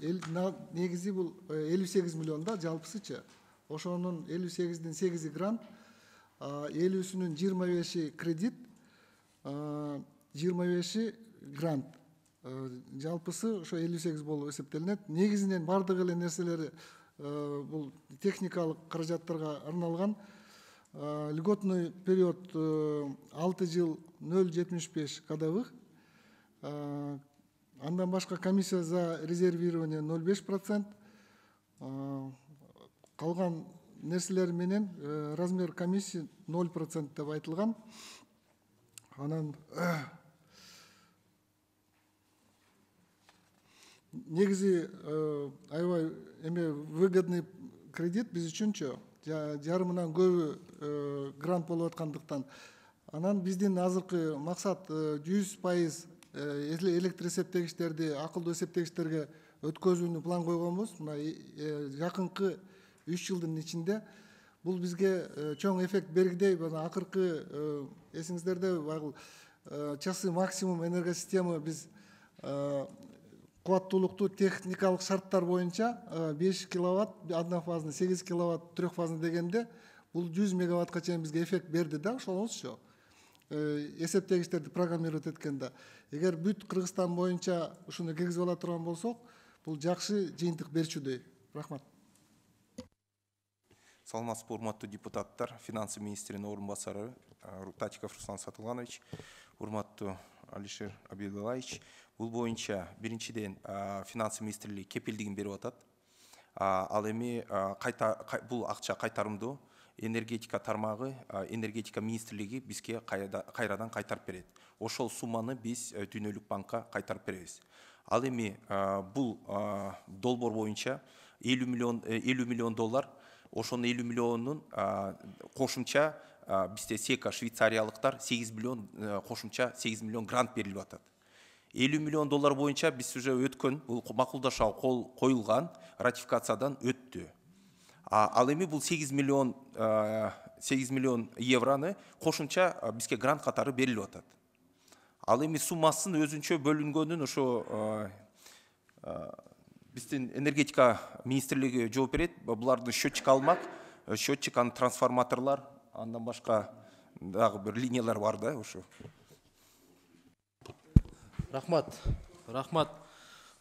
негизи бул 58 миллион да жалпысычы. Ошонун 58'den 8'i грант, 50'sünün 25'i кредит, 25'i грант. Жалпысы ошо 58 болуп эсептелинет. Негизинен бардык эле нерселери бул техникалык каражаттарга арналган. Льготный период 6 жыл 0,75 годовых. Андан башка комиссия за резервирование 0,5%. Калган нерселер менен размер комиссии 0% деп айтылган. Анан негизи аябай выгодный кредит биз үчүнчү. Жарымынан көбү грант болуп аткандыктан. Анан биздин азыркы максат 100% электр эсептегичтерди акылдуу эсептегичтерге өткөзүүнү план койгонбуз. Мына жакынкы 3 жылдын ичинде бул бизге чоң эффект бергидей. Акыркы эсиңиздерде байгыл часы максимум энергосистема биз кубаттуулукту техникалык шарттар боюнча 5 киловатт однофазный, 8 киловатт трехфазный дегенде бул 100 мегаваттка чейин бизге эффект берди да, ошолуңузчу. Эсептегичтерди программировать эткенде. Эгер бүт Кыргызстан боюнча ушуну киргизип ала турган болсок, бул жакшы жыйынтык берчүдөй. Рахмат. Саламатсызбы, урматтуу депутаттар, финансы министринин орун басары Татиков Руслан Сатылганович, урматтуу Алишер Абидуллаевич. Бул боюнча биринчиден финансы министрлиги кепилдигин берип атат. Ал эми бул акча кайтарымдуу энергетика тармагы, энергетика министрлиги бизге кайрадан кайтарып берет. Ошол сумманы биз Дүйнөлүк банкка кайтарып беребиз. Ал эми бул долбоор боюнча 50 миллион доллар, ошонун 50 миллионун кошумча бизде СЕКА швейцариялыктар 8 миллион кошумча 8 миллион грант берилип атат. 50 миллион доллар боюнча биз уже өткөн, бул макулдашууга кол коюлган, ратификациядан өттү. Ал эми бул 8 миллион евроны кошумча бизге грант катары берилип атат. Ал эми суммасын өзүнчө бөлүнгөнүн ошо биздин энергетика министрлиги жооп берет. Булардын счетчик алмак, счетчик, анын трансформаторлор, андан башка дагы бир линиялар бар да ошо. Рахмат.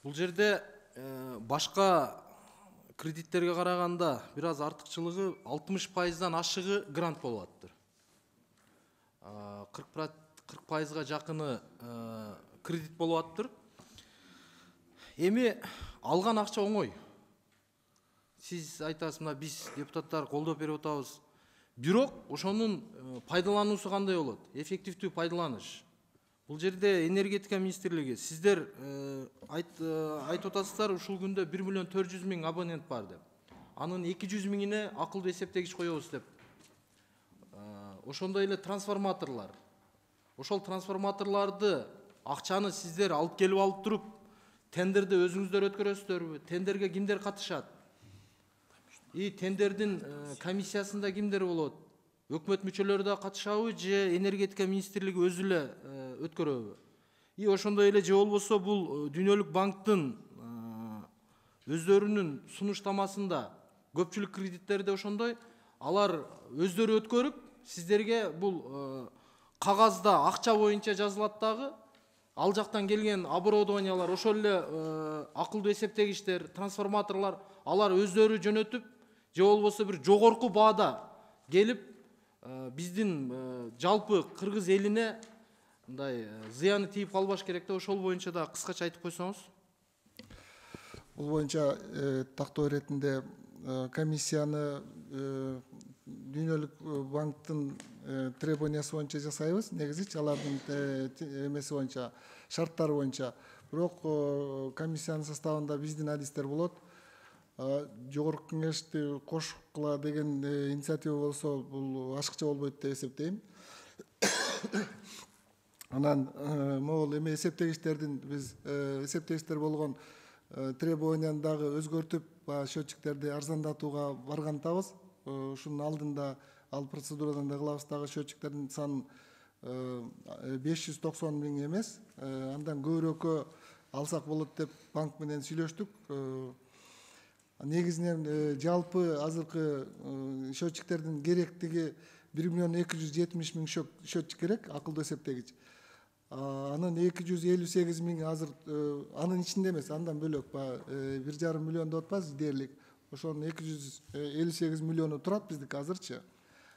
Бул жерде башка кредиттерге караганда бир аз артыкчылыгы 60%дан ашыгы грант болуп атыптыр. 40%га жакыны кредит болуп атыптыр. Эми алган акча оңой. Сиз айтасыз, мына биз депутаттар колдоп берип атабыз. Бирок ошонун пайдалануусу кандай болот? Эффективдүү пайдаланыш. Бул жерде энергетика министрлиги сиздер айтып атасыздар, ушул күндө 1 миллион 400 миң абонент бар деп. Анын 200 миңине акылдуу эсептегич коебуз деп. Ошондой эле трансформаторлор. Ошол трансформаторларды акчаны сиздер алып келип алып туруп, тендерди өзүңүздөр өткөрөсүздөрбү? Тендерге кимдер катышат? Тендердин комиссиясында кимдер болот? Өкмөт мүчөлөрү да катышабы же энергетика министрлиги өзү эле өткөрөбү? Ошондой эле же болбосо бул Дүйнөлүк банктын өздөрүнүн сунуштамасында көпчүлүк кредиттерде ошондой, алар өздөрү өткөрүп, сиздерге бул кагазда акча боюнча жазылат дагы, ал жактан келген оборудованиялар, ошол эле акылдуу эсептегичтер, трансформаторлор, алар өздөрү жөнөтүп, же болбосо бир жогорку баада келип, биздин жалпы кыргыз элине мындай зыяны тийип калбаш керек да, ошол боюнча да кыскача айтып койсоңуз. Бул боюнча тактоо иретинде комиссияны Дүйнөлүк банктын требованиясы боюнча жасайбыз. Негизичи алардын эмеси боюнча, шарттары боюнча. Бирок комиссиянын составында биздин адистер болот. Жогорку кеңешти кошкула деген инициатива болсо, бул ашыкча болбойт деп эсептейм. Анан могул эме эсептегичтердин биз эсептегичтер болгон требованияны дагы өзгөртүп, счетчиктерди арзандатууга баргантабыз. Ушунун алдында ал процедурадан да кылабыз, дагы счетчиктердин санын 590 миң эмес, андан көбүрөөккө алсак болот деп банк менен сүйлөштүк. Негизинен жалпы азыркы счетчиктердин керектиги 1.270.000 счетчик керек, акылдуу эсептегич. Анын 258.000 азыр анын ичинде эмес, андан бөлөк 1,5 миллион деп атпайбыз дээрлик. Ошонун 258 миллиону турат биздики азырчы.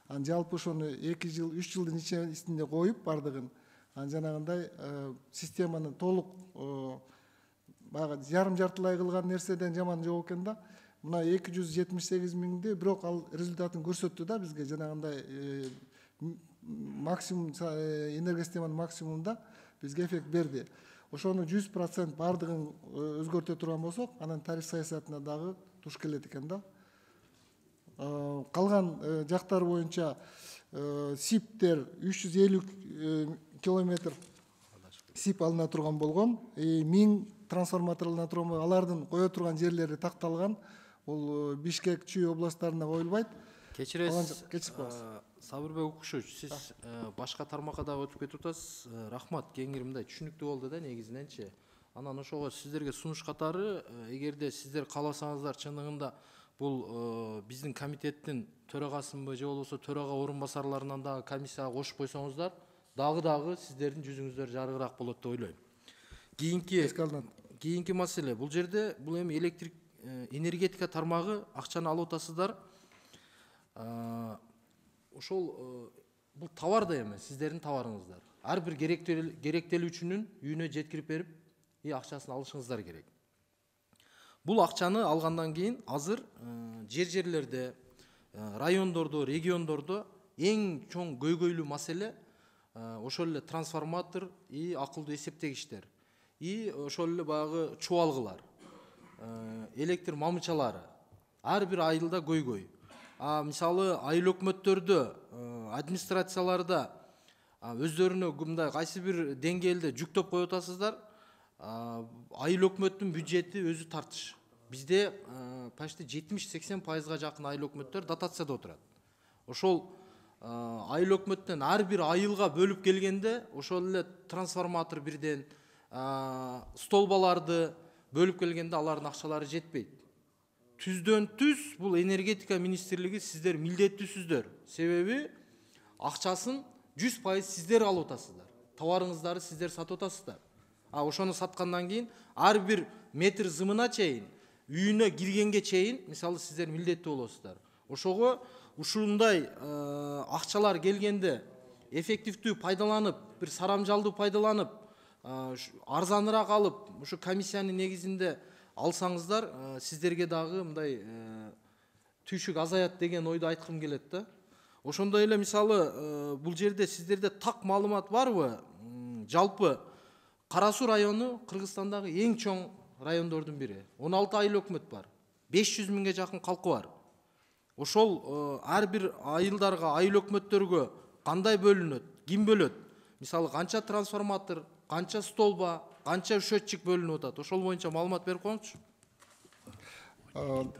Анан жалпы ошону 2 жыл, 3 жылдын ичинде коюп бардыгын, анан жанагындай системаны толук баягы жарым-жартылай кылган нерседен жаман жок экен да. Мына 278.000'di, бирок ал результатын көрсөттү да бизге, жанагындай максимум энергосистеманын максимумунда бизге эффект берди. Ошону 100% бардыгын өзгөртө турган болсок, анан тариф саясатына дагы туш келет экен да. Калган жактар боюнча СИПтер 350 километр СИП алына турган болгон, 1000 трансформатор алына турган болгон, алардын кое турган жерлери такталган. Бул Бишкек, Чүй областтарына коюлбайт. Кечиресиз, Сабырбек Укушевич, сиз башка тармакка дагы өтүп кетип атасыз. Рахмат, кеңири мындай түшүнүктүү болду да негизиненчи. Анан ошого сиздерге сунуш катары, эгерде сиздер кааласаңыздар, чындыгында бул биздин комитеттин төрагасынбы же болбосо төрага орун басарларынан дагы комиссияга кошуп койсоңуздар, дагы сиздердин жүзүңүздөр жарыгыраак болот деп ойлойм. Кийинки маселе, бул жерде бул эми энергетика тармагы акчаны алып атасыздар. Ошол бул товар да эмес, сиздердин товарыңыздар. Ар бир керектелүүчүнүн үйүнө жеткирип берип, акчасын алышыңыздар керек. Бул акчаны алгандан кийин азыр жерлерде, райондордо, региондордо эң чоң көйгөйлүү маселе ошол эле трансформатор и акылдуу эсептегичтер. И ошол эле баягы чубалгылар, электр мамычалары ар бир айылда көйгөй. Мисалы айыл өкмөттөрдө, администрацияларда өздөрүнө мындай кайсы бир деңгээлде жүктөп коюп атасыздар. Айыл өкмөттүн бюджети өзү тартыш. Бизде почти 70-80%га жакын айыл өкмөттөр дотацияда отурат. Ошол айыл өкмөттөн ар бир айылга бөлүп келгенде ошол эле трансформатор бирден, столбаларды бөлүп келгенде алардын акчалары жетпейт. Түздөн түз бул энергетика министрлиги сиздер милдеттүүсүздөр. Себеби акчасын 100% сиздер алып атасыздар. Товарыңыздарды сиздер сатып атасыздар. Ошону саткандан кийин ар бир метр зымына чейин, үйүнө киргенге чейин, мисалы сиздер милдеттүү болосуздар. Ошого ушундай акчалар келгенде эффективдүү пайдаланып, бир сарамжалдуу пайдаланып, арзаныраак алып, ушу комиссиянын негизинде алсаңыздар, сиздерге дагы мындай түйшүк азаят деген ойду айткым келет да. Ошондой эле мисалы бул жерде сиздерде так маалымат барбы? Жалпы Кара Суу району Кыргызстандагы эң чоң райондордун бири. 16 айыл өкмөт бар. 500 миңге жакын калкы бар. Ошол ар бир айылдарга, айыл өкмөттөргө кандай бөлүнөт, ким бөлөт? Мисалы канча трансформатор, канча столба, канча счетчик бөлүнүп атат? Ошол боюнча маалымат берип коюңузчу.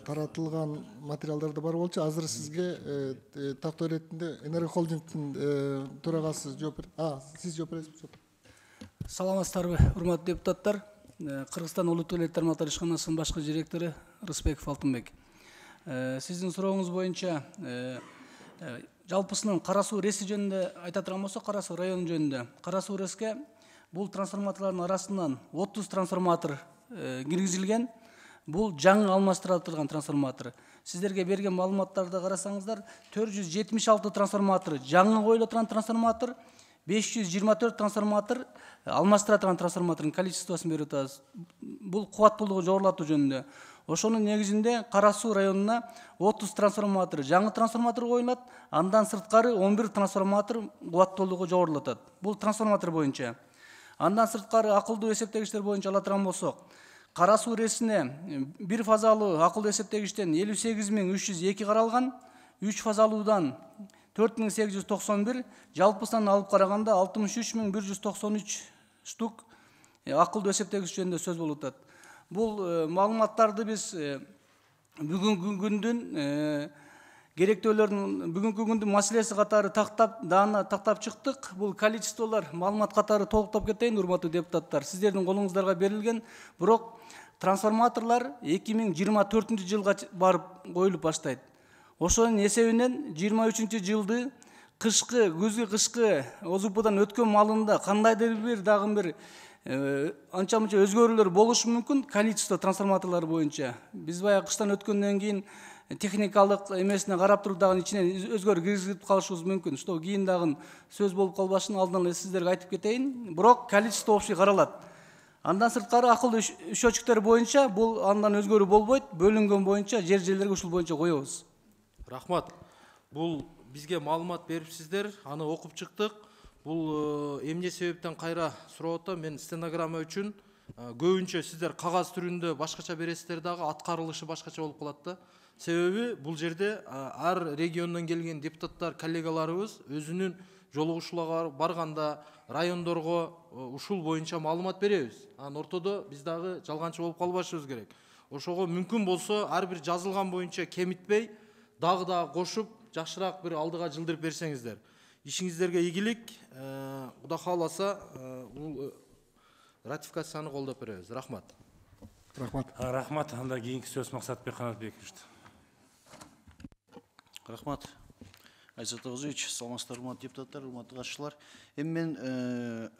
Таратылган материалдарда бар болчу. Азыр сизге тактоо иретинде Энергохолдингдин төрагасы жооп берет. Сиз жооп бересизби? Саламатсыздарбы, урматтуу депутаттар. Кыргызстан улуттук электр тармактар ишканасынын башкы директору Рысбеков Алтынбек. Сиздин сурооңуз боюнча жалпысынан Кара Суу РЭСи жөнүндө айта турган болсок, Кара Суу району жөнүндө. Кара Суу РЭСке бул трансформаторлордун арасынан 30 трансформатор киргизилген. Бул жаңы алмаштырылган трансформатор. Сиздерге берген маалыматтарды карасаңыздар, 476 трансформатор жаңы коюлуп турган трансформатор, 524 трансформатор алмаштыра турган трансформатордун количествосын берип атабыз. Бул кубаттуулугу жогорулатуу жөнүндө. Ошонун негизинде Кара Суу районуна 30 трансформатор жаңы трансформатор коюлат, андан сырткары 11 трансформатор кубаттуулугу жогорулатат. Бул трансформатор боюнча. Андан сырткары акылдуу эсептегичтер боюнча ала турган болсок, Кара Суу РЭСине бир фазалуу акылдуу эсептегичтен 58.302 каралган, 3 фазалуудан 4891, жалпысынан алып караганда 63.193 штук акылдуу эсептегич жөнүндө сөз болуп атат. Бул маалыматтарды биз бүгүнкү күндүн керектөөлөрдүн бүгүнкү күндүн маселеси катары тактап чыктык. Бул количестволор маалымат катары толуктап кетейин, урматтуу депутаттар. Сиздердин колуңуздарга берилген, бирок трансформаторлор 2024 жылга барып коюлуп баштайт. Ошонун эсебинен 23 жылды кышкы, күзгү кышкы ОЗУПдан өткөн маалында кандайдыр бир дагы бир анча мынча өзгөрүүлөр болушу мүмкүн количество трансформаторлор боюнча. Биз баягы кыштан өткөндөн кийин техникалык эмесине карап туруп дагы ичинен өзгөрүү киргизип калышыбыз мүмкүн. Что кийин дагы сөз болуп калбашын алдынан эле сиздерге айтып кетейин. Бирок количество общий каралат. Андан сырткары акылдуу счетчиктер боюнча бул андан өзгөрүү болбойт. Бөлүнгөн боюнча жерлерге ушул боюнча коебуз. Рахмат. Бул бизге маалымат берипсиздер, аны окуп чыктык. Бул эмне себептен кайра сурап атам, мен стенограмма үчүн көбүнчө сиздер кагаз түрүндө башкача бересиздер дагы, аткарылышы башкача болуп калат да. Себеби бул жерде ар региондон келген депутаттар, коллегаларыбыз өзүнүн жолугушууларга барганда райондорго ушул боюнча маалымат беребиз. Анан ортодо биз дагы жалганчы болуп калбашыбыз керек. Ошого мүмкүн болсо ар бир жазылган боюнча кемитпей, дагы кошуп, жакшыраак бир алдыга жылдырып берсеңиздер. Ишиңиздерге ийгилик. Кудай кааласа, бул ратификацияны колдоп беребиз. Рахмат. Рахмат. Рахмат. Анда кийинки сөз Максатбек Канатбекович. Рахмат. Айзат Огузович, саламатсыздар, урматтуу депутаттар, урматтуу катышуучулар. Эми мен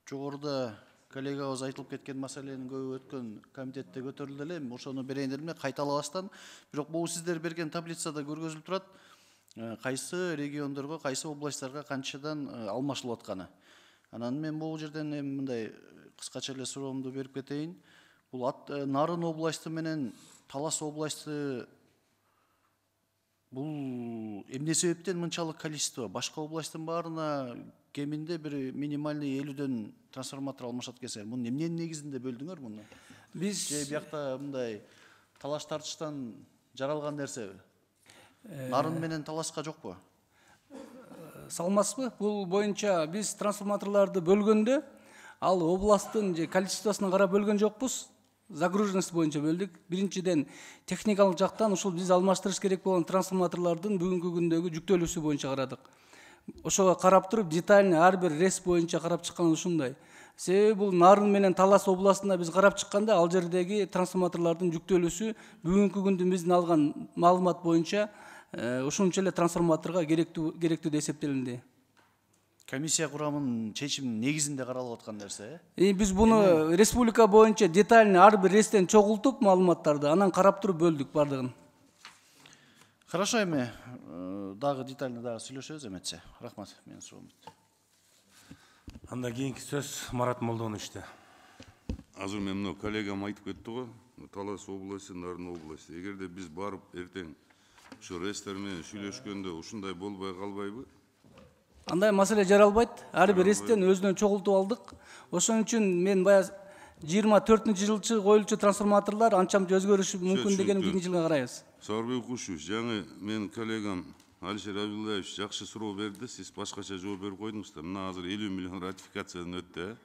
жогоруда коллегабыз айтылып кеткен маселенин көбү өткөн комитетте көтөрүлдү эле. Ошону берейин дедим эле, кайталабастан. Бирок бул сиздер берген таблицада көргөзүлүп турат. Кайсы региондорго, кайсы областтарга канчадан алмашылып атканы. Анан мен бул жерден мындай кыскача эле суроомду берип кетейин. Бул Нарын областы менен Талас областы бул эмне себептен мынчалык количество? Башка областтын баарына кеминде бир минимальный 50дөн трансформатор алмашат экенсиңер. Муну эмненин негизинде бөлдүңөр муну? Биз биякта мындай талаш тартыштан жаралган нерсеби? Нарын менен Таласка жокпу? салмасызбы? Бул боюнча биз трансформаторлорду бөлгөндө ал областтын же количествосуна карап бөлгөн жокпуз. Загруженность боюнча бөлдүк. Биринчиден техникалык жактан ушул биз алмаштырыш керек болгон трансформаторлордун бүгүнкү күндөгү жүктөлүүсү боюнча карадык. Ошого карап туруп детальный ар бир рейс боюнча карап чыккан ушундай. Себеби бул Нарын менен Талас областында биз карап чыкканда ал жердеги трансформаторлордун жүктөлүүсү бүгүнкү күндүн биздин алган маалымат боюнча ушунча эле трансформаторго керектүү деп эсептелинди. Комиссия курамынын чечиминин негизинде каралып аткан нерсе. Биз буну республика боюнча детальный ар бир рейстен чогултуп маалыматтарды анан карап туруп бөлдүк бардыгын. Хорошо, эми дагы детально дагы сүйлөшөбүз эметсе. Рахмат, менин суроом бүттү. Анда кийинки сөз Марат Молдоновичте. Азыр мен мына коллегам айтып кетти го, Талас областы, Нарын областы. Эгерде биз барып эртең ушу рейстер менен сүйлөшкөндө ушундай болбой калбайбы? Андай маселе жаралбайт. Ар бир рейстен өзүнөн чогултуп алдык. Ошон үчүн мен баягы 24-жылчы коюлчу трансформаторлор анча-мынча өзгөрүшү мүмкүн деген кийинки жылга карайбыз. Сарбек Кушуевич, жаңы мен коллегам Алишер Абдуллаевич жакшы суроо берди, сиз башкача жооп берип койдуңуз да. Мына азыр 50 миллион ратификациядан өттү.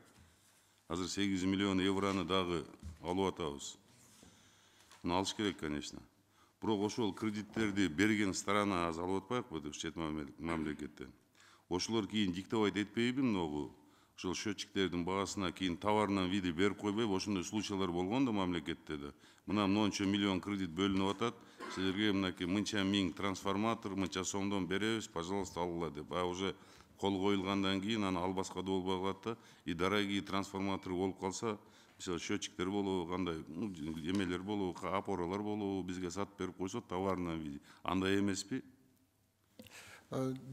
Азыр 8 миллион евроны дагы алып атабыз. Муну алыш керек, конечно. Бирок ошол кредиттерди берген сторона аз алып атпайбы чет мамлекеттен? Ошолор кийин диктовать этпейби многу? Ошол счетчиктердин баасына кийин товарнын види берип койбойбу? Ошондой случайлар болгон да мамлекетте да. Мына мончо миллион кредит бөлүнүп атат. Силерге мынакей мынча миң трансформатор, мынча сомдон беребиз, пожалуйста, алгыла деп. А уже кол коюлгандан кийин аны албаска да болбой калат да. И дорогие трансформаторы болуп калса, мисалы счетчиктер болобу, кандай эмелер болобу, опоралар болобу, бизге сатып берип койсо товарнын види. Андай эмеспи?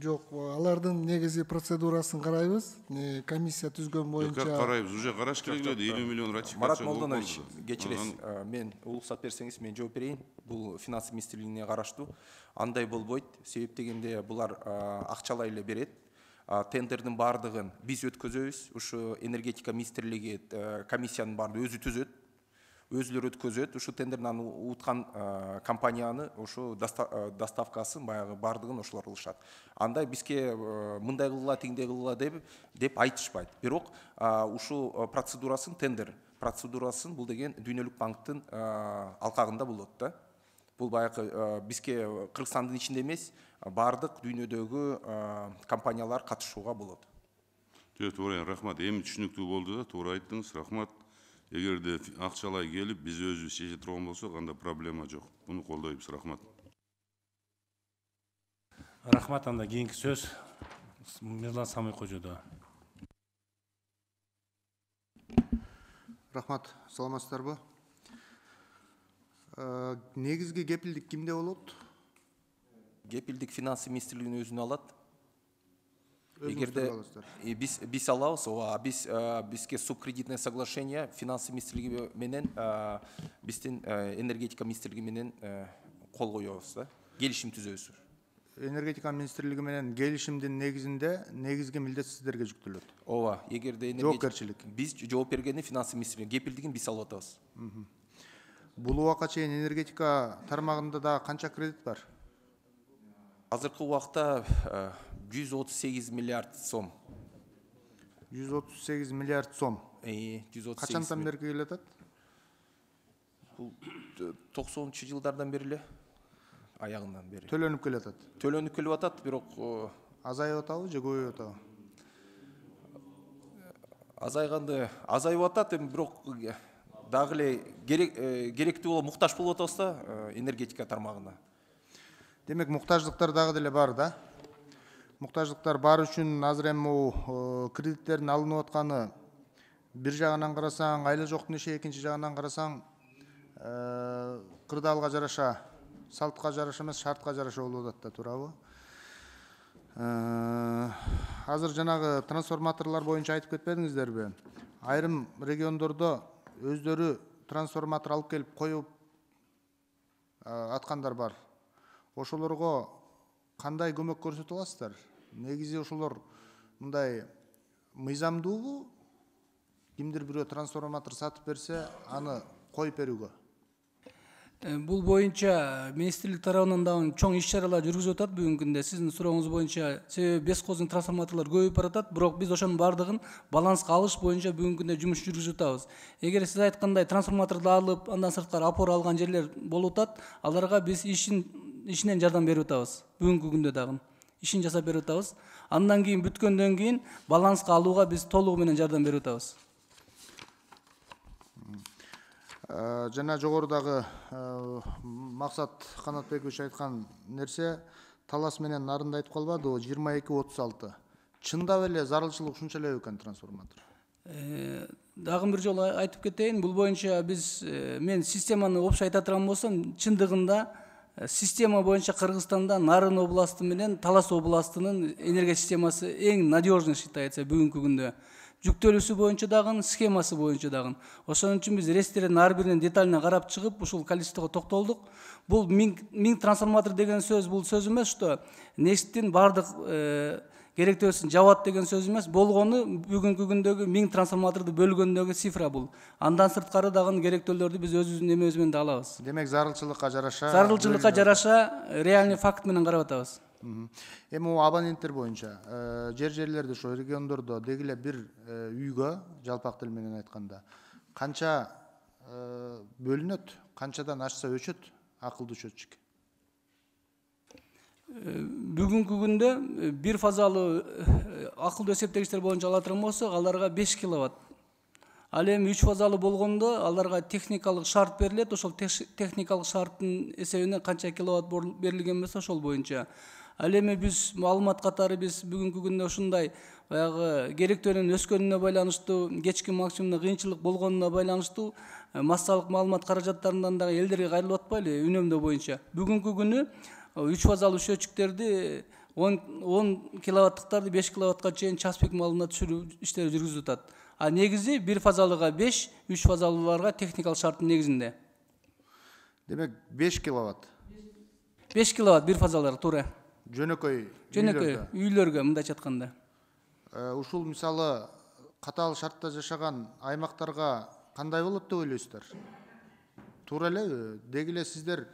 Жок, алардын негизи процедурасын карайбыз. Комиссия түзгөн боюнча. Карайбыз, уже караш керек эле, 50 миллион ратификация. Марат Молдонович, кечиресиз, мен уруксат берсеңиз мен жооп берейин. Бул финанс министрлигине караштуу. Андай болбойт. Себеп дегенде булар акчалай эле берет. Тендердин баардыгын биз өткөзөбүз. Ушу энергетика министрлиги комиссиянын баардыгын өзү түзөт. Өзүлөр өткөзөт. Ушу тендерден уткан компанияны ушу доставкасын баягы баардыгын ошолор кылышат. Андай бизге мындай кылгыла, тиңдей кылгыла деп айтышпайт. Бирок ушу процедурасын, тендер процедурасын бул деген Дүйнөлүк банктын алкагында болот да. Бул баягы бизге Кыргызстандын ичинде эмес, бардык дүйнөдөгү компаниялар катышууга болот. Туура, рахмат. Эми түшүнүктүү болду да, туура айттыңыз. Рахмат. Эгерде акчалай келип, биз өзүбүз чече турган болсок, анда проблема жок. Буну колдойбуз. Рахмат. Рахмат. Анда кийинки сөз Мирлан Самый Кожодо. Рахмат, саламатсыздарбы? Негизги кепилдик кимде болот? Кепилдик финансы министрлигинин өзүнө алат. Эгерде Биз алабыз, бизге субкредитное соглашение финансы министрлиги менен биздин энергетика министрлиги менен кол коебуз да, келишим түзөбүз. энергетика министрлиги менен келишимдин негизинде негизги милдет сиздерге жүктөлөт. Ооба, эгерде жоопкерчилик. Биз жооп бергенде финансы министрлиги кепилдигин биз алып атабыз. Бул убакка чейин энергетика тармагында да канча кредит бар? Азыркы убакта 138 миллиард сом. 138 миллиард сом. 138. Качантан бери келатат? Бул 90-жылдардан бери эле, аягынан бери. Төлөнүп келатат. Төлөнүп келип атат, бирок Азайып атабы же көбөйүп атабы? азайып атат, бирок дагы эле керектүү болуп муктаж болуп атабыз да энергетика тармагына. Демек, муктаждыктар дагы деле бар да. Муктаждыктар бар үчүн азыр эми кредиттердин алынып атканы бир жагынан карасаң айла жоктун иши, экинчи жагынан карасаң кырдаалга жараша, салтка жараша эмес, шартка жараша болуп атат да, туурабы? Азыр жанагы трансформаторлор боюнча айтып кетпедиңиздерби? Айрым региондордо өздөрү трансформатор алып келип коюп аткандар бар. Ошолорго кандай көмөк көрсөтө аласыздар? Негизи ошолор мындай мыйзамдуубу? Кимдир бирөө трансформатор сатып берсе, аны коюп берүүгө? Бул боюнча министрлик тарабынан дагы чоң иш-чаралар жүргүзүп атат бүгүнкү күндө. Сиздин сурооңуз боюнча, себеби бес кооздун трансформаторлор көбөйүп баратат, бирок биз ошонун бардыгын баланска алыш боюнча бүгүнкү күндө жумуш жүргүзүп атабыз. Эгер сиз айткандай трансформаторду алып, андан сырткары опора алган жерлер болуп атат, аларга биз ишинен жардам берип атабыз. Бүгүнкү күндө дагы ишин жасап берип атабыз. Андан кийин бүткөндөн кийин баланска алууга биз толугу менен жардам берип атабыз. Жана жогорудагы Максат Канатбекович айткан нерсе Талас менен Нарында айтып калбадыбы? 22-36. Чындап эле зарылчылык ушунча эле экен трансформатор? Дагы бир жолу айтып кетейин, бул боюнча мен системаны опчу айта турган болсом, чындыгында система боюнча Кыргызстанда Нарын областы менен Талас областынын энергия системасы эң надежный считается бүгүнкү күндө. Жүктөлүүсү боюнча дагы, схемасы боюнча дагы. Ошон үчүн биз рейстердин ар бирин детально карап чыгып, ушул количествого токтолдук. Бул 1000 трансформатор деген сөз, бул сөз эмес, что нефттин бардык керектөөсүн жабат деген сөз эмес. Болгону бүгүнкү күндөгү 1000 трансформаторду бөлгөндөгү цифра бул. Андан сырткары дагы керектөөлөрдү биз өзүбүздүн эмебиз менен да алабыз. Демек, зарылчылыкка жараша... Зарылчылыкка жараша реальный факт менен карап атабыз. Эми абоненттер боюнча жерлерде, ошо региондордо дегиле бир үйгө, жалпак тил менен айтканда, канча бөлүнөт, канчадан ашса өчөт акылдуу счетчик? Бүгүнкү күндө бир фазалуу акылдуу эсептегичтер боюнча ала турган болсок, аларга 5 киловатт. Ал эми 3 фазалуу болгондо аларга техникалык шарт берилет. Ошол техникалык шарттын эсебинен канча киловатт берилген болсо ошол боюнча. Ал эми биз маалымат катары биз бүгүнкү күндө ушундай баягы керектөөнүн өскөнүнө байланыштуу, кечки максимумда кыйынчылык болгонуна байланыштуу массалык маалымат каражаттарынан дагы элдерге кайрылып атпайлы үнөмдөө боюнча. Бүгүнкү күнү 3 фазалуу счетчиктерди 10 киловаттыктарды 5 киловаттка чейин час пик маалына түшүрүү иштери жүргүзүлүп атат. А негизи бир фазалыга 5, 3 фазалууларга техникалык шарттын негизинде. Демек 5 киловатт. 5 киловатт бир фазалар, туура. Жөнөкөй үйлөргө мындайча айтканда. Ушул мисалы катаал шартта жашаган аймактарга кандай болот деп ойлойсуздар? Туура элеби? Дегиле сиздер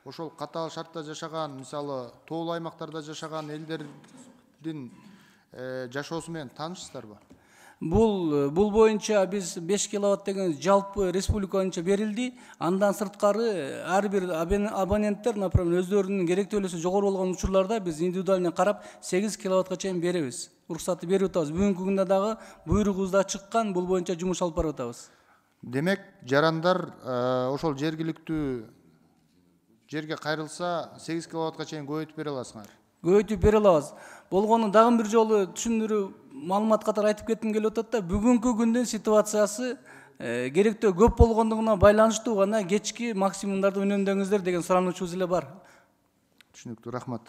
ошол катаал шартта жашаган, мисалы тоолуу аймактарда жашаган элдердин жашоосу менен таанышсыздарбы? Бул боюнча биз 5 киловатт деген жалпы республика боюнча берилди. Андан сырткары ар бир абоненттер, например, өздөрүнүн керектүүлүгү жогору болгон учурларда биз индивидуально карап 8 киловаттка чейин беребиз. Уруксатты берип атабыз. Бүгүнкү күндө дагы буйругубуз да чыккан, бул боюнча жумуш алып барып атабыз. Демек, жарандар ошол жергиликтүү жерге кайрылса 8 киловаттка чейин көбөйтүп бере аласыңар. Көбөйтүп бере алабыз. Болгону дагы бир жолу түшүндүрүү маалымат катары айтып кетким келип атат да, бүгүнкү күндүн ситуациясы керектөө көп болгондугуна байланыштуу гана кечки максимумдарды үнөмдөңүздөр деген сурануучубуз эле бар. Түшүнүктүү, рахмат.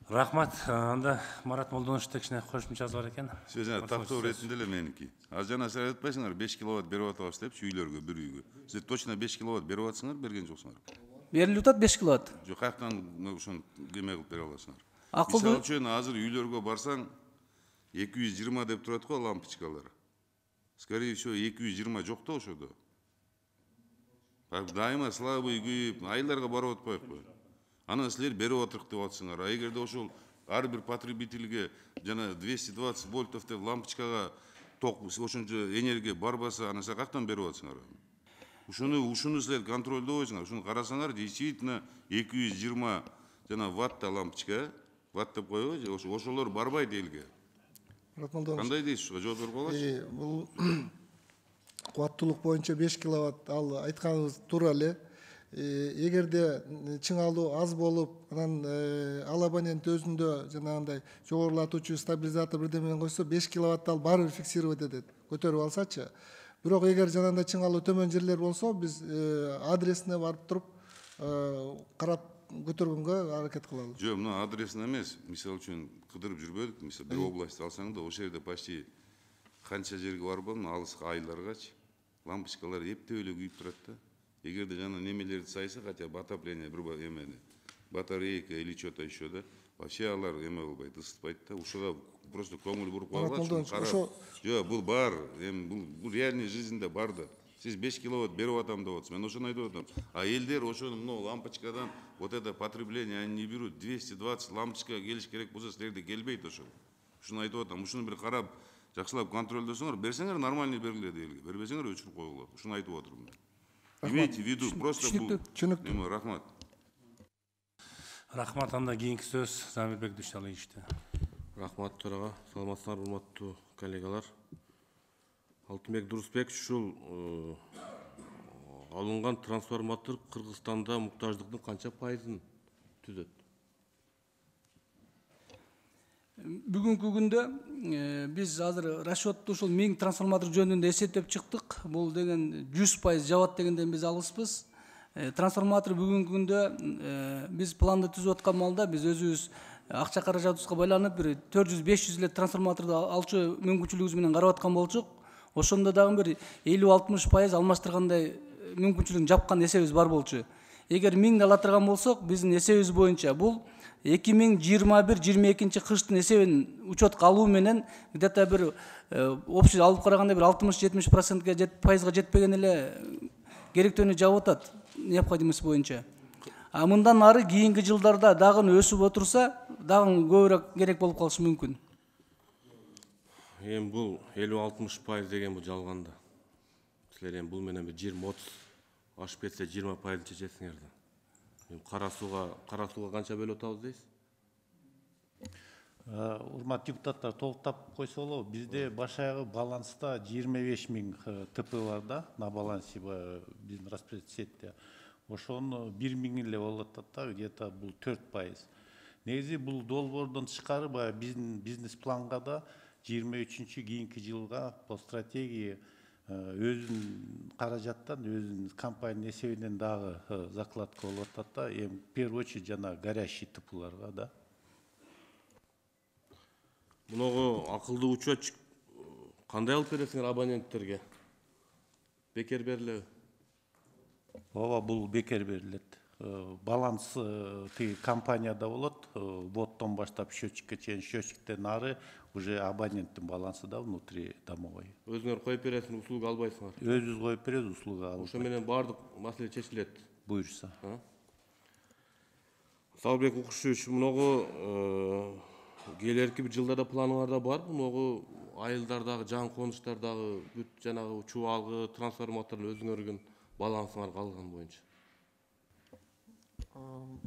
Рахмат. Анда Марат Молдоновичте кичине кошумчасы бар экен. Сөзүнө тактоо иретинде эле меники. Аз жана силер айтпайсыңар 5 киловатт берип атабыз депчи үйлөргө, бир үйгө. Силер точно 5 киловатт берип атсыңар, берген жоксуңар. Берилип атат 5 киловатт. Жок, каяктан ошону кеме кылып бере аласыңар? Акылдуу. Мисалы үчүн азыр үйлөргө барсаң 220 деп турат го лампочкалар. Скорее всего 220 жок да ошодо. Дайыма слабый күйүп, айылдарга барып атпайбы? Анан силер берип атырык деп атсыңар. А эгерде ошол ар бир потребительге жана 220 вольтов деп лампочкага ток ошончо энергия барбаса, анан силер каяктан берип атсыңар? Ушуну силер контролдобойсуңар. Ушуну карасаңар, действительно 220 жана ватта лампочка, ватт деп коебу, ошолор барбайт элге. Кандай дейсиз? Жооп берип алачы? Бул кубаттуулук боюнча 5 киловатт, ал айтканыбыз туура эле. Эгерде чыңалуу аз болуп, анан ал абонент өзүндө жанагындай жогорулатуучу стабилизатор бирдеме менен койсо 5 киловатт ал баары бир фиксировать этет, көтөрүп алсачы. Бирок эгер жанагындай чыңалуу төмөн жерлер болсо, биз адресине барып туруп карап көтөргөнгө аракет кылабыз. Жок, мына адресин эмес, мисалы үчүн кыдырып жүрбөдүк, мисалы бир область алсаң да, ошол жерде почти канча жерге барып алдым, алыс айылдаргачы лампочкалар эптеп эле күйүп турат да. Эгерде жана немелерди сайса, хотя бы отопление бир эмени, батарейка или что-то еще да, вообще алар эме болбойт, ысытпайт да. Ушуга просто көңүл буруп коюлат. Жок, бул бар, бул реальный жизньде бар да. Сиз 5 киловатт берип атам деп атасыз. Мен ошону айтып атам. А элдер ошону мына лампочкадан вот это потребление они не берут. 220 лампочка келиш керек болсо силерде келбейт ошол. Ушуну айтып атам. Ушуну бир карап, жакшылап контролдосоңор, берсеңер нормальный бергиле элге. Бербесеңер өчүрүп койгула. Ушуну айтып отурмун. Имейте в виду, просто бул. Түшүнүктүү. Рахмат. Рахмат. Анда кийинки сөз Замирбек Дүйшалиевичте. Рахмат төрага. Саламатсыздарбы, урматтуу коллегалар. Алтынбек Дурусбек, ушул алынган трансформатор Кыргызстанда муктаждыктын канча пайызын түзөт? Бүгүнкү күндө биз азыр расчетту ушул 1000 трансформатор жөнүндө эсептеп чыктык. Бул деген 100% жабат дегенден биз алыспыз. Трансформатор бүгүнкү күндө биз планды түзүп аткан маалда биз өзүбүз акча каражатыбызга байланып бир 400-500 эле трансформаторду алчу мүмкүнчүлүгүбүз менен карап аткан болчук. Ошондо дагы бир 50-60% алмаштыргандай мүмкүнчүлүгүн жапкан эсебибиз бар болчу. Эгер 1000 ала турган болсок, биздин эсебибиз боюнча бул 2021-22 кыштын эсебин учетко алуу менен где-то бир общий алып караганда бир 60-70%га жетпеген эле керектөөнү жаап атат необходимость боюнча. А мындан ары кийинки жылдарда дагы өсүп отурса, дагы көбүрөөк керек болуп калышы мүмкүн. Эми бул 50-60% деген бул жалганда. Силер эми бул менен бир 20-30 ашып кетсе 20% чечесиңер да. Кара сууга канча бөлүп атабыз дейсиз? Урматтуу депутаттар, толуктап койсо болобу, бизде баш аягы баланста 25 000 ТП бар да, на балансе биздин распределительный сетте. Ошону 1 000 эле болуп атат да, где-то бул 4%. Негизи бул долбоордон тышкары баягы биздин бизнес планга да 23-чү кийинки жылга по стратегии өзүнүн каражаттан, өзүнүн компаниянын эсебинен дагы закладка болуп атат да, эми в первую очередь жана горящий ТПларга да. Муногу акылдуу учет кандай алып бересиңер абоненттерге? Бекер берилеби? Ооба, бул бекер берилет. Баланс тиги компанияда болот, вводдон баштап счетчикке чейин, счетчиктен ары уже абоненттин балансы да внутри домовой. Өзүңөр коюп бересиңер, услуга албайсыңар? Өзүбүз коюп беребиз, услуга албайбыз. Ошо менен баардык маселе чечилет. Буюрса. Салбек Укушевич, муногу келерки бир жылдарда планыңарда бар, муногу айылдардагы жаңы конуштардагы бүт жанагы чубалгы трансформатордун өзүңөргөн балансыңарга алган боюнча.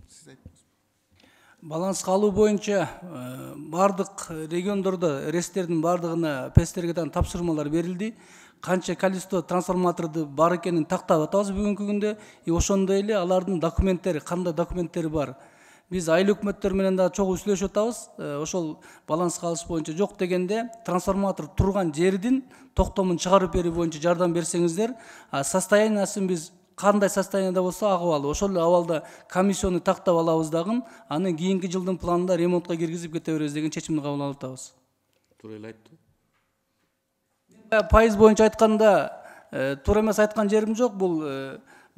Сиз айттыңыз. Баланска алуу боюнча бардык региондордо рестердин бардыгына ПСТергеден тапшырмалар берилди. Канча количество трансформаторду бар экенин тактап атабыз бүгүнкү күндө. Ошондой эле алардын документтери, кандай документтери бар. Биз айыл өкмөттөр менен да чогуу сүйлөшүп атабыз. Ошол баланска алыш боюнча жок дегенде трансформатор турган жердин токтомун чыгарып берүү боюнча жардам берсеңиздер, состояниясын биз кандай состоянияда болсо акыбалы, ошол эле абалда комиссияны тактап алабыз дагы, анын кийинки жылдын планында ремонтко киргизип кете беребиз деген чечимди кабыл алып атабыз. Туура эле айттым. Пайыз боюнча айтканда туура эмес айткан жерим жок. Бул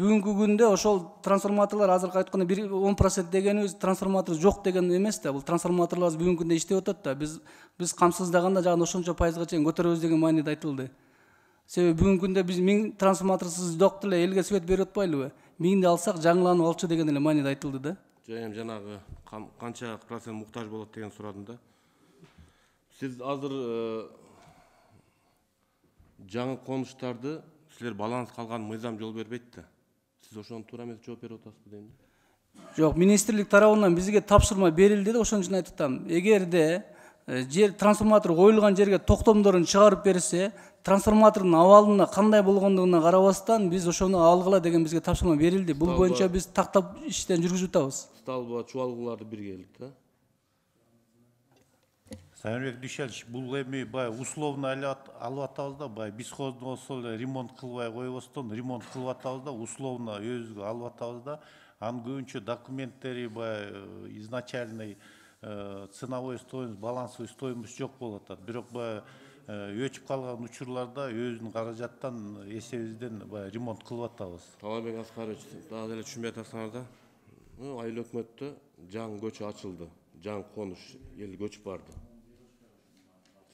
бүгүнкү күндө ошол трансформаторлор азыркы айтканда 10% дегенибиз трансформатор жок деген эмес да. Бул трансформаторлор бүгүнкү күндө иштеп атат да. Биз камсыздаганда жагы ошончо пайызга чейин көтөрөбүз деген мааниде айтылды. Себеби бүгүнкү күндө биз 1000 трансформаторсуз жок деле элге свет берип атпайлыбы? 1000ди алсак жаңыланып алчу деген эле мааниде айтылды да. Эми жанагы канча процент муктаж болот деген сурадым да. Сиз азыр жаңы конуштарды силер баланс калган мыйзам жол бербейт да. Сиз ошону туура эмес жооп берип атасызбы дейм. Жок, министрлик тарабынан бизге тапшырма берилди да, ошон үчүн айтып атам. Эгерде жер трансформатор коюлган жерге токтомдорун чыгарып берсе, трансформатордун абалына кандай болгондугуна карабастан биз ошону алгыла деген бизге тапшырма берилди. Бул боюнча биз тактап иштен жүргүзүп атабыз. Сталба чубалгыларды бирге келдик да. Сайынбек Дүйшәлович, бул эми баягы условно алып атабыз да, баягы бесхоздун болсо эле ремонт кылбай койбостон ремонт кылып атабыз да, условно өзүбүзгө алып атабыз да. Анын көбүнчө документтери баягы изначальный ценовой стоимость, балансовый стоимость жок болуп атат. Бирок баягы өчүп калган учурларда өзүнүн каражаттан эсебибизден баягы ремонт кылып атабыз. Талабек Аскарович, дагы эле түшүнбөй атасыңар да. Айыл өкмөттө жаңы көчө ачылды, жаңы конуш эл көчүп барды.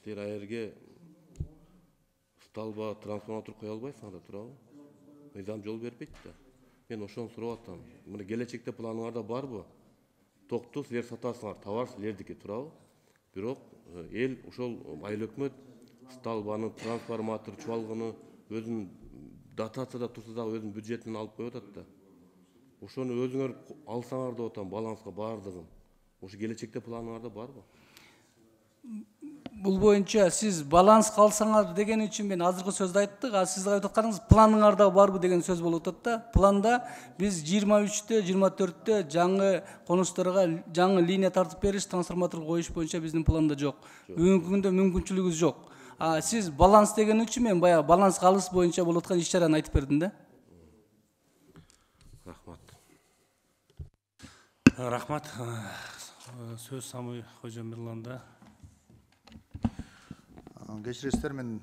Силер аерге сталба трансформатор кое албайсыңар да, туурабы? Мыйзам жол бербейт да. Мен ошону сурап атам. Мына келечекте планыңарда барбы? Токту силер сатасыңар, товар силердики, туурабы? Бирок эл ошол айыл өкмөт сталбаны, трансформатор, чубалгыны өзүнүн дотацияда турса дагы өзүнүн бюджетинен алып коюп атат да. Ошону өзүңөр алсаңар деп атам, баланска бардыгын. Ошо келечекте планыңарда барбы? Бул боюнча сиз баланс калсаңар деген үчүн мен азыркы сөздү айттык. Сиз айтып атканыңыз планыңарда барбы деген сөз болуп атат да. Планда биз 23-тө, 24-тө жаңы конуштарга жаңы линия тартып бериш, трансформатор коюш боюнча биздин планда жок. Бүгүнкү күндө мүмкүнчүлүгүбүз жок. Сиз баланс деген үчүн мен баягы баланс калыш боюнча болуп аткан иш-чараны айтып бердим да. Рахмат. Рахмат. Сөз Самый Кожомирланда. Кечиресиздер, мен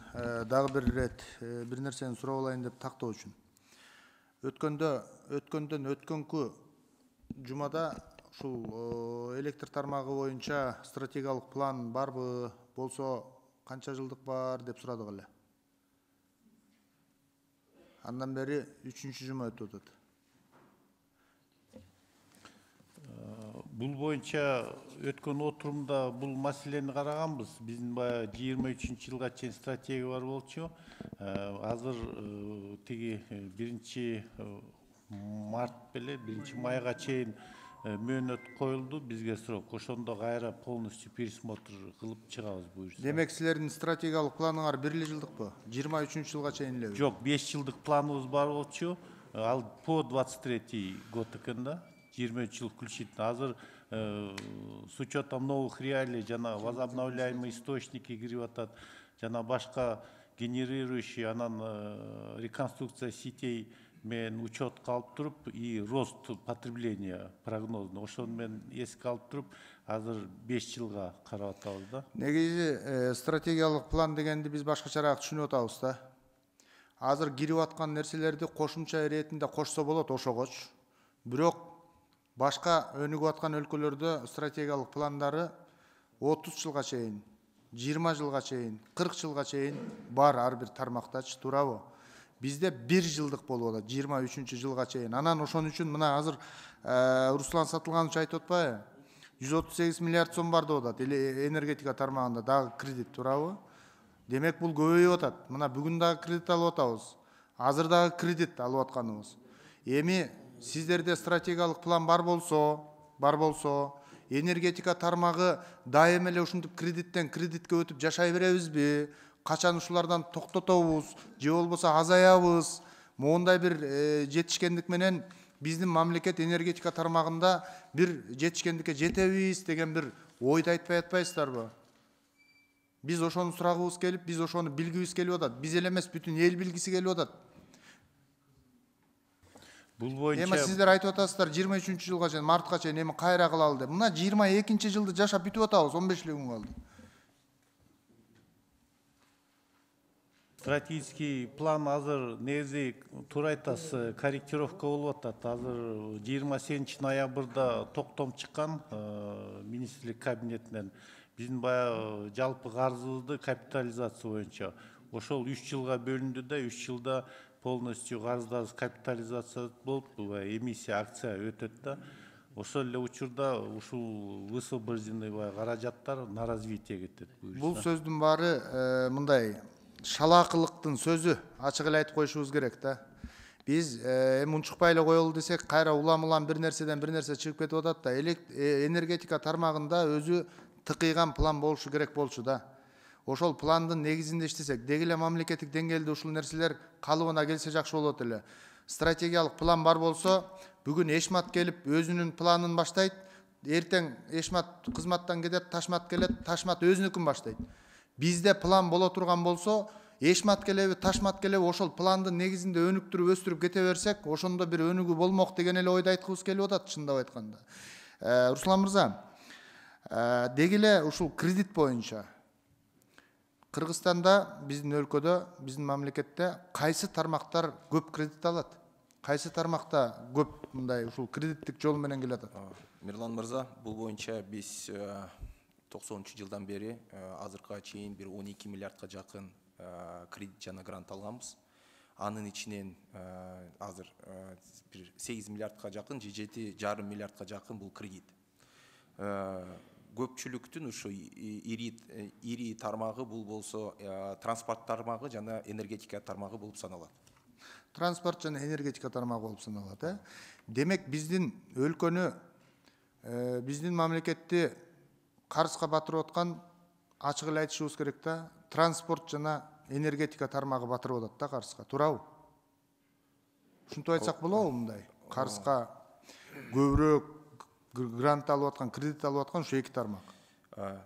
дагы бир ирет бир нерсени сурап алайын деп тактоо үчүн. Өткөнкү жумада ушул электр тармагы боюнча стратегиялык план барбы, болсо канча жылдык бар деп сурадык эле. Андан бери 3-чү жума өтүп атат. Бул боюнча өткөн отурумда бул маселени караганбыз. Биздин баягы 23-жылга чейин стратегия бар болчу. Азыр тиги 1-март беле 1-майга чейин мөөнөт коюлду бизге срок. Ошондо кайра полностью пересмотр кылып чыгабыз буюрса. Демек силердин стратегиялык планыңар 1 жылдыкпы? 23-жылга чейин элеби? Жок, 5 жылдык планыбыз бар болчу. Ал по 23 год экен да. 20 жыл включительно. Азыр с учетом новых реалий, жана возобновляемые источники кирип атат, жана башка генерирующий, анан реконструкция сетей мен учетко алып туруп и рост потребления прогнозно. Ошону мен эске алып туруп, азыр 5 жылга карап атабыз да. Негизи стратегиялык план дегенди биз башкачараак түшүнүп атабыз да. Азыр кирип аткан нерселерди кошумча иретинде кошсо болот ошогоч. Бирок башка өнүгүп аткан өлкөлөрдө стратегиялык пландары 30 жылга чейин, 20 жылга чейин, 40 жылга чейин бар ар бир тармактачы, туурабы? Бизде 1 жылдык болуп атат, 23-жылга чейин. Анан ошон үчүн мына азыр Руслан Сатылганович айтып атпайбы? 138 миллиард сом бар деп атат, энергетика тармагында дагы кредит, туурабы? Демек бул көбөйүп атат. Мына бүгүн дагы кредит алып атабыз. Азыр дагы кредит алып атканыбыз. Эми сиздерде стратегиялык план бар болсо, энергетика тармагы дайым эле ушинтип кредиттен кредитке өтүп жашай беребизби? Качан ушулардан токтотобуз же болбосо азаябыз? Моундай бир жетишкендик менен биздин мамлекет энергетика тармагында бир жетишкендикке жетебиз деген бир ойду айтпай атпайсыздарбы? Биз ошону сурагыбыз келип, биз ошону билгибиз келип атат. Биз эле эмес, бүтүн эл билгиси келип атат. Бул боюнча Эми сиздер айтып атасыздар 23-жылга чейин, мартка чейин эми кайра кылалы деп. Мына 22-жылды жашап бүтүп атабыз, 15 күн калды. стратегический план азыр негизи туура айтасыз, корректировка болуп атат. Азыр 27 ноябрда токтом чыккан министрлик кабинетинен биздин баягы жалпы карзыбызды капитализация боюнча ошол 3 жылга бөлүндү да, 3 жылда полностью карыздарыбыз капитализация болуп, эмиссия акция өтөт да. Ошол эле учурда ушул высвобожденный каражаттар на развитие кетет. Бул сөздүн баары мындай шалаакылыктын сөзү, ачык эле айтып коюшубуз керек да. Биз эми унчукпай эле коелу десек, кайра улам бир нерседен бир нерсе чыгып кетип атат да. Энергетика тармагында өзү тыкыйган план болушу керек болчу да. Ошол пландын негизинде иштесек, деги эле мамлекеттик деңгээлде ушул нерселер калыбына келсе жакшы болот эле. Стратегиялык план бар болсо, бүгүн Эшмат келип өзүнүн планын баштайт, эртең Эшмат кызматтан кетет, Ташмат келет, Ташмат өзүнүкүн баштайт. Бизде план боло турган болсо, Эшмат келеби, Ташмат келеби, ошол пландын негизинде өнүктүрүп өстүрүп кете берсек, ошондо бир өнүгүү болмок деген эле ойду айткыбыз келип атат, чындап айтканда. Руслан мырза, деги эле ушул кредит боюнча Кыргызстанда, биздин өлкөдө, биздин мамлекетте кайсы тармактар көп кредит алат? Кайсы тармакта көп мындай ушул кредиттик жол менен келатат? Мирлан мырза, бул боюнча биз 90-жылдан бери азыркыга чейин бир 12 миллиардка жакын кредит жана грант алганбыз. Анын ичинен азыр бир 8 миллиардка жакын, 7,5 миллиардка жакын бул кредит. Көпчүлүктүн ушу ири тармагы бул болсо транспорт тармагы жана энергетика тармагы болуп саналат. Транспорт жана энергетика тармагы болуп саналат, Демек биздин өлкөнү, биздин мамлекетти карызга батырып аткан, ачык эле айтышыбыз керек да, транспорт жана энергетика тармагы батырып атат да карызга, туурабы? Ушинтип айтсак болобу мындай? Карызга көбүрөөк грант алып аткан, кредит алып аткан ушу эки тармак.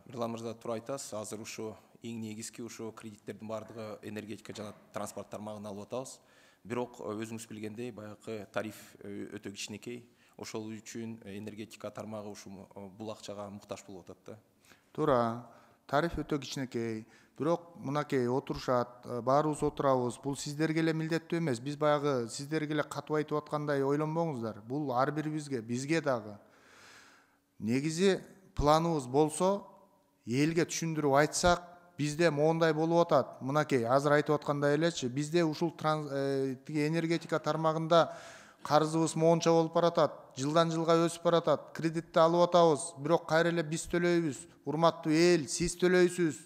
Мирлан мырза, туура айтасыз. Азыр ушу эң негизги ушу кредиттердин баардыгы энергетика жана транспорт тармагына алып атабыз. Бирок өзүңүз билгендей, баягы тариф өтө кичинекей. Ошол үчүн энергетика тармагы ушу бул акчага муктаж болуп атат да. Туура, тариф өтө кичинекей. Бирок мынакей отурушат, баарыбыз отурабыз. Бул сиздерге эле милдеттүү эмес. Биз баягы сиздерге эле катып айтып аткандай ойлонбоңуздар. Бул ар бирибизге, бизге дагы. Негизи планыбыз болсо, элге түшүндүрүп айтсак, бизде моундай болуп атат. Мынакей, азыр айтып аткандай элечи, бизде ушул энергетика тармагында карызыбыз моунча болуп баратат, жылдан жылга өсүп баратат, кредитти алып атабыз, бирок кайра эле биз төлөйбүз, урматтуу эл, сиз төлөйсүз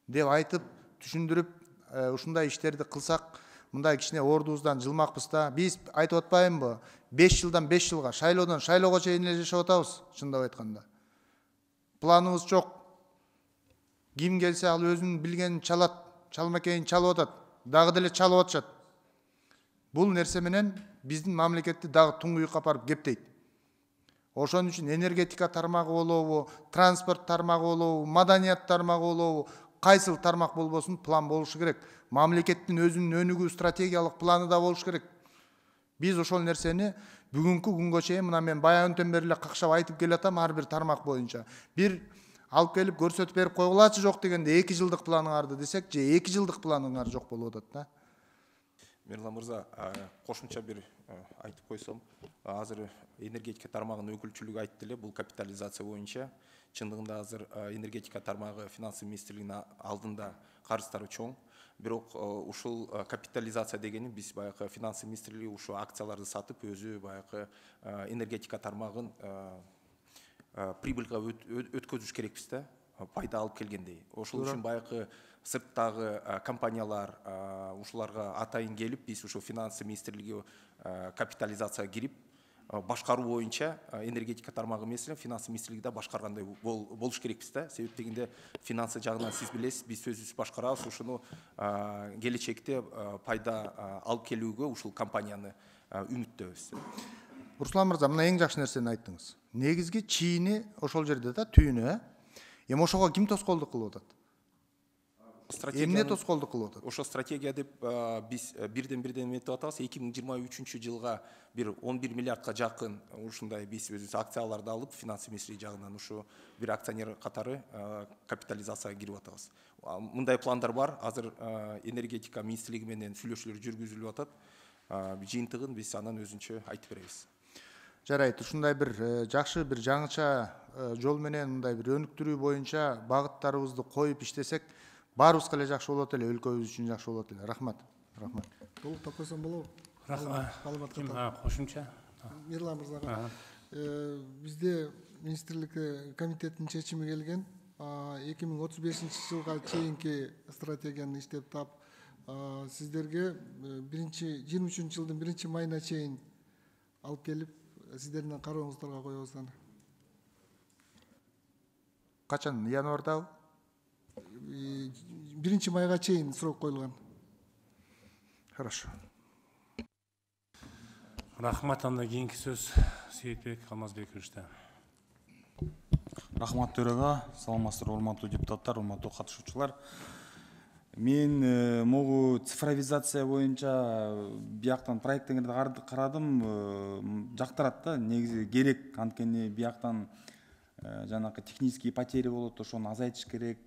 деп айтып, түшүндүрүп, ушундай иштерди кылсак, мындай кичине ордубуздан жылмакпыз да. Биз айтып атпаймынбы? 5 жылдан 5 жылга, шайлоодон шайлоого чейин эле жашап атабыз, чындап айтканда. Планыбыз жок. Ким келсе ал өзүнүн билгенин чалат, чалмакейин чалып атат, дагы деле чалып атышат. Бул нерсе менен биздин мамлекетти дагы туңгуюкка апарып кептейт. Ошон үчүн энергетика тармагы болобу, транспорт тармагы болобу, маданият тармагы болобу, кайсыл тармак болбосун план болушу керек. Мамлекеттин өзүнүн өнүгүү стратегиялык планы да болуш керек. Биз ошол нерсени бүгүнкү күнгө чейин мына мен баягынтен бери эле какшап айтып келатам ар бир тармак боюнча. Бир алып келип көрсөтүп берип койгулачы жок дегенде 2 жылдык планыңарды десек, же 2 жылдык планыңар жок болуп атат да. Мирлан мырза, кошумча бир айтып койсом, азыр энергетика тармагынын өкүлчүлүгү айтты эле, бул капитализация боюнча. Чындыгында азыр энергетика тармагы финансы министрлигинин алдында карыздары чоң. Бирок ушул капитализация дегени биз баягы финансы министрлиги ушу акцияларды сатып, өзү баягы энергетика тармагын прибыльга өткөзүш керекпиз да. пайда алып келгендей. Ошол үчүн баягы сырттагы компаниялар ушуларга атайын келип, биз ушул финансы министрлиги капитализацияга кирип, башкаруу боюнча энергетика тармагы эмес эле финансы министрлиги да башкаргандай болуш керекпиз да. Себеп дегенде финансы жагынан сиз билесиз, биз өзүбүз башкарабыз, ушуну келечекте пайда алып келүүгө ушул компанияны үмүттөбүз. Руслан мырза, мына эң жакшы нерсени айттыңыз. Негизги чийини ошол жерде да, түйүнү. Эми ошого ким тоскоолдук кылып атат? Эмне тоскоолдук кылып атат? Ошо стратегия деп биз бирден эметип атабыз. 2023 жылга бир 11 миллиардка жакын ушундай биз өзүбүз акцияларды алып, финансы министрлиги жагынан ушу бир акционер катары капитализацияга кирип атабыз. Мындай пландар бар. Азыр энергетика министрлиги менен сүйлөшүүлөр жүргүзүлүп атат. Жыйынтыгын биз анан өзүнчө айтып беребиз. Жарайт, ушундай бир жакшы бир жаңыча жол менен мындай бир өнүктүрүү боюнча багыттарыбызды коюп иштесек, баарыбызга эле жакшы болот эле, өлкөбүз үчүн жакшы болот эле. Рахмат. Рахмат. Толуктап койсом болобу? Кошумча. Мирлан мырзага. Бизде министрлик комитеттин чечими келген. 2035-жылга чейинки стратегияны иштеп тап сиздерге 23 жылдын 1-майына чейин алып келип, сиздердин карооңуздарга коебуз аны. Качан? Январдабы? 1-майга чейин срок коюлган. Хорошо. Рахмат, анда кийинки сөз Сейитбек Алмазбековичте. Рахмат төрага, саламатсыздар урматтуу депутаттар, урматтуу катышуучулар. Мен могу цифровизация боюнча бияктан проекттеңерди карадым, жактырат да, негизи керек, анткени бияктан жанакы технический потери болот, ошону азайтыш керек.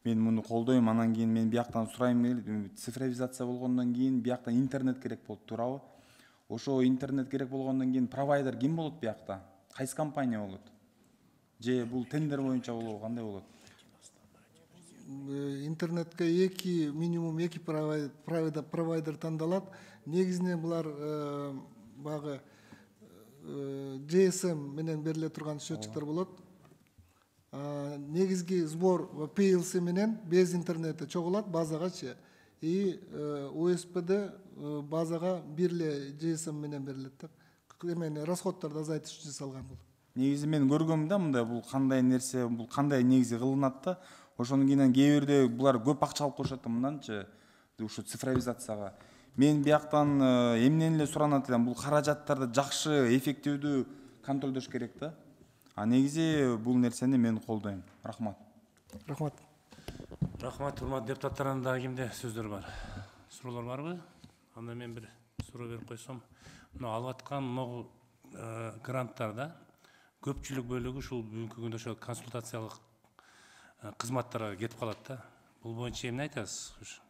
Мен муну колдойм, анан кийин мен бияктан сурайм, цифровизация болгондон кийин бияктан интернет керек болот, туурабы? Ошо интернет керек болгондон кийин провайдер ким болот биякта? Кайсы компания болот? Же бул тендер боюнча болобу, кандай болот? Интернетке минимум 2 провайдер тандалат. Негизинен булар багы GSM менен бериле турган счетчиктер болот. Негизги сбор PLC менен без интернета чогулат базагачы. И USB'де базага бир эле GSM менен берилет да. Эмени расходдорду азайтыш үчүн жасалган бул. Негизи мен көргөм да, мындай бул кандай нерсе, бул кандай негизи кылынат да. Ошондон кийин кээ бирде булар көп акча алып коюшат да, мынданчы ушу цифровизацияга. Мен бияктан эмнени эле суранат элем, бул каражаттарды жакшы, эффективдүү контролдош керек да. Негизи бул нерсени мен колдойм. Рахмат. Рахмат. Рахмат, урматтуу депутаттар, анда кимде сөздөр бар? Суроолор барбы? Анда мен бир суроо берип койсом, мына алып аткан могу гранттарда көпчүлүк бөлүгү ушул бүгүнкү күндө ошо консультациялык кызматтарга кетип калат да. Бул боюнча эмне айтасыз?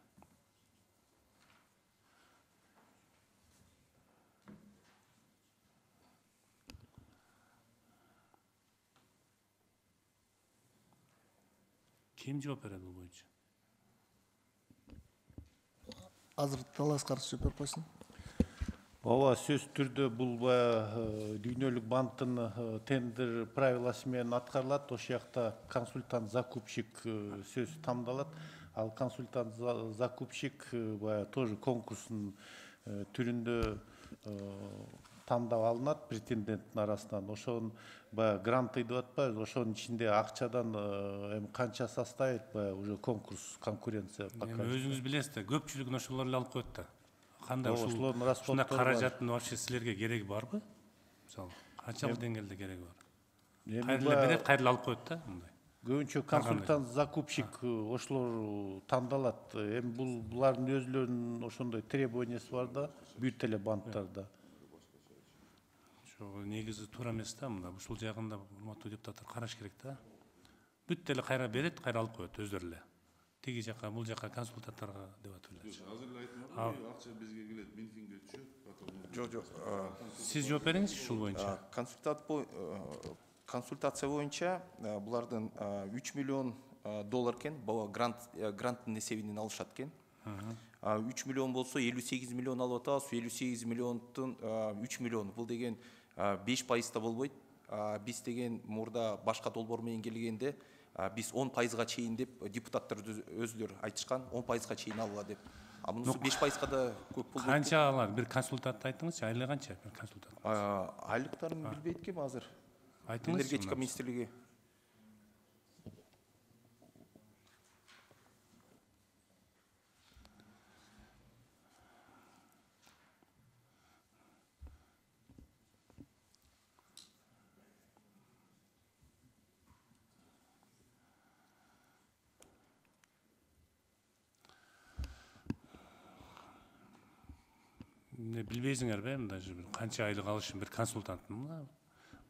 Ким жооп берет бул боюнча? Азыр Талас каршы жооп берип койсун. Ооба, сөзсүз түрдө бул дүйнөлүк банктын тендер правиласы менен аткарылат. Ошол жакта консультант закупщик сөз тамдалат. Ал консультант закупщик тоже конкурстун түрүндө тандап алынат претенденттин арасынан. Ошонун гранты деп атпайбыз, ошонун ичинде акчадан эми канча составит уже конкурс, конкуренция. Өзүңүз билесиз да, көпчүлүгүн ошолор эле алып коет да. Кандай ушундай каражаттын вообще силерге кереги барбы? Мисалы, канчалык деңгээлде кереги бар? Кайра эле берет, кайра эле алып коет да, мындай. Көбүнчө консультант закупщик ошолор тандалат. Эми булардын өзүлөрүнүн ошондой требованиясы бар да, бүт эле банктарда. Ошо негизи туура эмес да, мында ушул жагында урматтуу депутаттар караш керек да. Бүт эле кайра берет, кайра алып коет өздөрү эле. Тиги жака, бул жака консультанттарга деп атып эле. Азыр эле айтмадым, акча бизге келет, Минфинге түшөт. Жок. Сиз жооп бериңиз ушул боюнча. Консультация боюнча булардын 3 миллион доллар экен, гранттын эсебинен алышат экен. 3 миллион болсо 58 миллион алып атабыз, 58 миллиондун 3 миллион. Бул деген 5% болбойт. Биз деген мурда башка долбоор менен келгенде биз 10%-га чейин деп депутаттар өзүлөр айтышкан, 10%-га чейин алыла деп. А мунусу 5%-га да көп болду. Канча алат? Бир консультант айтыңызчы, айлыгы канча бир консультант? Айлыктарын билбейт экенмин азыр. Айтыңызчы. Энергетика министрлиги. Билбейсиңерби, мындайча бир канча айлык алышын бир консультанттын?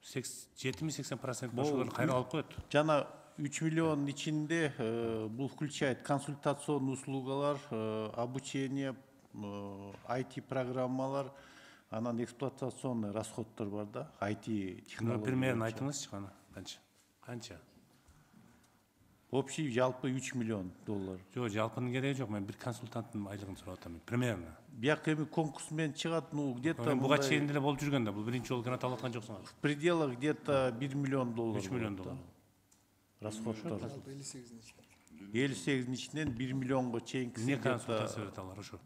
70-80% ошолор кайра алып коет. Жана 3 миллион ичинде бул включает консультационный услугалар, обучение, IT программалар, анан эксплуатационный расходдор бар да, IT технология. Примерно айтыңызчы кана, канча? Общий жалпы 3 миллион доллар. Жок, жалпынын кереги жок, мен бир консультанттын айлыгын сурап атам, примерно. Бияк эми конкурс менен чыгат, ну где-то буга чейин деле болуп жүргөн да, бул биринчи жолу грант алып аткан жоксуңар. В пределах где-то 1 миллион доллар. 3 миллион доллар. Расходдор. 58-ин ичинен 1 миллионго чейинки. Не консультация берет алар ошо.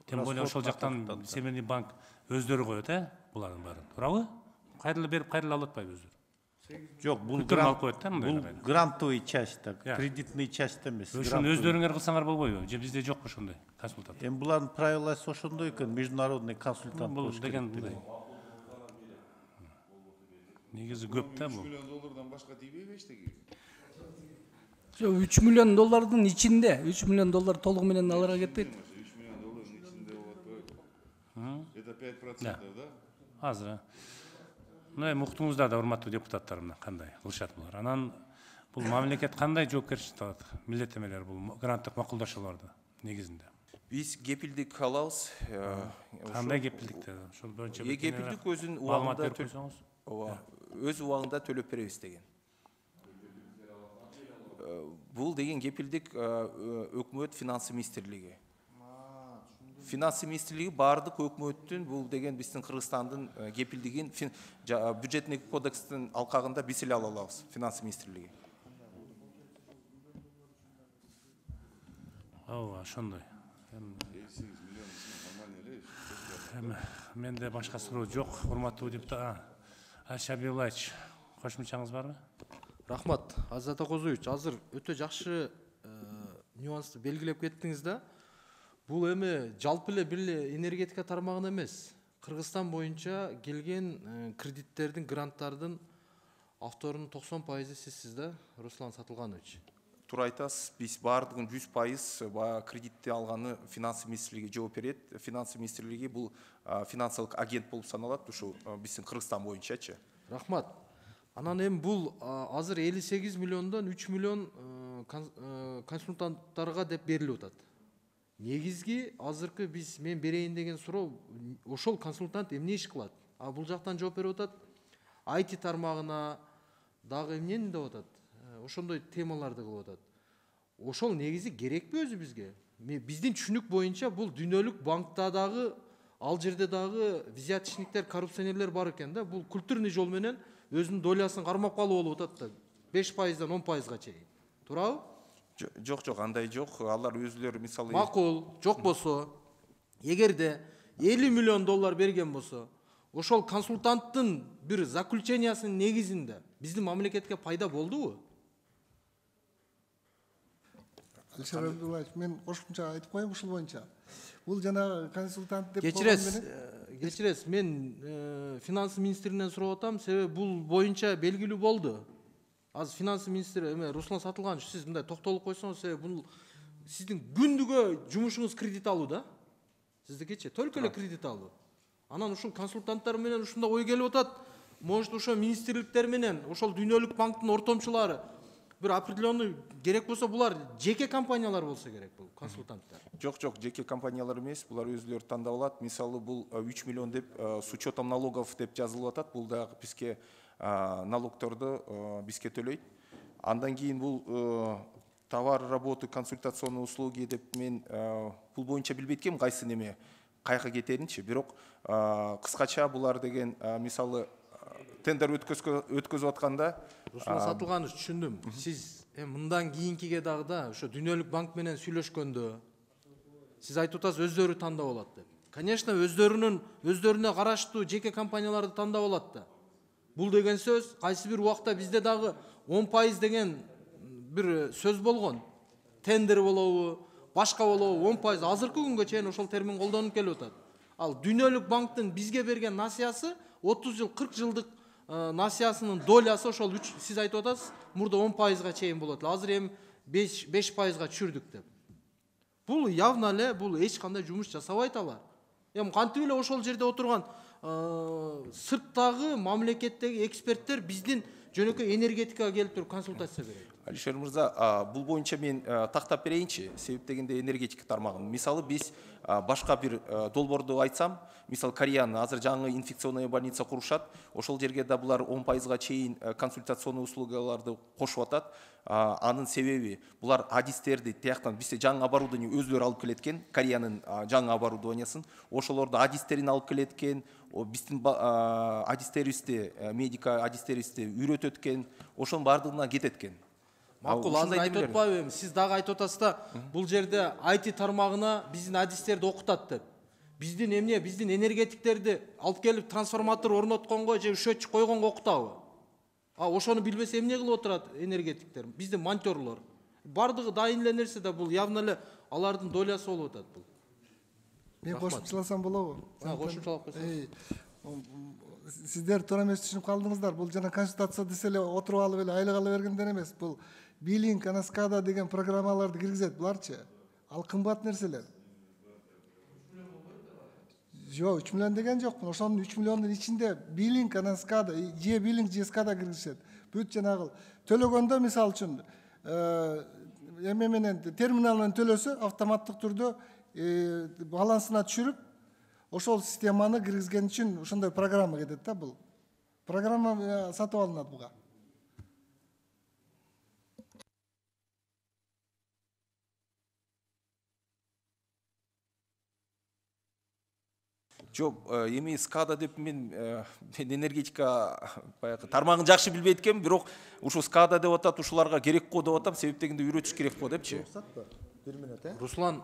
Тем более ошол жактан Семейный банк өздөрү коет, булардын баарын. Туурабы? Кайрылы берип, кайрылы алып атпайбы өздөрү? Жоқ, бұл грантовый часть, кредитный часть эмес. Ошону өздөрүңөр кылсаңар болбойбу? Же бизде жокпу ошондой консультант? Эми булардын правиласы ошондой экен, международный консультант бул болуш керек. Негизи көп да бул. 3 миллион доллардан башка тийбейби эчтеги? Жок, 3 миллион доллардын ичинде, 3 миллион доллар толугу менен аларга кетпейт. 3 миллион доллардын ичинде болуп атпайбы? Это 5%, да? Азыр. Эми уктуңуздар да, урматтуу депутаттар, мына кандай кылышат булар. Анан бул мамлекет кандай жоопкерчилик алат? Милдеттемелер бул гранттык макулдашууларда негизинде. Биз кепилдик алабыз. Кандай кепилдиктер? Ошол боюнча кепилдик өзүнүн убагында өз убагында төлөп беребиз деген. Бул деген кепилдик өкмөт финансы министрлиги. Финансы министрлиги бардык өкмөттүн бул деген биздин Кыргызстандын кепилдигин бюджетный кодекстин алкагында биз эле ала алабыз, финансы министрлиги. Ооба, ошондой. Менде башка суроо жок, урматтуу депутат. Алишер Абилович, кошумчаңыз барбы? Рахмат, Азат Акозович, азыр өтө жакшы нюансты белгилеп кеттиңиз да. Бул эми жалпы эле бир эле энергетика тармагын эмес, Кыргызстан боюнча келген кредиттердин, гранттардын авторунун 90% сизсиз да, Руслан Сатылганович. Туура айтасыз, биз баардыгын 100% кредитти алганы финансы министрлиги жооп берет. Финансы министрлиги бул финансылык агент болуп саналат, ушул биздин Кыргызстан боюнчачы. Рахмат. Анан эми бул азыр 58 миллиондон 3 миллион консультанттарга деп берилип атат. Негизги азыркы мен берейин деген суроо, ошол консультант эмне иш кылат? А бул жактан жооп берип атат. IT тармагына дагы эмнени деп атат? Ошондой темаларды кылып атат. Ошол негизи керекпи өзү бизге? Биздин түшүнүк боюнча бул дүйнөлүк банкта дагы, ал жерде дагы взяточниктер, коррупционерлер бар экен да. Бул культурный жол менен өзүнүн долясын кармап калуу болуп атат да. 5%-дан 10%-га чейин. Туурабы? Жок, андай жок. Алар өзүлөрү мисалы макул, жок болсо, эгерде 50 миллион доллар берген болсо, ошол консультанттын бир заключениясынын негизинде биздин мамлекетке пайда болдубу? Алишер Абдуллаевич, мен кошумча айтып коеюн ушул боюнча. Бул жана консультант деп кечиресиз, мен финансы министринен сурап атам, себеби бул боюнча белгилүү болду. Азыр финансы министри Руслан Сатылганович, сиз мындай токтолуп койсоңуз, себеби бул сиздин күндүгө жумушуңуз кредит алуу да. Сиздикичи только эле кредит алуу. Анан ушул консультанттар менен ушундай ой келип атат. Может, ошо министрликтер менен, ошол дүйнөлүк банктын ортомчулары бир определенный керек болсо, булар жеке компаниялар болсо керек бул консультанттар. Жок, жеке компаниялар эмес, булар өзүлөрү тандап алат. Мисалы бул 3 миллион деп с учетом налогов деп жазылып атат. Бул дагы бизге налогторду бизге төлөйт. Андан кийин бул товар, работы, консультационные услуги деп мен бул боюнча билбейт экенмин кайсы неме кайка кетеринчи. Бирок кыскача булар деген мисалы тендер өткөзүп атканда Руслан Сатылганович, түшүндүм. Сиз Мындан кийинкиге дагы да ошо Дүйнөлүк банк менен сүйлөшкөндө сиз айтып атасыз өздөрү тандап алат деп. Конечно, өздөрүнө караштуу жеке компанияларды тандап алат да. Бул деген сөз кайсы бир убакта бизде дагы 10% деген бир сөз болгон. Тендер болобу, башка болобу 10%. Азыркы күнгө чейин ошол термин колдонуп келип атат. Ал Дүйнөлүк банктын бизге берген насыясы 30 жыл, 40 жылдык насыясынын долясы ошол сиз айтып атасыз, мурда 10%га чейин болот. Азыр эми 5%га түшүрдүк деп. Бул явно эле бул эч кандай жумуш жасабайт алар. Эми кантип эле ошол жерде отурган сырттагы мамлекеттеги эксперттер биздин жөнөкөй энергетикага келип туруп консультация берет. Алишер мырза, бул боюнча мен тактап берейинчи, себеп дегенде энергетика тармагын. Мисалы биз башка бир долбоорду айтсам, мисалы Кореянын азыр жаңы инфекционный больница курушат, ошол жерге да булар 10%га чейин консультационный услугаларды кошуп атат. Анын себеби булар адистерди тияктан бизде жаңы оборудование өзлөрү алып келеткен, Кореянын жаңы оборудованиясын, ошолорду адистерин алып келеткен, биздин адистерибизди, медика адистерибизди үйрөтөт экен, ошонун баардыгына кетет экен. Макул, азыр айтып атпайбы, сиз дагы айтып атасыз да, бул жерде IT тармагына биздин адистерди окутат деп. Биздин биздин энергетиктерди алып келип трансформатор орнотконго же счетчик койгонго окутабы? Ошону билбесе эмне кылып отурат энергетиктер? Биздин монтёрлор. Бардыгы дайын эле нерсе да, бул явно эле алардын долясы болуп атат бул. Мен кошумчаласам болобу? Кошумчалап койсоңуз. Сиздер туура эмес түшүнүп калдыңыздар. Бул жана консультация десе эле отуруп алып эле айлык ала бергендер эмес. Бул Билинг, Анаскада деген программаларды киргизет буларчы. Ал кымбат нерселер. Жок, 3 миллион деген жокмун. Ошонун 3 миллиондун ичинде Билинг, Анаскада, же Билинг, же Скада киргизет. Бүт жанагы төлөгөндө мисалы үчүн эме менен терминал менен төлөсө автоматтык түрдө балансына түшүрүп, ошол системаны киргизген үчүн ошондой программа кетет да бул. Программа сатып алынат буга. Жок, эми Скада деп мен энергетика баягы тармагын жакшы билбейт экенмин, бирок ушу Скада деп атат, ушуларга керек го деп атам, себеп дегенде үйрөтүш керек го депчи. Руслан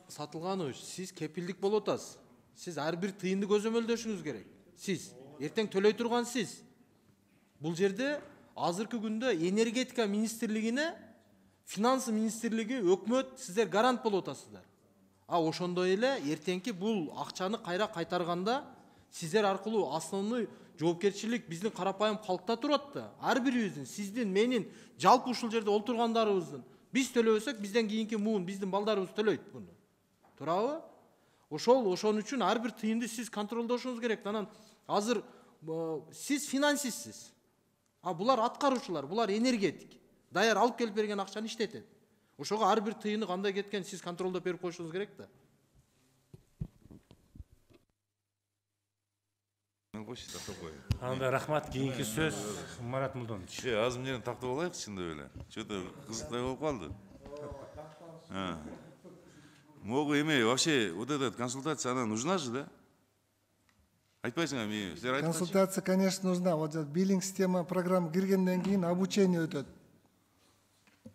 Сатылганович, сиз кепилдик болуп атасыз. Сиз ар бир тыйынды көзөмөлдөшүңүз керек. Сиз эртең төлөй турган сиз. Бул жерде азыркы күндө энергетика министрлигине, финансы министрлиги, өкмөт сиздер гарант болуп атасыздар. Ошондой эле эртеңки бул акчаны кайра кайтарганда сиздер аркылуу основной жоопкерчилик биздин карапайым калкта турат да. Ар бирибиздин, сиздин, менин, жалпы ушул жерде отургандарыбыздын. Биз төлөбөсөк, бизден кийинки муун, биздин балдарыбыз төлөйт буну. Туурабы? Ошон үчүн ар бир тыйынды сиз контролдошуңуз керек. Анан азыр сиз финансистсиз. Булар аткаруучулар, булар энергетик. Даяр алып келип берген акчаны иштетет. Ошого ар бир тыйыны кандай кеткен сиз контролдоп берип коюшуңуз керек да. Анда рахмат, кийинки сөз Марат Мулдонович. Азыр менен тактап алайык чындап эле. Что-то кызыктай болуп калды. Могу эме вообще вот эта консультация она нужна же, да? Айтпайсыңар, мен силер айтпайсыңар. Консультация, конечно, нужна. Вот биллинг система программа киргенден кийин обучение өтөт.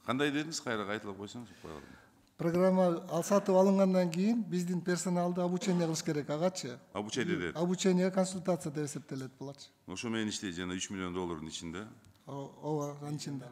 Кандай дедиңиз, кайра кайталап койсоңуз. Программа сатып алынгандан кийин биздин персоналды обучение кылыш керек, агачы. Обучение дедит. Обучение консультация деп эсептелет буларчы. Ошо менен иштейт жана 3 миллион доллардын ичинде. Ооба, анын ичинде.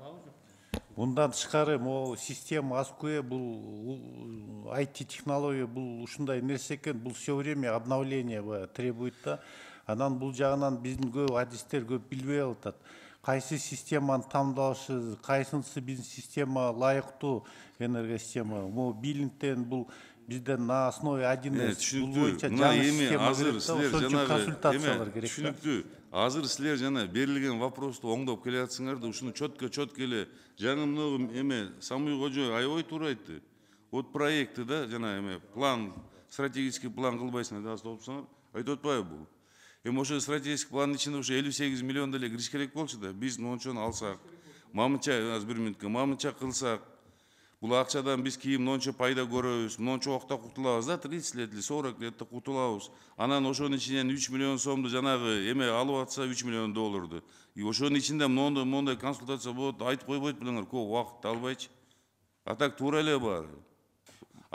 Мындан тышкары могу система АСКУЭ бул IT технология бул ушундай нерсе экен, бул все время обновление требует да. Анан бул жагынан биздин көп адистер көп билбей атат. Кайсы системаны тандалышы, кайсынысы биздин система лайыктуу энергосистема. Могу биллингтен бул бизден на основе 1С бул боюнча жаңы система керек, консультациялар керек. Түшүнүктүү. Азыр силер жана берилген вопросту оңдоп келе жатсыңар да, ушуну чөткө эле жаңы много эме Самый Кожо аябай туура айтты. Вот проекты да, жана эме план, стратегический план кылбайсыңар да, топсоңор. Айтып атпайбы бул? Эми ошо стратегический пландын ичинде ушу 58 миллион деле кириш керек болчу да. Биз мончону алсак, мамынча азыр 1 мүнөткө мамынча кылсак, Бул акчадан биз кийин мончо пайда көрөбүз, мончо убакта кутулабыз да, 30 лет или 40 летте кутулабыз. Анан ошонун ичинен 3 миллион сомду жанагы эме алып атса 3 миллион долларду. И ошонун ичинде мондай консультация болот, айтып койбойт белеңер, көп убакытты албайчы. А так туура эле бар.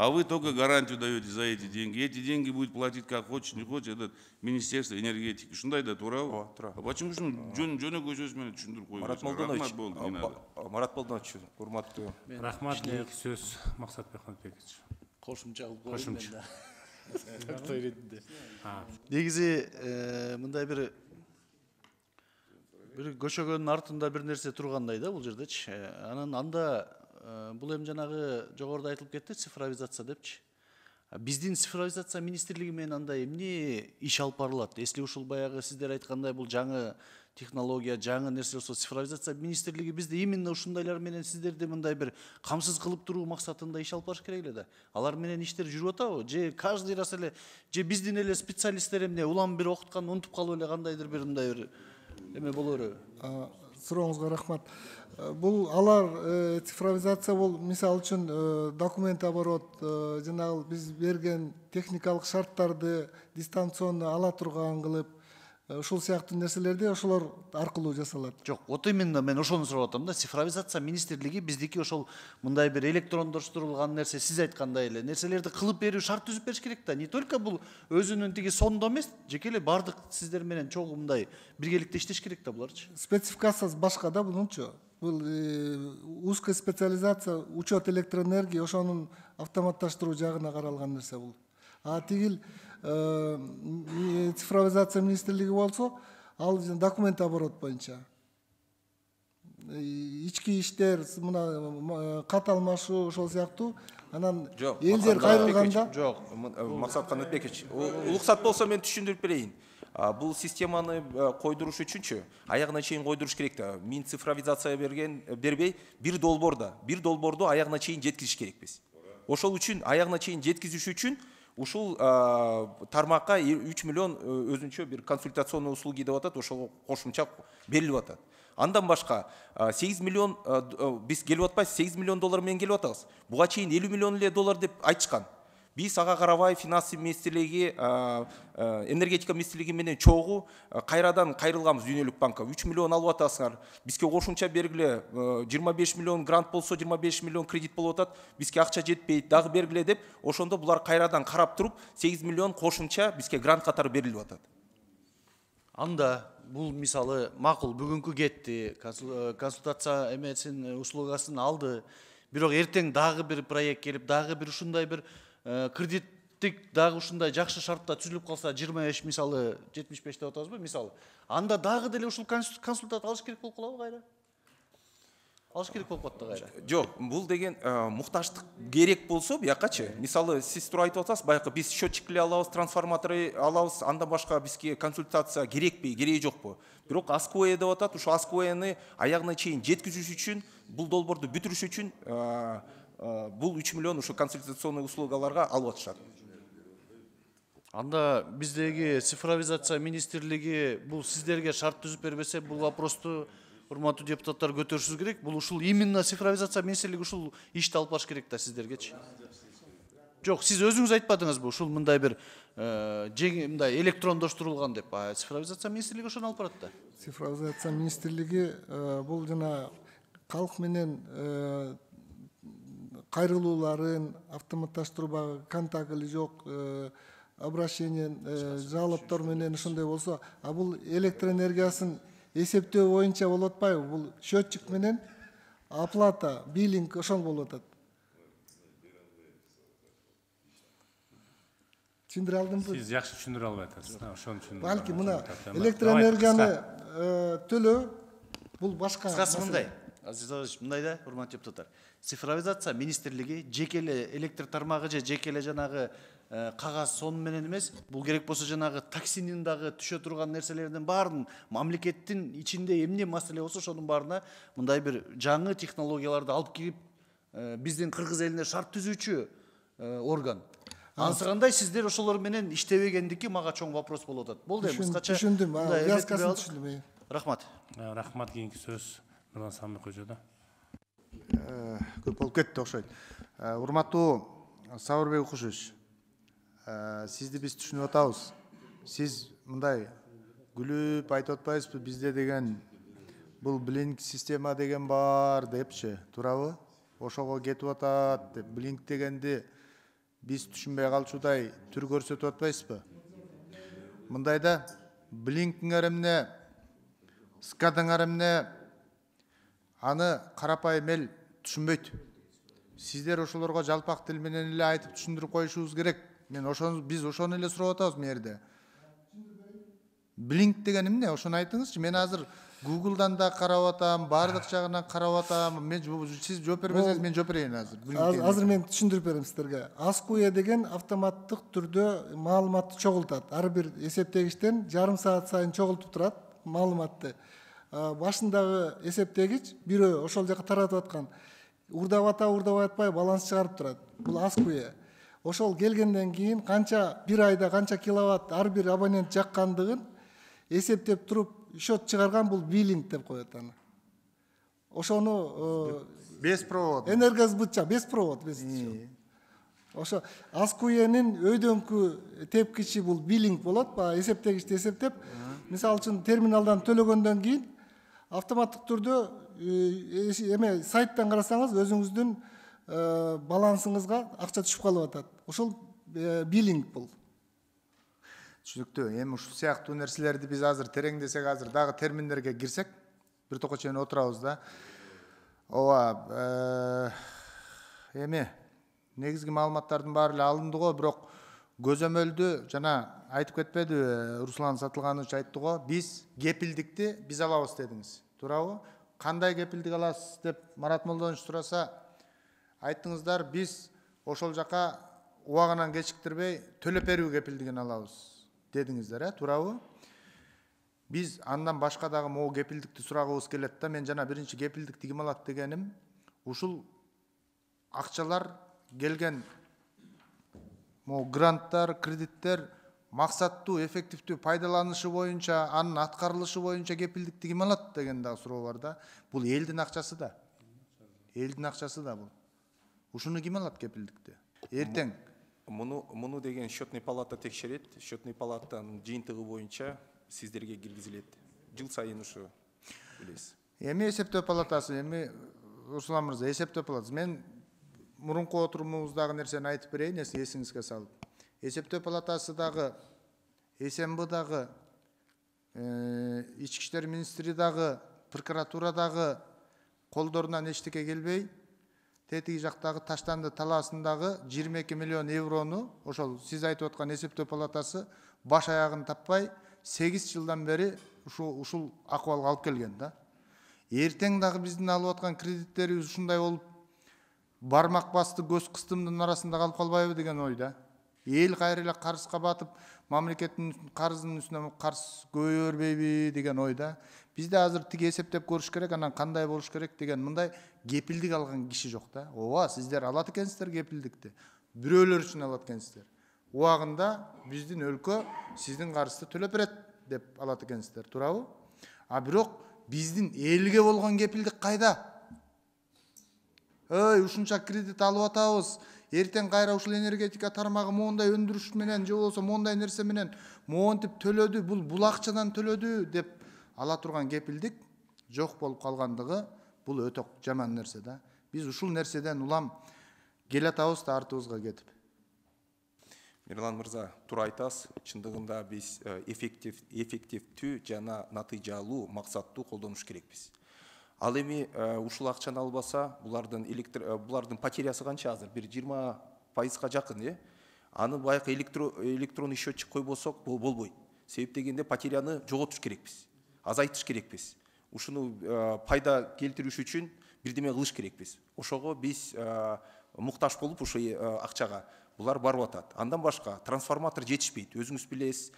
А вы только гарантию даете за эти деньги. Эти деньги будет платить как хочет, не хочет этот Министерство энергетики. Ушундай да туурабы? Туура. А почему жөнөкөй сөз менен түшүндүрүп койбойсуң? Молдонович, болду, не надо. Марат Молдонович, урматтуу. Рахмат, кийинки сөз Максатбек Мамытбекович. Кошумча кылып коеюн Кошумча. мен да. Той иретинде. Негизи мындай бир көчөгөнүн артында бир нерсе тургандай да бул жердечи. Анан анда бул эми жанагы жогоруда айтылып кетти, цифровизация депчи. Биздин цифровизация министрлиги менен анда эмне иш алып барылат? Если ушул баягы сиздер айткандай бул жаңы технология, жаңы нерсе болсо, цифровизация министрлиги бизде именно ушундайлар менен сиздерди мындай бир камсыз кылып туруу максатында иш алып барыш керек эле да. Алар менен иштер жүрүп атабы? Же каждый раз эле же биздин эле специалисттер эмне улам бир окутканды унутуп калып эле кандайдыр бир мындай бир эме боло береби? Сурооңузга рахмат. Бул алар цифровизация бул мисалы үчүн документ оборот, жанагы биз берген техникалык шарттарды дистанционно ала турган кылып, ушул сыяктуу нерселерди ошолор аркылуу жасалат. Жок, вот именно мен ошону сурап атам да. Цифровизация министрлиги биздики ошол мындай бир электрондоштурулган нерсе, сиз айткандай эле нерселерди кылып берүү, шарт түзүп бериш керек да. Не только бул өзүнүн тиги сондо эмес, жеке эле бардык сиздер менен чогуу мындай биргеликте иштеш керек да буларчы. Спецификациясы башка да бунунчу. Бул узкая специализация, учет электроэнергии, ошонун автоматташтыруу жагына каралган нерсе бул. А тигил цифровизация министрлиги болсо, ал документ оборот боюнча. Ички иштер, мына кат алмашуу ошол сыяктуу. Анан элдер кайрылганда. Жок, Максат Канатбекович, уруксат болсо мен түшүндүрүп берейин. Бул системаны койдуруш үчүнчү аягына чейин койдуруш керек да. Мен цифровизация бербей, бир долборду аягына чейин жеткизиш керекпиз. Ошол үчүн аягына чейин жеткизиш үчүн ушул тармакка 3 миллион өзүнчө бир консультационный услуги деп атат, ошол кошумча берилип атат. Андан башка 8 миллион биз келип атпайбыз, 8 миллион доллар менен келип атабыз. Буга чейин 50 миллион эле доллар деп айтышкан. Биз ага карабай финансы министрлиги, энергетика министрлиги менен чогуу кайрадан кайрылганбыз Дүйнөлүк банкка. 3 миллион алып атасыңар. Бизге кошумча бергиле, 25 миллион грант болсо 25 миллион кредит болуп атат. Бизге акча жетпейт, дагы бергиле деп, ошондо булар кайрадан карап туруп 8 миллион кошумча бизге грант катары берилип атат. Анда бул мисалы макул бүгүнкү кетти, консультация эмесин услугасын алды. Бирок эртең дагы бир проект келип, дагы бир ушундай бир кредиттик дагы ушундай жакшы шартта түзүлүп калса, 25 мисалы 75 деп атабызбы мисалы. Анда дагы деле ушул консультат алыш керек болуп калабы кайра? Алыш керек болуп калат да кайра. Жок, бул деген муктаждык керек болсо буякачы. Мисалы сиз туура айтып атасыз, баягы биз счетчиклер алабыз, трансформаторы алабыз, андан башка бизге консультация керекпи, кереги жокпу? Бирок АСКОЭ деп атат, ушул АСКОЭны аягына чейин жеткизиш үчүн, бул долбоорду бүтүрүш үчүн бул 3 миллион ушу консультационный услугаларга алып атышат. Анда биздеги цифровизация министрлиги бул сиздерге шарт түзүп бербесе, бул вопросту урматтуу депутаттар көтөрүшүңүз керек. Бул ушул именно цифровизация министрлиги ушул ишти алып барыш керек да сиздергечи. Жок, сиз өзүңүз айтпадыңызбы, ушул мындай бир мындай электрондоштурулган деп. Цифровизация министрлиги ошону алып барат да. Цифровизация министрлиги бул жана калк менен кайрылууларын автоматташтырууга контакт или жок, обращение жалоптор менен ошондой болсо, а бул электроэнергиясын эсептөө боюнча болуп атпайбы? Бул счетчик менен оплата, биллинг ошол болуп атат. Түшүндүрө алдымбы? Сиз жакшы түшүндүрө албай атасыз. Ошон үчүн. Балки мына электроэнергияны төлөө бул башка. Кыскасы мындай. Азиз Азизович, мындай да, урматтуу депутаттар. Цифровизация министрлиги жеке эле электр тармагы же жеке эле жанагы кагаз сон менен эмес, бул керек болсо жанагы таксинин дагы түшө турган нерселердин баарын мамлекеттин ичинде эмне маселе болсо ошонун баарына мындай бир жаңы технологияларды алып кирип биздин кыргыз элине шарт түзүүчү орган. Ансыгандай сиздер ошолор менен иштебегендики мага чоң вопрос болуп атат. Болду эми кыскача. Түшүндүм, вязкасын түшүндүм. Рахмат. Рахмат, кийинки сөз Нурлан Самбек көжөдө. көп болуп кетти окшойт. Урматтуу Сабырбек Укушевич, сизди биз түшүнүп атабыз. Сиз мындай күлүп айтып атпайсызбы, бизде деген бул блинк система деген бар депчи, туурабы? Ошого кетип атат деп, блинк дегенди биз түшүнбөй калчудай түр көрсөтүп атпайсызбы? Мындайда блинктиңер эмне, скадыңар эмне, аны карапайым эл түшүнбөйт. Сиздер ошолорго жалпак тил менен эле айтып түшүндүрүп коюшубуз керек. Биз ошону эле сурап атабыз бұл жерде. Blink деген эмне? Ошону айтыңызчы. Мен азыр Google'дан да карап атам, бардык жагынан карап атам. Сиз жооп бербесеңиз мен жооп берейин азыр. Азыр мен түшүндүрүп берем сиздерге. ASCII деген автоматтык түрдө маалыматты чогултат. Ар бир эсептегичтен жарым саат сайын чогултуп турат маалыматты. Башындагы эсептегич бирөө ошол жака таратып аткан урдап атпай баланс чыгарып турат. Бул ASCII. Ошол келгенден кийин канча бир айда канча киловатт ар бир абонент жаккандыгын эсептеп туруп счет чыгарган бул биллинг деп коет аны. Ошону без провод. Энергосбытча без провод. Ошо ASCII'нин өйдөңкү тепкичи бул биллинг болот. Баягы эсептегичти эсептеп, мисалы үчүн терминалдан төлөгөндөн кийин автоматтык түрдө эме сайттан карасаңыз өзүңүздүн балансыңызга акча түшүп калып атат. Ошол биллинг бул. Түшүнүктүү. Эми ушул сыяктуу нерселерди биз азыр тереңдесек, азыр дагы терминдерге кирсек, бир токко чейин отурабыз да. Ооба, эми негизги маалыматтардын баары эле алынды го, бирок көзөмөлдү жана айтып кетпеди Руслан Сатылганович айтты го, биз кепилдикти биз алабыз дедиңиз. Туурабы? Кандай кепилдик аласыз деп Марат Молдонович сураса, айттыңыздар, биз ошол жака убагынан кечиктирбей төлөп берүү кепилдигин алабыз дедиңиздер, туурабы? Биз андан башка дагы могу кепилдикти сурагыбыз келет да. Мен жана биринчи кепилдикти ким алат дегеним, ушул акчалар келген могу гранттар, кредиттер максаттуу, эффективдүү пайдаланышы боюнча, анын аткарылышы боюнча кепилдикти ким алат деген дагы суроо бар да. Бул элдин акчасы да. Элдин акчасы да бул. Ушуну ким алат кепилдикти? Эртең. Муну деген счетный палата текшерет. Счетный палатанын жыйынтыгы боюнча сиздерге киргизилет. Жыл сайын ушу билесиз. Эми эсептөө палатасы, эми Руслан мырза, эсептөө палатасы. Мен мурунку отурумубуздагы нерсени айтып берейин, эсиңизге салып. Эсептөө палатасы дагы, СМБ дагы, Ички иштер министри дагы, прокуратура дагы колдорунан эчтеке келбей, тетиги жактагы Таштанды талаасындагы 22 миллион еврону, ошол сиз айтып аткан эсептөө палатасы баш аягын таппай 8 жылдан бери ушул акыбалга алып келген да. Эртең дагы биздин алып аткан кредиттерибиз ушундай болуп, бармак басты көз кыстымдын арасында калып калбайбы деген ойда. Эл кайра эле карызга батып, мамлекеттин карызынын үстүнө карыз көбөйө бербейби деген ойда. Бизде азыр тиги эсептеп көрүш керек, анан кандай болуш керек деген мындай кепилдик алган киши жок да. Ооба, сиздер алат экенсиздер кепилдикти. Бирөөлөр үчүн алат экенсиздер. Убагында биздин өлкө сиздин карызды төлөп берет деп алат экенсиздер, туурабы? А бирок биздин элге болгон кепилдик кайда? Ушунча кредит алып атабыз. Эртең кайра ушул энергетика тармагы моундай өндүрүш менен, же болбосо моундай нерсе менен моунтип төлөдү, бул акчадан төлөдү деп ала турган кепилдик жок болуп калгандыгы бул өтө жаман нерсе да. Биз ушул нерседен улам келе атабыз да артыбызга кетип. Мирлан мырза, туура айтасыз. Чындыгында биз эффективдүү жана натыйжалуу, максаттуу колдонуш керекпиз. Ал эми ушул акчаны албаса, булардын потерясы канча азыр? Бир 20% жакын, Аны баягы электронный счетчик койбосок болбойт. Себеп дегенде потеряны жоготуш керекпиз, азайтыш керекпиз. Ушуну пайда келтириш үчүн бирдеме кылыш керекпиз. Ошого биз муктаж болуп ошо акчага булар барып атат. Андан башка трансформатор жетишпейт. Өзүңүз билесиз,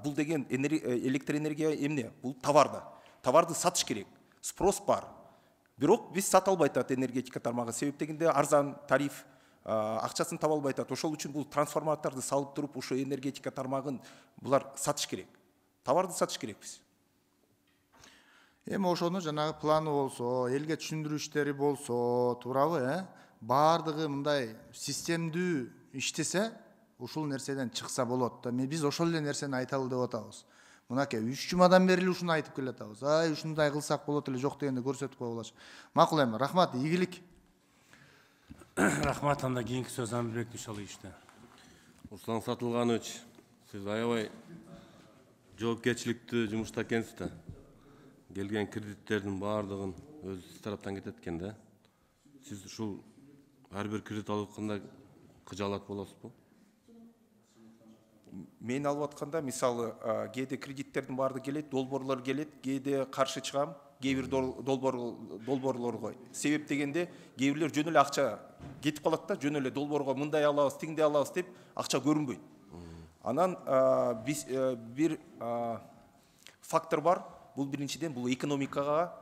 бул деген электроэнергия эмне? Бул товарда. Товарды сатыш керек. Спрос бар. Бирок биз сата албай атат энергетика тармагы. Себеп дегенде арзан тариф, акчасын таба албай атат. Ошол үчүн бул трансформаторду салып туруп, ошо энергетика тармагын булар сатыш керек. Товарды сатыш керекпиз. Эми ошону жанагы планы болсо, элге түшүндүрүү иштери болсо, туурабы, баардыгы мындай системдүү иштесе, ушул нерседен чыкса болот да. Биз ошол эле нерсени айталы деп атабыз. Мынакей 3 жумадан бери ушуну айтып келатабыз. Ушундай кылсак болот эле, жок дегенде көрсөтүп кое болчу. Макул эми, рахмат, ийгилик. Рахмат, анда кийинки сөз Амирбек Дүйшалиевичте. Руслан Сатылганович, сиз аябай жоопкерчиликтүү жумушта экенсиз да. Келген кредиттердин баардыгын өз тараптан кетет экен да. Сиз ушул ар бир кредит алып атканда кыжаалат болосузбу? Мен алып атканда мисалы кээде кредиттердин баардыгы келет, долбоорлор келет, кээде каршы чыгам, кээ бир долбоорлорго. Себеп дегенде кээ бирлер жөн эле акча кетип калат да, жөн эле долбоорго мындай алабыз, тигиндей алабыз деп акча көрүнбөйт. Анан биз бир фактор бар. Бул биринчиден бул экономикага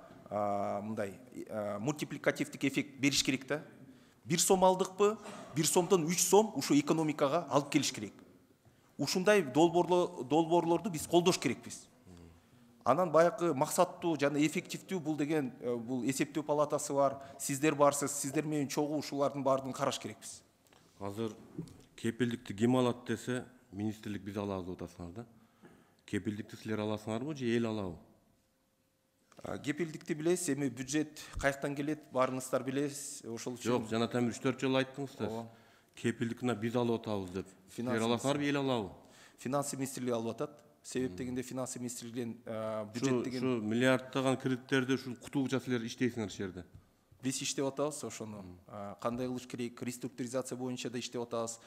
мындай мультипликативдик эффект бериш керек да. 1 сом алдыкпы, 1 сомдон 3 сом ушу экономикага алып келиш керек. Ушундай долбоорлорду биз колдош керекпиз. Анан баягы максаттуу жана эффективдүү бул деген бул эсептөө палатасы бар, сиздер барсыз, сиздер менен чогуу ушулардын баардыгын караш керекпиз. Азыр кепилдикти ким алат десе, министрлик биз алабыз деп атасыңар да. Кепилдикти силер аласыңарбы же эл алабы? Кепилдикти билесиз, эми бюджет каяктан келет, баарыңыздар билесиз, ошол үчүн. Жок, жанатан 3-4 жолу айттыңыз да. Кепилдикти биз алып атабыз деп. Силер аласыңарбы, эл алабы? Финансы министрлиги алып атат. Себеп дегенде финансы министрлигинин бюджет деген Ушу миллиардтаган кредиттерди ушул кутуугуча силер иштейсиңер ишул жерде. Биз иштеп атабыз ошону. Кандай кылыш керек, реструктуризация боюнча да иштеп атабыз.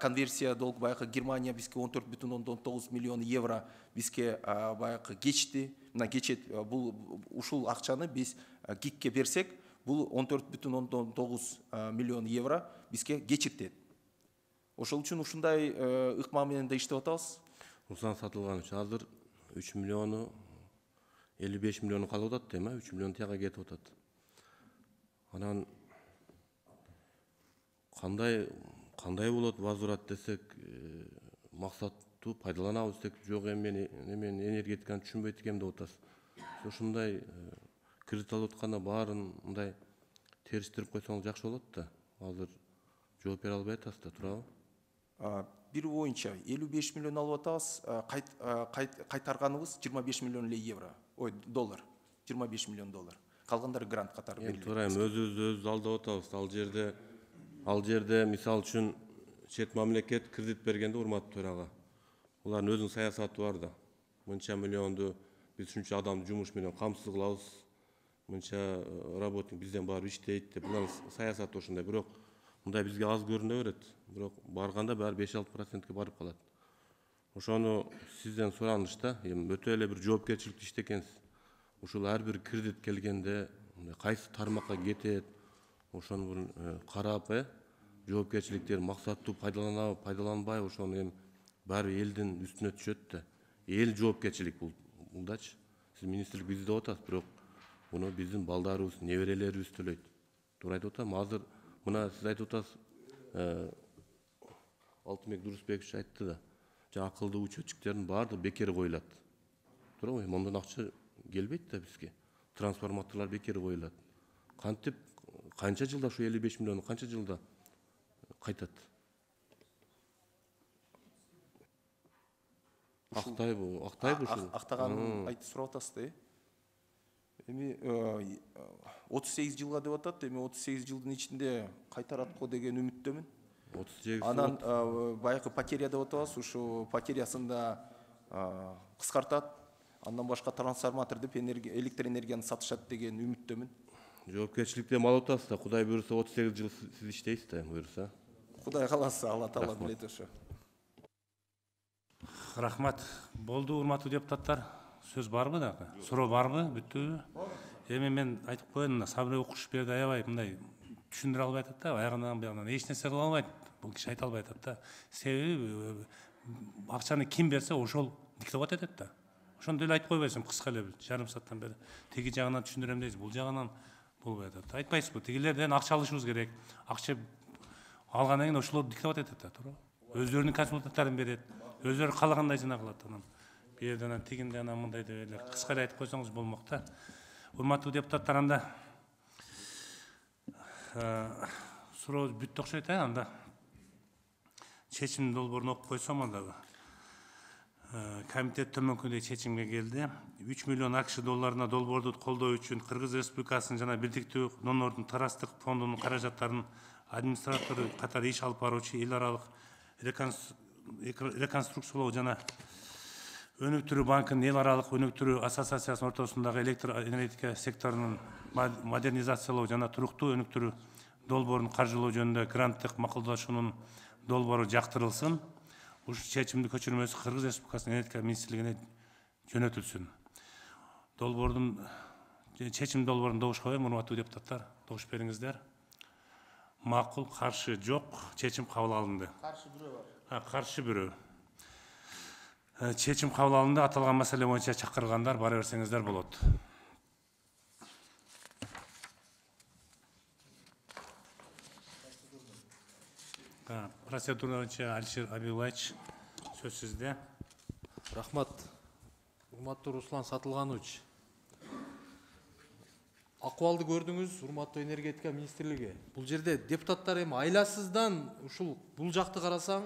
Конверсия долг баягы Германия бизге 14,9 миллион евро бизге баягы кечти. Мына кечет бул ушул акчаны биз ГИКке берсек, бул 14,9 миллион евро бизге кечиртет. Ошол үчүн ушундай ыкма менен да иштеп атабыз. Руслан Сатылганович, азыр 3 миллиону 55 миллиону калып атат эми, 3 миллион тияга кетип атат. Анан кандай болот возврат десек, максаттуу пайдаланабыз десек, жок эми мен энергетиканы түшүнбөйт экенм деп атасыз. Ошондой кредит алып атканда баарын мындай териштирип койсоңуз жакшы болот да. Азыр жооп бере албай атасыз да, туурабы? Бир боюнча 55 миллион алып атабыз, кайтарганыбыз 25 миллион евро, доллар, 25 миллион доллар. Калгандары грант катары берилет. Туура эми өзүбүздү алдап атабыз. Ал жерде мисал үчүн чет мамлекет кредит бергенде, урматтуу төрага, улардын өзүнүн саясаты бар да. Мынча миллионду биз ушунча адамды жумуш менен камсыз кылабыз, мынча работник бизден барып иштейт деп. Булардын саясаты ошондой, бирок мындай бизге аз көрүнө берет. Бирок барганда баары 5-6%ке барып калат. Ошону сизден сураныш да, эми өтө эле бир жоопкерчиликтүү иштекенсиз. Ушул ар бир кредит келгенде кайсы тармакка кетет, ошону бир карап, жоопкерчиликтерин максаттуу пайдаланабы, пайдаланбайбы, ошону эми баары элдин үстүнө түшөт да. Эл жоопкерчилик булдачы. Сиз министрлик биз деп атасыз, бирок муну биздин балдарыбыз, неберелерибиз төлөйт. Туура айтып атам. Азыр мына сиз айтып атасыз, Алтынбек Дурусбекович айтты да, акылдуу учетчиктердин баардыгы бекер коюлат. Туурабы? Мондан акча келбейт да бизге. Трансформаторлор бекер коюлат. Кантип канча жылда ушу 55 миллион канча жылда кайтат? Актайбы ушул? Актаганын айтып сурап атасыз да, эми 38 жылга деп атат, эми 38 жылдын ичинде кайтарат го деген үмүттөмүн. 38 Анан баягы потеря деп атабыз, ушу потерясын да кыскартат. Андан башка трансформатор деп электр энергияны сатышат деген үмүттөмүн. Жоопкерчиликти алып атасыз да, Кудай буйруса 38 жыл сиз иштейсиз да, буйруса. Кудай кааласа, Алла таала билет ошо. Рахмат. Болду, урматтуу депутаттар. Сөз барбы дагы? Суроо барбы? Бүттүбү? Эми мен айтып коеюн, Сабыр Окушберди аябай мындай түшүндүрө албай атат да, аягынан буягынан эч нерсе кыла албайт. Бул киши айта албай атат да. Себеби акчаны ким берсе ошол диктовать этет да. Ошондой эле айтып койбойсуң, кыска эле жарым сааттан бери. Теги жагынан түшүндүрөм дейсиз, бул жагынан болбой атат. Айтпайсызбы? Тигилерден акча алышыбыз керек. Акча алгандан кийин ошолор диктовать этет да, туура. Өздөрүнүн консультанттарын берет. Өздөрү каалагандай жана кылат анан. бул жерде анан тигинде анан мындай деп эле кыска эле айтып койсоңуз болмок да. Урматтуу депутаттар, анда суроо бүттү окшойт, анда чечим долбоорун окуп койсом, анда комитет төмөнкүдөй чечимге келди. 3 миллион АКШ долларына долбоорду колдоо үчүн Кыргыз Республикасынын жана Бирдиктүү Доноордун Тарастык фондунун каражаттарын администратору катары иш алып баруучу эл аралык реконструкциялоо жана өнүктүрүү банкынын эл аралык өнүктүрүү ассоциациясынын ортосундагы электр энергетика секторунун модернизациялоо жана туруктуу өнүктүрүү долбоорун каржылоо жөнүндө гранттык макулдашуунун долбоору жактырылсын. Ушул чечимдин көчүрмөсү Кыргыз Республикасынын энергетика министрлигине жөнөтүлсүн. Чечим долбоорун добуш коем, урматтуу депутаттар, добуш бериңиздер. Макул, каршы жок, чечим кабыл алынды. Каршы бирөө бар. Каршы бирөө. Чечим кабыл алынды. Аталган маселе боюнча чакыргандар бара берсеңиздер болот. Процедура боюнча Алишер Абилович, сөз сизде. Рахмат. Урматтуу Руслан Сатылганович. Акыбалды көрдүңүз, урматтуу энергетика министрлиги. Бул жерде депутаттар эми айласыздан ушул бул жакты карасаң,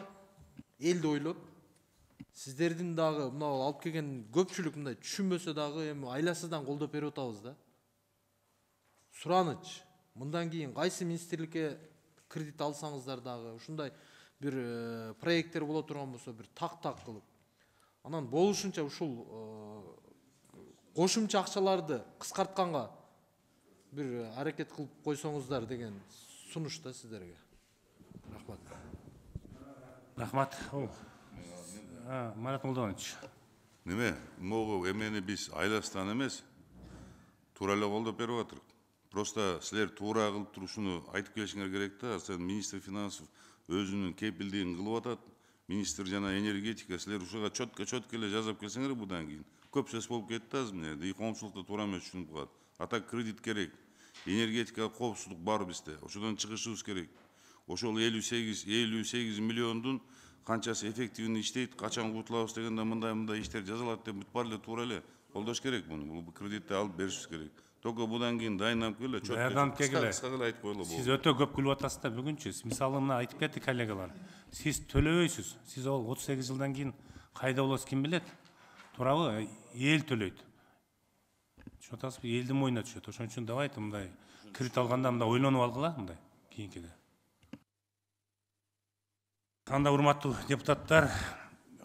элди ойлоп, сиздердин дагы мына алып келген көпчүлүк мындай түшүнбөсө дагы эми айласыздан колдоп берип атабыз да. Сураныч, мындан кийин кайсы министрликке кредит алсаңыздар дагы ушундай бир проекттер боло турган болсо, бир так кылып, анан болушунча ушул кошумча акчаларды кыскартканга бир аракет кылып койсоңуздар деген сунуш да сиздерге. Рахмат. Рахмат. Марат Молдонович. Неме, могу эмени биз айластан эмес, туура эле колдоп берип атырык. Просто силер туура кылып турушуну айтып келишиңер керек да. Сен министр финансов өзүнүн кепилдигин кылып атат. Министр жана энергетика силер ушуга чөткө эле жазып келсеңер будан кийин. Көп сөз болуп кетти азыр мына жерде. Коомчулукта туура эмес түшүнүп калат. Ата кредит керек. Энергетика коопсуздук бар бизде. Ошодон чыгышыбыз керек. Ошол 58 миллиондун канчасы эффективный иштейт, качан кутулабыз дегенде мындай иштер жазылат деп бүт бар эле туура эле колдош керек муну. Бул кредитти алып беришибиз керек. Только будан кийин дайындап келе, кыска эле айтып коелу. Сиз өтө көп күлүп атасыз да бүгүнчү. Мисалы мына айтып кетти коллегалар. Сиз төлөбөйсүз. Сиз ол 38 жылдан кийин кайда болосуз ким билет? Туурабы? Эл төлөйт. Түшүнүп атасызбы? Элдин мойнуна түшөт. Ошон үчүн давайте мындай кредит алганда мындай ойлонуп алгыла мындай кийинкиде. Анда урматтуу депутаттар,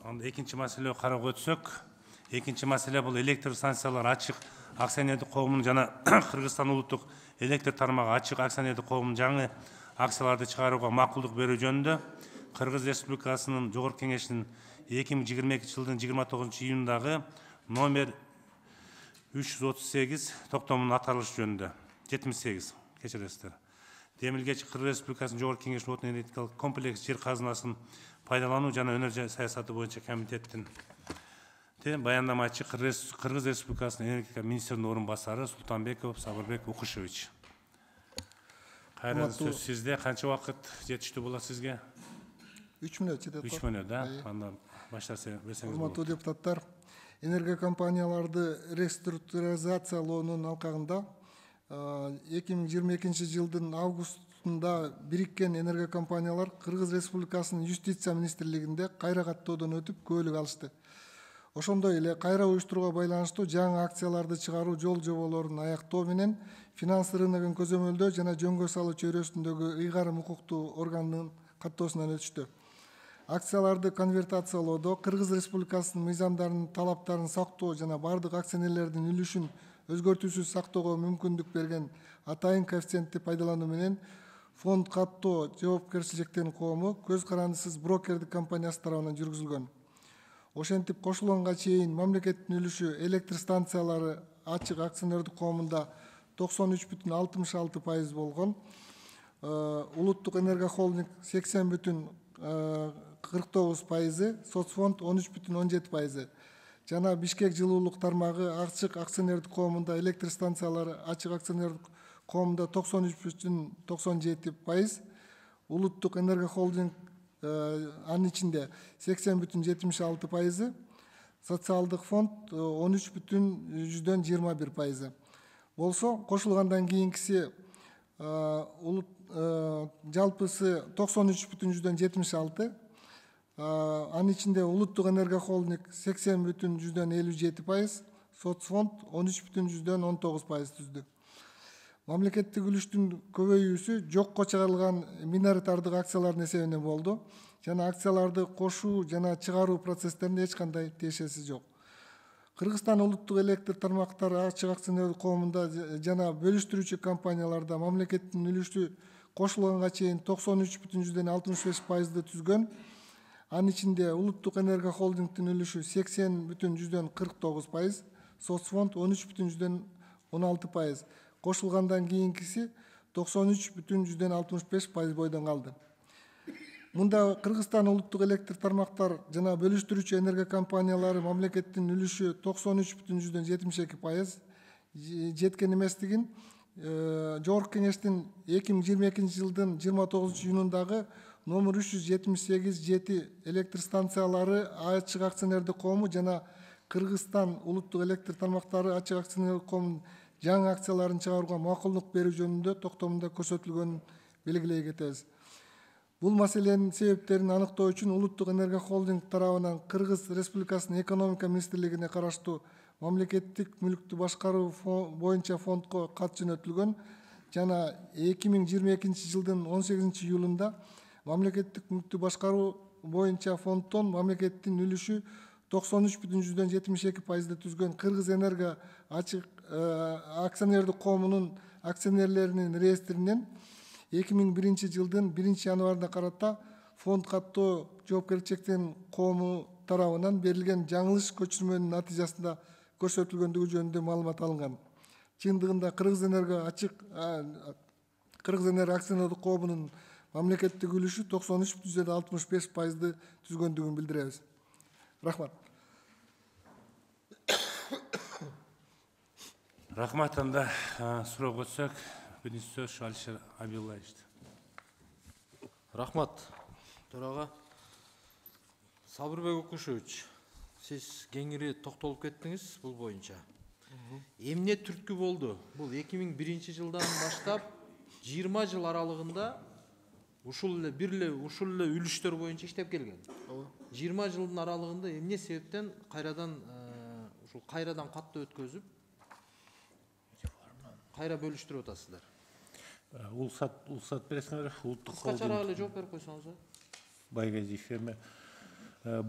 анда экинчи маселеге кароого өтсөк, экинчи маселе бул электр станциялар ачык акционердик коомунун жана Кыргызстан улуттук электр тармагы ачык акционердик коомунун жаңы акцияларды чыгарууга макулдук берүү жөнүндө Кыргыз Республикасынын Жогорку Кеңешинин 2022 жылдын 29-июндагы номер 338 токтомунун аталышы жөнүндө 78 кечиресиздер. Демилгечи Кыргыз Республикасынын Жогорку Кеңешинин отун энергетикалык комплекс жер казынасын пайдалануу жана өнөр саясаты боюнча комитеттин баяндамачы Кыргыз Республикасынын энергетика министринин орун басары Султанбеков Сабырбек Укушевич. Кайра сөз сизде. Канча убакыт жетиштүү болот сизге? 3 мүнөт жетет. 3 мүнөт, да? Анда баштаса берсеңиз болот. Урматтуу депутаттар, энергокомпанияларды реструктуризациялоонун алкагында 2022 жылдын августунда бириккен энергокомпаниялар Кыргыз Республикасынын Юстиция министрлигинде кайра каттоодон өтүп көөлүк алышты. Ошондой эле кайра уюштурууга байланыштуу жаңы акцияларды чыгаруу жол жоболорун аяктоо менен финанс рыногун көзөмөлдөө жана жөнгө салуу чөйрөсүндөгү ыйгарым укуктуу органдын каттоосунан өтүштү. Акцияларды конвертациялоодо Кыргыз Республикасынын мыйзамдарынын талаптарын сактоо жана бардык акционерлердин үлүшүн өзгөртүүсүз сактоого мүмкүндүк берген атайын коэффициентти пайдалануу менен фонд каттоо жоопкерчиликтин коому көз карандысыз брокердик компаниясы тарабынан жүргүзүлгөн. Ошентип кошулганга чейин мамлекеттин үлүшү электр станциялары ачык акционердик коомунда 93,66% болгон. Улуттук энерго холдинг 80,49%, соцфонд 13,17%. Жана Бишкек жылуулук тармагы ачык акционердик коомунда электр станциялары ачык акционердик коомунда 93,97%, улуттук энерго холдинг анын ичинде 80,76%, социалдык фонд 13,21%. Болсо кошулгандан кийинкиси жалпысы 93,76. Анын ичинде улуттук энерго холдинг 80,57%, соцфонд 13,19% түздү. Мамлекеттик үлүштүн көбөйүүсү жокко чыгарылган миноритардык акциялардын эсебинен болду жана акцияларды кошуу жана чыгаруу процесстеринде эч кандай тиешеси жок. Кыргызстан улуттук электр тармактары ачык акционерлик коомунда жана бөлүштүрүүчү компанияларда мамлекеттин үлүшү кошулганга чейин 93,65%ды түзгөн. Анын ичинде улуттук энерго холдингдин үлүшү 80,49%, соцфонд 13,16%. Кошулгандан кийинкиси 93,65% бойдон калды. Мында Кыргызстан улуттук электр тармактар жана бөлүштүрүүчү энерго компаниялары мамлекеттин үлүшү 93,72% жеткен эместигин Жогорку Кеңештин 2022 жылдын 29 июнундагы номер 378/7 электр станциялары ачык акционердик коому жана Кыргызстан улуттук электр тармактары ачык акционердик коомунун жаңы акцияларын чыгарууга макулдук берүү жөнүндө токтомунда көрсөтүлгөнүн белгилей кетебиз. Бул маселенин себептерин аныктоо үчүн улуттук энерго холдинг тарабынан Кыргыз Республикасынын экономика министрлигине караштуу мамлекеттик мүлктү башкаруу боюнча фондко кат жөнөтүлгөн жана 2022 жылдын 18 июлунда мамлекеттик мүлктү башкаруу боюнча фонддон мамлекеттин үлүшү 93,72%ды түзгөн Кыргыз Энерго ачык акционердик коомунун акционерлеринин реестринен 2001 жылдын 1 январына карата фонд каттоо жоопкерчиликтин коому тарабынан берилген жаңылыш көчүрмөнүн натыйжасында көрсөтүлгөндүгү жөнүндө маалымат алынган. Чындыгында Кыргыз Энерго акционердик коомунун мамлекеттик үлүшү 93,65%ды түзгөндүгүн билдиребиз. Рахмат. Рахмат. Анда суроо көтсөк, биринчи сөз Алишер Абилаевич. Рахмат, төрага. Сабырбек Укушевич, сиз кеңири токтолуп кеттиңиз бул боюнча. Эмне түрткү болду? Бул 2001 жылдан баштап 20 жыл аралыгында ушул эле үлүштөр боюнча иштеп келген. 20 жылдын аралыгында эмне себептен кайрадан каттоо өткөзүп кайра бөлүштүрүп атасыздар? Улсат бересиңер, улуттук холдинг. Кыскачараак эле жооп берип койсоңуз. Байгазиев эми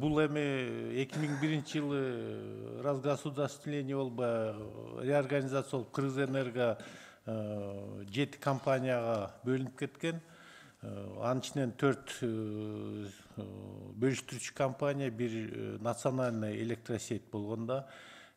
бул эми 2001 жылы разгосударствление болуп, реорганизация болуп, Кыргызэнерго 7 компанияга бөлүнүп кеткен. Анын ичинен 4 бөлүштүрүүчү компания, бир национальный электросеть болгондо,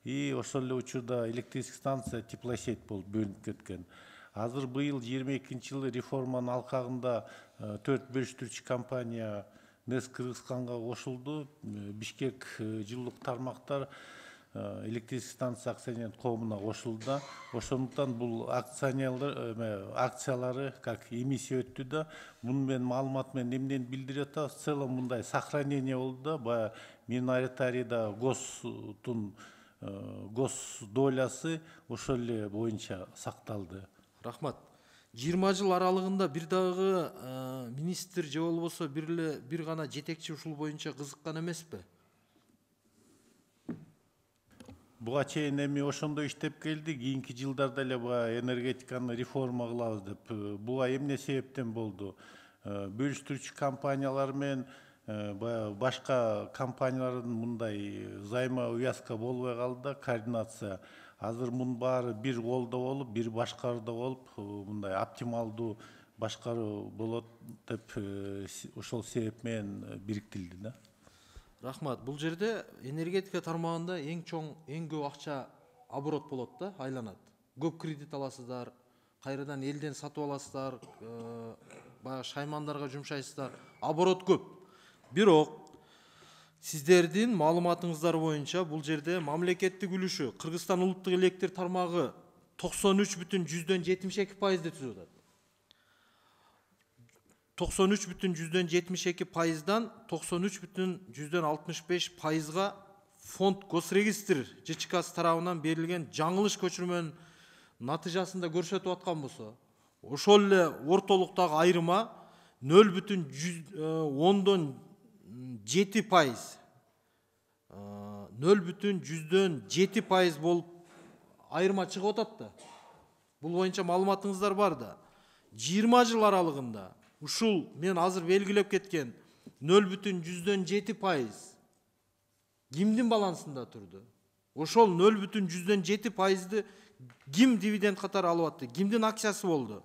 и ошол эле учурда электрическая станция теплосеть болуп бөлүнүп кеткен. Азыр быйыл 22 жылы реформанын алкагында 4 бөлүштүрүүчү компания НЭС Кыргызстанга кошулду. Бишкек жылуулук тармактар электрическая станция акционерлик коомуна кошулду. Ошондуктан бул акциялары как эмиссия өттү да. Муну мен маалымат менен эмнени билдирип атат? В целом мындай сохранение болду да, баягы миноритарийда гос долясы ошол эле боюнча сакталды. Рахмат. 20 жыл аралыгында бир дагы министр же болбосо бир гана жетекчи ушул боюнча кызыккан эмеспи? Буга чейин эми ошондой иштеп келди, кийинки жылдарда эле баягы энергетиканы реформа кылабыз деп. Буга эмне себептен болду? Бөлүштүрүүчү компаниялар менен баягы башка компаниялардын мындай взаимоувязка болбой калды да, координация. Азыр мунун баары бир колдо болуп, бир башкарууда болуп, мындай оптималдуу башкаруу болот деп ошол себеп менен бириктирилди да. Рахмат. Бул жерде энергетика тармагында эң көп акча оборот болот да, айланат. Көп кредит аласыздар, кайрадан элден сатып аласыздар, баягы шаймандарга жумшайсыздар. Оборот көп. Бирок сиздердин маалыматыңыздар боюнча бул жерде мамлекеттик үлүшү Кыргызстан улуттук электр тармагы 93,72%ды түзүп атат. 93,72%дан 93,65%га фонд госрегистр ЖЧКсы тарабынан берилген жаңылыш көчүрмөнүн натыйжасында көрсөтүп аткан болсо, ошол эле ортолуктагы айырма 0,7%, 0,7% болуп айырма чыгып атат да. Бул боюнча маалыматыңыздар бар да. 20 жыл аралыгында ушул мен азыр белгилеп кеткен 0,7% кимдин балансында турду? Ошол 0,7%ды ким дивиденд катары алып атты? Кимдин акциясы болду?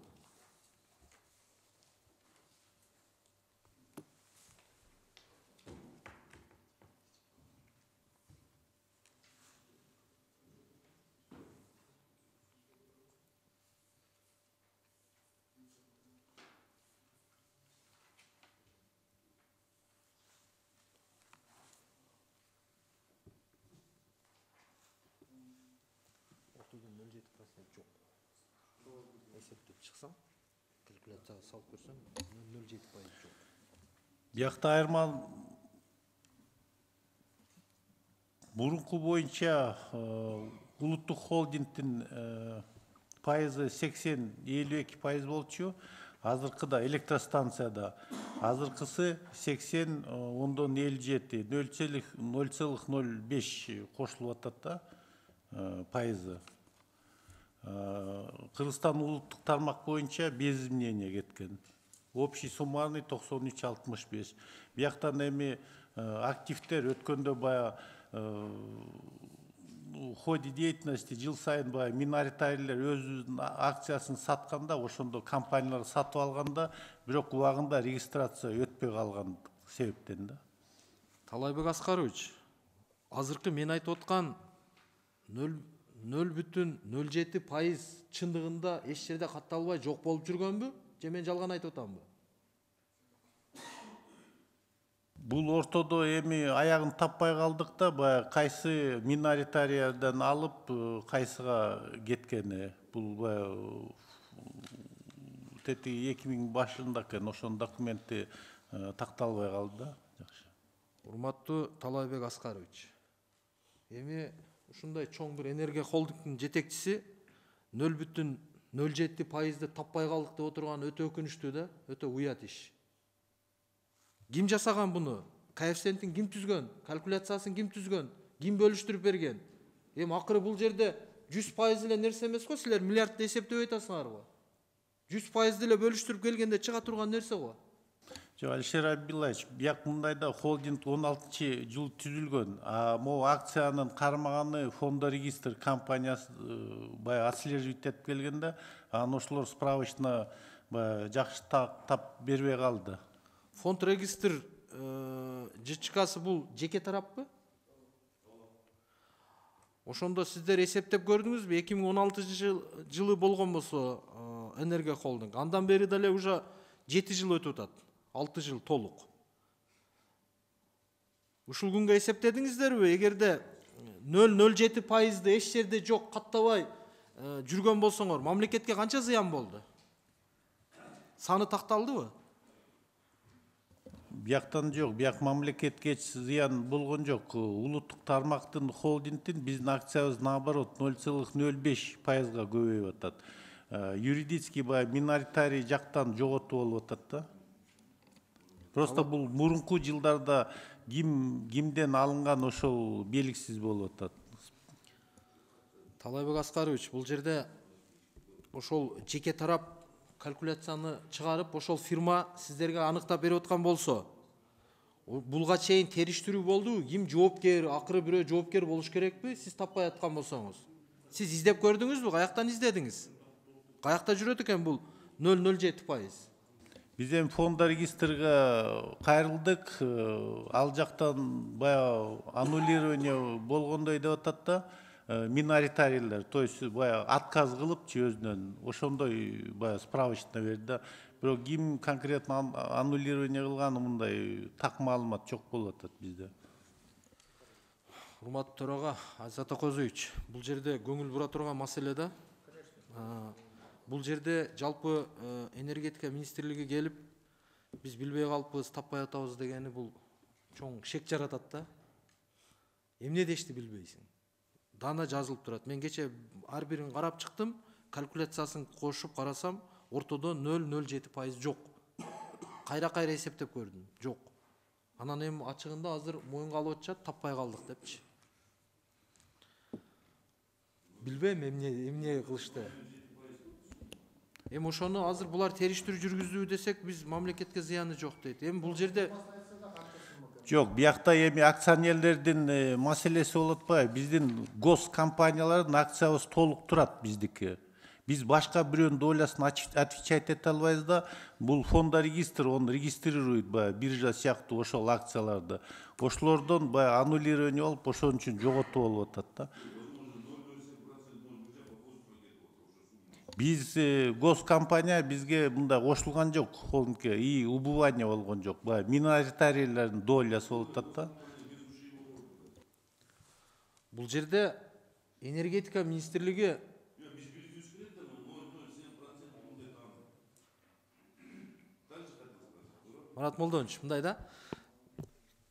Калькуляцияга салып көрсөм 0,7% жок. Биякта айырма мурунку боюнча улуттук холдингдин пайызы 80-52% болчу. Азыркыда электростанцияда азыркысы 80,57, 0,05 кошулуп атат да пайызы. Кыргызстан улуттук тармак боюнча без изменения кеткен. Общий суммарный 93,65. Бияктан эми активдер өткөндө бая в ходе деятельности жыл сайын бая миноритарийлер өзүнүн акциясын сатканда, ошондо компаниялар сатып алганда, бирок убагында регистрация өтпөй калган себептен да. Талайбек Аскарович, азыркы мен айтып аткан 0,07% чындыгында эч жерде катталбай жок болуп жүргөнбү? Же мен жалган айтып атамбы? Бул ортодо эми аягын таппай калдык да, бая кайсы миноритариядан алып, кайсыга кеткени. Бул бая тети 2000 башында экен, ошонун документи такталбай калды да. Жакшы. Урматтуу Талайбек Аскарович, эми ушундай чоң бир энергия холдингдин жетекчиси 0,07%ды таппай калдык деп отурган өтө өкүнүчтүү да, өтө уят иш. Ким жасаган буну? Коэффициентин ким түзгөн? Калькуляциясын ким түзгөн? Ким бөлүштүрүп берген? Эми акыры бул жерде 100% эле нерсе эмес го, силер миллиардды эсептеп айтасыңарбы? 100% эле бөлүштүрүп келгенде чыга турган нерсе го. Жок, Алишер Абдуллаевич, бияк мындайда холдинг 16-жыл түзүлгөн. Могу акциянын кармаганы фондорегистр компаниясы бая отслеживать этип келгенде, анан ошолор справочно жакшы тап бербей калды. Фонд регистр ЖЧКсы бул жеке тараппы? Ошондо сиздер эсептеп көрдүңүзбү? 2016 жылы болгон болсо энергия холдинг. Андан бери дале уже 7 жыл өтүп атат. 6 жыл толук. Ушул күнгө эсептедиңиздерби? Эгерде 0,07%ды эч жерде жок каттабай жүргөн болсоңор, мамлекетке канча зыян болду? Саны такталдыбы? Бияктан жок, бияк мамлекетке зыян болгон жок. Улуттук тармактын холдингдин биздин акциябыз наоборот 0,05%га көбөйүп атат. Юридический бая миноритарий жактан жоготуу болуп атат да. Просто бул мурунку жылдарда кимден алынган ошол белгисиз болуп атат. Талайбек Аскарович, бул жерде ошол жеке тарап калькуляцияны чыгарып, ошол фирма сиздерге аныктап берип аткан болсо, булга чейин териштирүү болдубу? Ким жоопкер, акыры бирөө жоопкер болуш керекпи? Сиз таппай аткан болсоңуз. Сиз издеп көрдүңүзбү? Каяктан издедиңиз? Каякта жүрөт экен бул 0,07%? Биз эми фондорегистрге кайрылдык, ал жактан бая аннулирование болгондой деп атат да, миноритарийлер, то есть бая отказ кылыпчы өзүнөн, ошондой бая справочно берди да. Бирок ким конкретно аннулирование кылганы мындай так маалымат жок болуп атат бизде. Урматтуу төрага Азат Акозович, бул жерде көңүл бура турган маселе да. Бул жерде жалпы энергетика министрлиги келип, биз билбей калыппыз, таппай атабыз дегени бул чоң шек жаратат да. эмне дешти билбейсиң. Дана жазылып турат. Мен кече ар бирин карап чыктым, калькуляциясын кошуп карасам, ортодо 0,07% жок. Кайра эсептеп көрдүм, жок. Анан эми ачыгында азыр моюнга алып атышат, таппай калдык депчи. Билбейм эмне кылышты. Эми ошону азыр булар териштирүү жүргүздү десек, биз мамлекетке зыяны жок дейт. Эми бул жерде жок, биякта эми акционерлердин маселеси болуп атпайбы? Биздин гос компаниялардын акциябыз толук турат биздики. Биз башка бирөөнүн долясын отвечать эте албайбыз да, бул фонда регистр, он регистрирует биржа сыяктуу ошол акцияларды. Ошолордон аннулирование болуп, ошон үчүн жоготуу болуп атат да. Биз госкомпания бизге мындай кошулган жок, и убывание болгон жок. Миноритарийлердин долясы болуп атат да. бул жерде энергетика министрлиги Марат Молдонович, мындай да.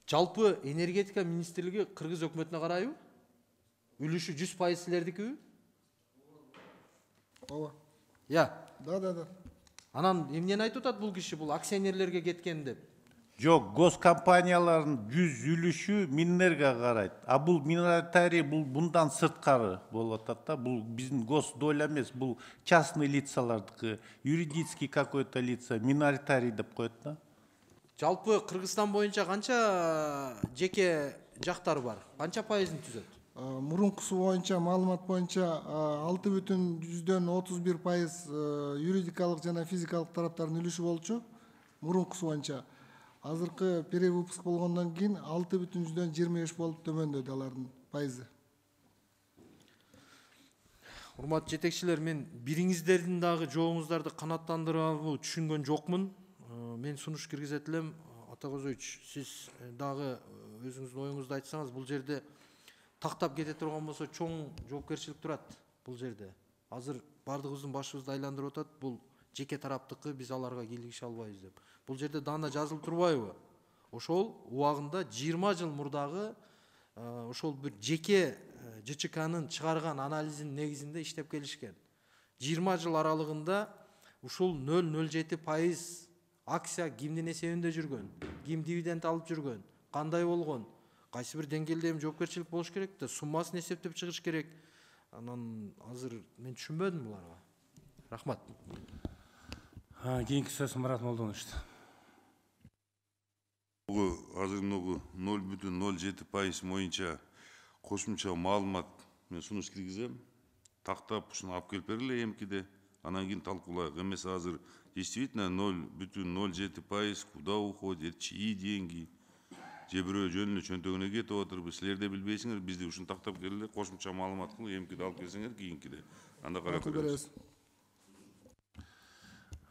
Жалпы энергетика министрлиги Кыргыз өкмөтүнө карайбы? Үлүшү 100% силердикиби? Ооба. Да. Анан эмнени айтып атат бул киши, бул акционерлерге кеткен деп? Жок, госкомпаниялардын 100 үлүшү Минэнерго карайт. А бул миноритарий бул мындан сырткары болуп атат да. Бул биздин гос доля эмес, бул частный лицалардыкы, юридический какой-то лица, миноритарий деп коет да. Жалпы Кыргызстан боюнча канча жеке жактар бар? Канча пайызын түзөт? Мурункусу боюнча, маалымат боюнча 6,31% юридикалык жана физикалык тараптардын үлүшү болчу. Мурункусу боюнча. Азыркы перевыпуск болгондон кийин 6,25 болуп төмөндөдү алардын пайызы. Урматтуу жетекчилер, мен бириңиздердин дагы жообуңуздарды канааттандырабы түшүнгөн жокмун. Мен сунуш киргизет элем. Атакозович, сиз дагы өзүңүздүн оюңузду айтсаңыз, бул жерде тактап кете турган болсо чоң жоопкерчилик турат бул жерде. Азыр бардыгыбыздын башыбызды айландырып атат, бул жеке тараптыкы, биз аларга кийлигише албайбыз деп. Бул жерде дана жазылып турбайбы? Ошол убагында 20 жыл мурдагы ошол бир жеке ЖЧКнын чыгарган анализинин негизинде иштеп келишкен. 20 жыл аралыгында ушул 0,07% акция кимдин эсебинде жүргөн, ким дивиденд алып жүргөн, кандай болгон, кайсы бир деңгээлде жоопкерчилик болуш керек да, суммасын эсептеп чыгыш керек. Анан азыр мен түшүнбөдүм буларга. Рахмат. Кийинки сөз Марат Молдонович. Азыр 0,07% боюнча кошумча маалымат мен сунуш киргизем. Тактап ушуну алып келип бергиле эмкиде. Анан кийин талкуулайык. Эмес азыр действительно 0,07% куда уходит, чьи деньги, же бирөө жөн эле чөнтөгүнө кетип отурбу, силер да билбейсиңер, бизди ушуну тактап келгиле, кошумча маалымат кылып эмкиде алып келсеңер кийинкиде. Анда карап беребиз.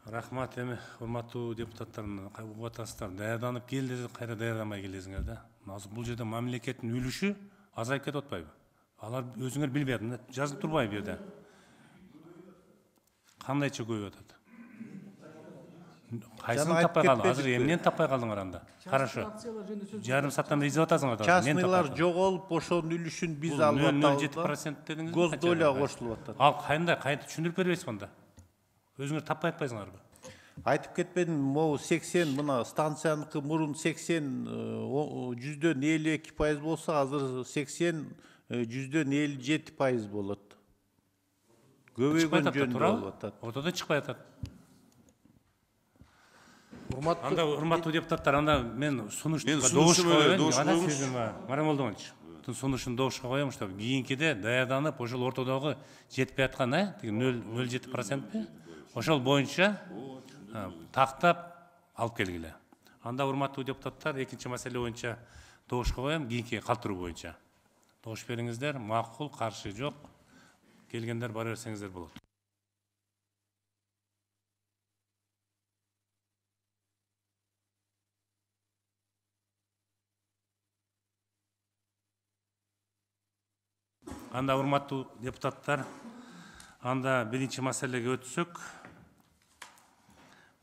Рахмат. Эми урматтуу депутаттардын угуп атасыздар, даярданып кел десек кайра даярданбай келесиңер да. Азыр бул жерде мамлекеттин үлүшү азайып кетип атпайбы? Алар өзүңөр билбей атат, жазылып турбайбы бу жерде? Кандайча көбөйүп атат? Кайсын таппай калдың? Азыр эмнени таппай калдыңар анда? Хорошо. Жарым сааттан изеп атасыңар да. Частныйлар жоголуп, ошонун үлүшүн биз алып атабыз. 0,07% дедиңиз. Гос доля кошулуп атат. Ал кайда түшүндүрүп бербейсиз анда? Өзүңөр таппай атпайсыңарбы? Айтып кетпедим, могу 80 мына станцияныкы мурун 80 %52% болсо, азыр 80 %57% болот. Көбөйгөн жөн болуп атат. Ортодо чыкпай атат. Анда урматтуу депутаттар, анда мен сунушту добушка коеюн. Марат Молдонович, сунушун добушка коем, чтобы кийинкиде даярданып, ошол ортодогу жетпей аткан, 0,07%, ошол боюнча тактап алып келгиле. Анда урматтуу депутаттар, экинчи маселе боюнча добушка коем, кийинки калтыруу боюнча. Добуш бериңиздер, макул, каршы жок. Келгендер бара берсеңиздер болот. Анда урматтуу депутаттар, анда биринчи маселеге өтсөк.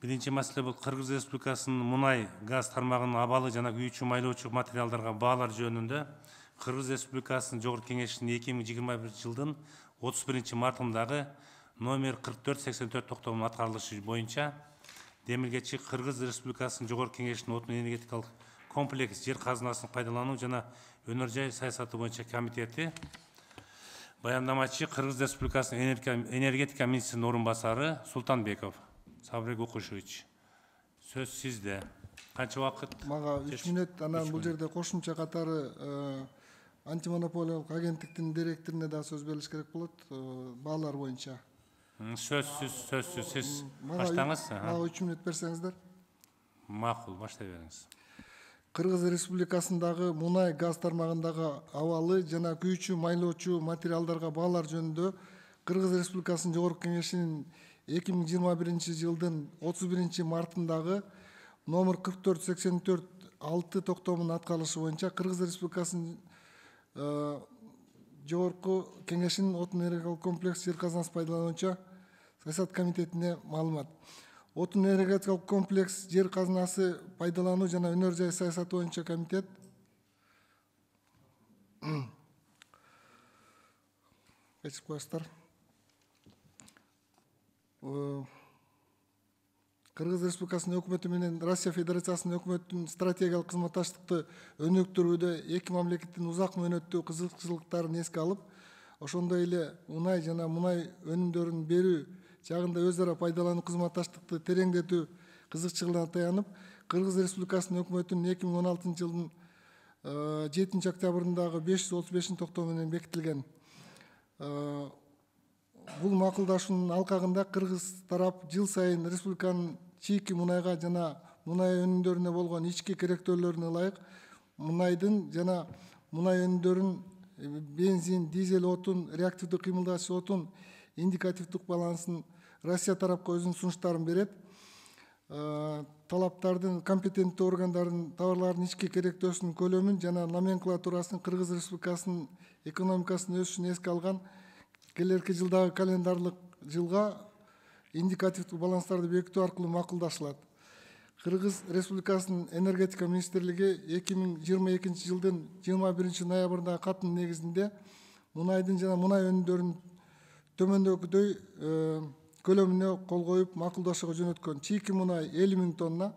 Биринчи маселе бул Кыргыз Республикасынын мунай, газ тармагынын абалы жана күйүүчү майлоочу материалдарга баалар жөнүндө Кыргыз Республикасынын Жогорку Кеңешинин 2021 жылдын 31 мартындагы номер 4484 токтомунун аткарылышы боюнча демилгечи Кыргыз Республикасынын Жогорку Кеңешинин отун энергетикалык комплекс жер казынасын пайдалануу жана өнөр жай саясаты боюнча комитети, баяндамачы Кыргыз Республикасынын энергетика министринин орун басары Султанбеков Сабрек Укушевич. Сөз сизде. Канча убакыт? Мага 3 мүнөт, анан бул жерде кошумча катары антимонополиялык агенттиктин директоруна да сөз берилиш керек болот, баалар боюнча. Сөзсүз, сиз баштаңыз. Мага 3 мүнөт берсеңиздер. Макул, баштай бериңиз. Кыргыз Республикасындагы мунай газ тармагындагы абалы жана күйүүчү майлоочу материалдарга баалар жөнүндө Кыргыз Республикасынын Жогорку Кеңешинин 2021 жылдын 31 мартындагы номер 4484-6 токтомунун аткарылышы боюнча Кыргыз Республикасынын Жогорку Кеңешинин отун энергетикалык комплекс жер казынасын пайдалануучу саясат комитетине маалымат. Отун энергетикалык комплекс жер казынасы пайдалануу жана өнөр жай саясаты боюнча комитет кечирип коесуздар. Кыргыз Республикасынын өкмөтү менен Россия Федерациясынын өкмөтүнүн стратегиялык кызматташтыкты өнүктүрүүдө эки мамлекеттин узак мөөнөттүү кызыкчылыктарын эске алып, ошондой эле мунай жана мунай өнүмдөрүн берүү жагында өз ара пайдалануу кызматташтыкты тереңдетүү кызыкчылыгына таянып, Кыргыз Республикасынын өкмөтүнүн 2016 жылдын 7 октябрындагы 535 токтому менен бекитилген. Бул макулдашуунун алкагында кыргыз тарап жыл сайын республиканын чийки мунайга жана мунай өнүмдөрүнө болгон ички керектөөлөрүнө ылайык мунайдын жана мунай өнүмдөрүн бензин, дизель отун, реактивдүү кыймылдагыч отун индикативдик балансын Россия тарапка өзүнүн сунуштарын берет. Талаптардын компетенттүү органдардын товарлардын ички керектөөсүнүн көлөмүн жана номенклатурасын Кыргыз Республикасынын экономикасынын өсүшүн эске алган келерки жылдагы календарлык жылга индикативдик баланстарды бекитүү аркылуу макулдашылат. Кыргыз Республикасынын энергетика министрлиги 2022 жылдын 21 ноябрындагы каттын негизинде мунайдын жана мунай өнүмдөрүнүн төмөндөгүдөй көлөмүнө кол коюп макулдашууга жөнөткөн. Чийки мунай 50 000 тонна,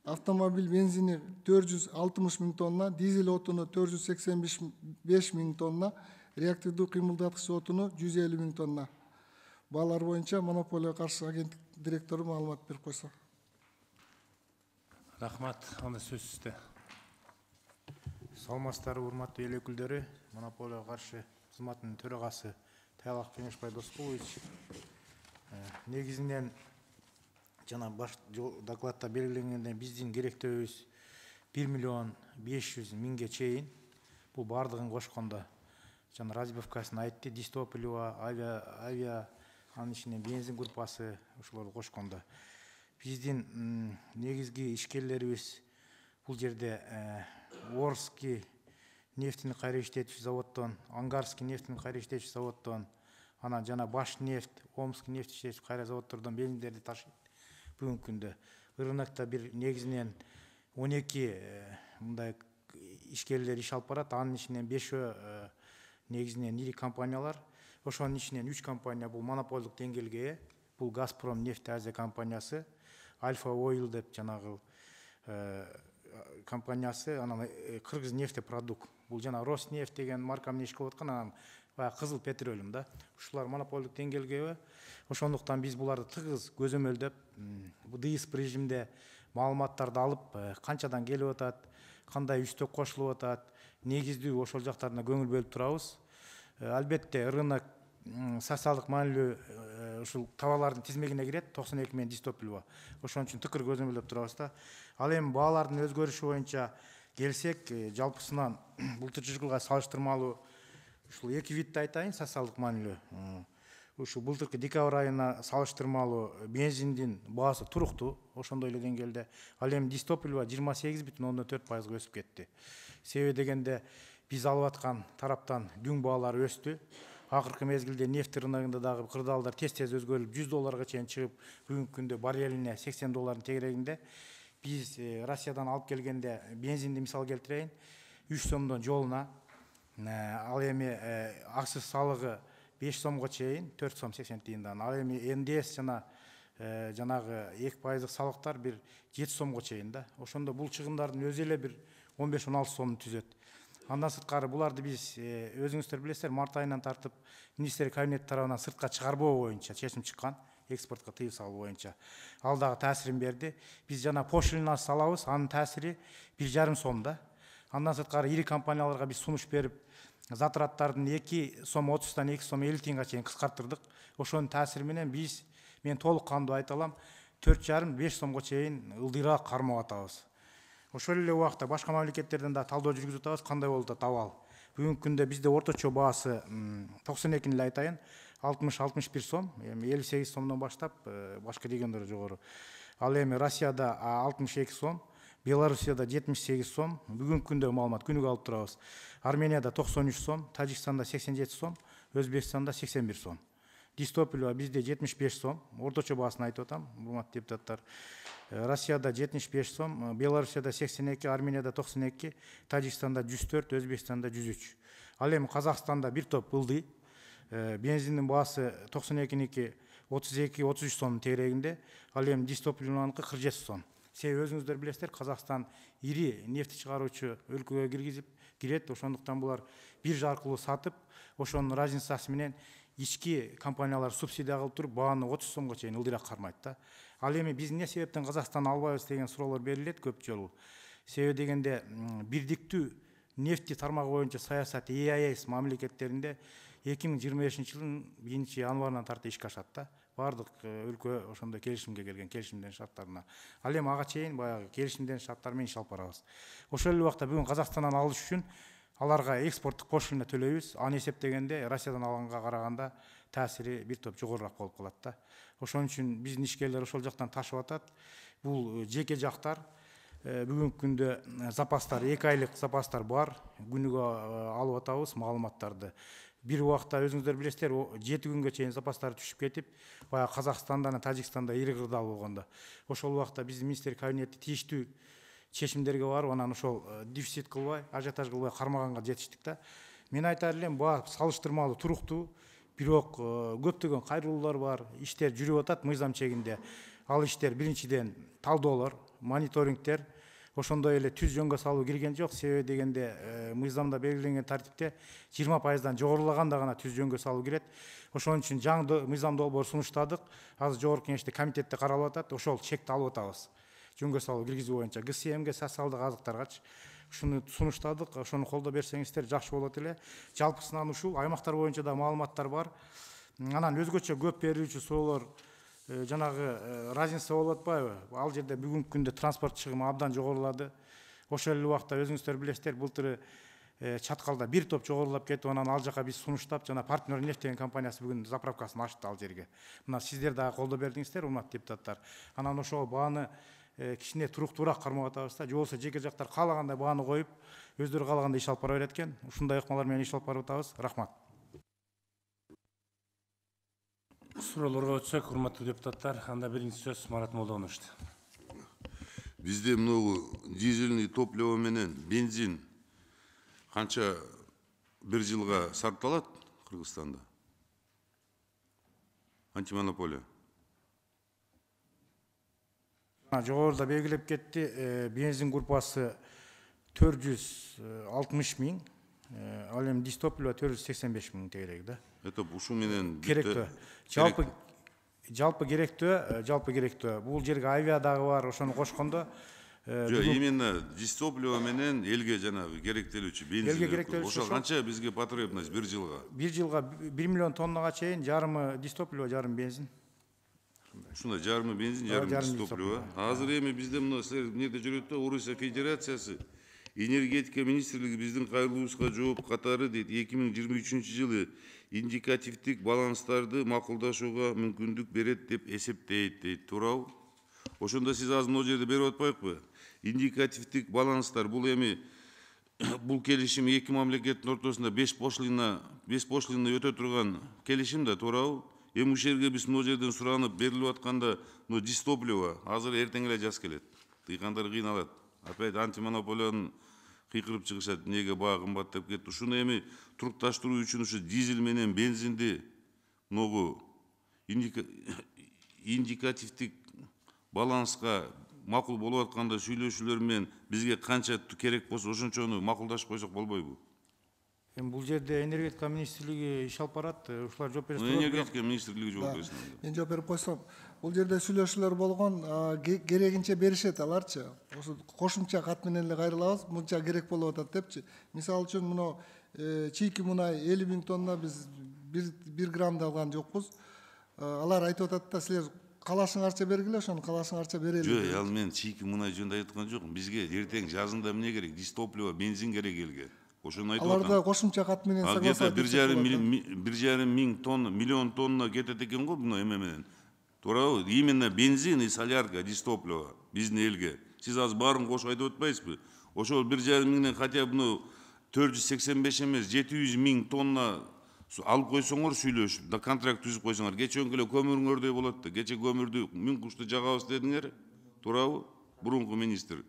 автомобиль бензини 460 000 тонна, дизель отуну 485 000 тонна, реактивдүү кыймылдаткыч отуну 150 000 тонна. Баалар боюнча монополияга каршы агенттик директору маалымат берип койсо. Рахмат, анда сөз сизде. Саламатсыздарбы, урматтуу эл өкүлдөрү, монополияга каршы кызматтын төрагасы Таялак Кеңешбай Досболович. Негизинен жана баш докладта белгиленгенден биздин керектөөбүз 1 500 000 чейин. Бул бардыгын кошкондо. Жана разбивкасын айтты, Дистополева, авиа, анын ичинен бензин группасы ошолорду кошкондо. Биздин негизги ишкерлерибиз бул жерде Орский нефтини кайра иштетүүчү заводдон, Ангарский нефтини кайра иштетүүчү заводдон, анан жана Баш нефть, Омский нефть иштетүүчү кайра заводдордон бензиндерди ташыйт. Бүгүнкү күндө рынокто бир негизинен 12 мындай ишкерлер иш алып барат, анын ичинен 5 негизинен ири компаниялар. Ошонун ичинен 3 компания бул монополдук деңгээлге ээ. Бул Газпром нефть Азия компаниясы, Альфа Ойл деп жанагы компаниясы, анан Кыргыз нефтепродукт. Бул жана Роснефть деген марка менен иш кылып аткан, анан кызыл петролиум да. Ушулар монополдук деңгээлге. Ошондуктан биз буларды тыгыз көзөмөлдөп, ДИСП режимде маалыматтарды алып, канчадан келип атат, кандай үстөк кошулуп атат, негиздүү ошол жактарына көңүл бөлүп турабыз. Албетте рынок социалдык маанилүү ушул товарлардын тизмегине кирет, 92 мен Дистополева. Ошон үчүн тыкыр көзөмөлдөп турабыз да. Ал эми баалардын өзгөрүшү боюнча келсек, жалпысынан былтыркы жылга салыштырмалуу ушул эки видти айтайын, социалдык маанилүү. Ушул былтыркы декабрь айына салыштырмалуу бензиндин баасы туруктуу, ошондой эле деңгээлде. Ал эми Дистополева 28,4% өсүп кетти. Себеби дегенде биз алып аткан тараптан дүң баалары өстү. Акыркы мезгилде нефть рыногунда дагы кырдаалдар тез-тез өзгөрүлүп, $100 чейин чыгып, бүгүнкү күндө баррелине $80 тегерегинде. Биз Россиядан алып келгенде бензинди мисал келтирейин, 3 сомдон жолуна Ал эми акча салыгы 5 сомго чейин 4 сом 80 тыйындан. Ал эми НДС жана жанагы 2% салыктар бир 7 сомго чейин да. Ошондо бул чыгымдардын өзү эле бир 15-16 сомду түзөт. Андан сырткары буларды биз өзүңүздөр билесиздер, март айынан тартып министрлик кабинети тарабынан сыртка чыгарбоо боюнча чечим чыккан, экспортко тыюу салуу боюнча. Ал дагы таасирин берди. Биз жана пошлина салабыз, анын таасири 1,5 сом да. Андан сырткары ири компанияларга биз сунуш берип, затраттардын 2 сом 30-тан 2 сом 50 тыйынга чейин кыскартырдык. Ошонун таасири менен мен толук кандуу айта алам, 4,5-5 сомго чейин ылдыйраак кармап атабыз. Ошол эле убакта башка мамлекеттерден да талдоо жүргүзүп атабыз, кандай болуп атат абал. Бүгүнкү күндө бизде орточо баасы 92 эле айтайын, 60-61 сом, эми 58 сомдон баштап башка региондор жогору. Ал эми Россияда 62 сом, Белоруссияда 78 сом, бүгүнкү күндө маалымат күнүгө алып турабыз. Арменияда 93 сом, Тажикстанда 87 сом, Өзбекстанда 81 сом. Дистоплива бизде 75 сом, орточо баасын айтып атам, урматтуу депутаттар. Россияда 75 сом, Белоруссияда 82, Арменияда 92, Тажикстанда 104, Өзбекстанда 103. Ал эми Казакстанда бир топ ылдый, бензиндин баасы 92-ники 32-33 сомдун тегерегинде, ал эми дистопливаныкы 47 сом. Себеби өзүңүздөр билесиздер, Казакстан ири нефти чыгаруучу өлкөгө кирет, ошондуктан булар биржа аркылуу сатып, ошонун разницасы менен ички компаниялар субсидия кылып туруп, бааны 30 сомго чейин ылдыйраак кармайт да. Ал эми биз эмне себептен Казакстан албайбыз деген суроолор берилет көп жолу. Себеби дегенде бирдиктүү нефти тармагы боюнча саясат EAS мамлекеттеринде 2025-жылдын 1-январынан тарты ишке ашат да. Бардык өлкө ошондой келишимге келген, келишимден шарттарына. Ал эми ага чейин баягы келишимден шарттар менен иш алып барабыз. Ошол эле убакта бүгүн Казакстандан алыш үчүн аларга экспорттук пошлина төлөйбүз. Аны эсептегенде Россиядан алганга караганда таасири бир топ жогорураак болуп калат да. Ошон үчүн биздин ишкерлер ошол жактан ташып атат. Бул жеке жактар бүгүнкү күндө запастар 2 айлык запастар бар. Күнүгө алып атабыз маалыматтарды. Бир убакта өзүңүздөр билесиздер, 7 күнгө чейин запастар түшүп кетип, баягы Казакстанда, Тажикстанда ири кырдаал болгондо. Ошол убакта биздин министрлик кабинети тийиштүү чечимдерге барып, анан ошол дефицит кылбай, ажиотаж кылбай кармаганга жетиштик да. Мен айтар элем, баа салыштырмалуу туруктуу, бирок көптөгөн кайрылуулар бар, иштер жүрүп атат мыйзам чегинде. Ал иштер биринчиден талдоолор, мониторингдер, ошондой эле түз жөнгө салуу кирген жок. Себеби дегенде мыйзамда белгиленген тартипте 20%дан жогорулаганда гана түз жөнгө салуу кирет. Ошон үчүн жаңы мыйзам долбоор сунуштадык. Азыр жогорку кеңеште комитетте каралып атат. Ошол чекти алып атабыз. Жөнгө салуу киргизүү боюнча ГСМге, социалдык азыктаргачы ушуну сунуштадык. Ошону колдоо берсеңиздер жакшы болот эле. Жалпысынан ушул аймактар боюнча да маалыматтар бар. Анан өзгөчө көп берилүүчү суроолор жанагы разница болуп атпайбы? Ал жерде бүгүнкү күндө транспорт чыгымы абдан жогорулады. Ошол эле убакта өзүңүздөр билесиздер, былтыры Чаткалда бир топ жогорулап кетип, анан ал жака биз сунуштап, жана партнер нефть деген компаниясы бүгүн заправкасын ачты ал жерге. Мына сиздер дагы колдоо бердиңиздер, урматтуу депутаттар. Анан ошол бааны кичине туруктуураак кармап атабыз да. Же болбосо жеке жактар каалагандай бааны коюп, өздөрү каалагандай иш алып бара берет экен. Ушундай ыкмалар менен иш алып барып атабыз. Рахмат. Суроолорго өтсөк, урматтуу депутаттар, анда биринчи сөз Марат Молдоновичте. Бизде мынау дизельный топливо менен бензин канча бир жылга сатылат Кыргызстанда? Антимонополия. Жогоруда белгилеп кетти, бензин группасы 460 000, ал эми дистопливо 485 000 тегерек да. Это ушу менен керектүү. Жалпы керектүү. Бул жерге авиа дагы бар, ошону кошкондо именно дистопливо менен элге жанагы керектелүүчү бензин. Элге керектелүүчү ошо канча бизге потребность бир жылга? Бир жылга 1 миллион тоннага чейин жарымы дистопливо, жарым бензин. Ушундай жарымы бензин, жарым дистопливо. Азыр эми бизде мына силер эмнеде жүрөт да, Орусия Федерациясы энергетика министрлиги биздин кайрылуубузга жооп катары дейт, 2023 жылы индикативдик баланстарды макулдашууга мүмкүндүк берет деп эсептейт дейт, туурабы? Ошондо сиз азыр могу жерде берип атпайбы? Индикативдик баланстар бул эми бул келишим эки мамлекеттин ортосунда 5 пошлина өтө турган келишим да, туурабы? Эми ушул жерге биз могу жерден суранып берилип атканда, дистопливо азыр эртең эле жаз келет. Дыйкандар кыйналат. Опять антимонополиянын кыйкырып чыгышат, эмнеге баа кымбаттап кетти. Ушуну эми турукташтыруу үчүн ушу дизель менен бензинди могу индикативдик баланска макул болуп атканда сүйлөшүүлөр менен бизге канча керек болсо ошончону макулдашып койсок болбойбу? Эми бул жерде энергетика министрлиги иш алып барат, ушулар жооп берет. Энергетика министрлиги жооп берсин. Мен жооп берип койсом, бул жерде сүйлөшүүлөр болгон, керегинче беришет аларчы. Ошо кошумча кат менен эле кайрылабыз, мынча керек болуп атат депчи. Мисалы үчүн мына чийки мунай 50.000 тонна биз 1 грамм да алган жокпуз. Алар айтып атат да, силер калашыңарча бергиле, ошону калашыңарча берели. Жок, ал мен чийки мунай жөнүндө айтып аткан жокмун. Бизге эртең жазында эмне керек? Дистопливо, бензин керек элге. Ошону айтып атам. Аларда кошумча кат менен согласовать. 1,5 миң тонна, миллион тонна кетет экен го мына эме менен. Туурабы? Именно бензин и солярка, дистопливо биздин элге. Сиз азыр баарын кошуп айтып атпайсызбы? Ошол 1,5 миңден хотя бы 485 эмес 700 миң тонна алып койсоңор сүйлөшүп, да контракт түзүп койсоңор, кечеөнкү эле көмүрүңөрдөй болот да. Кече көмүрдү миң кушты жагабыз дедиңер, туурабы? Бурунку министр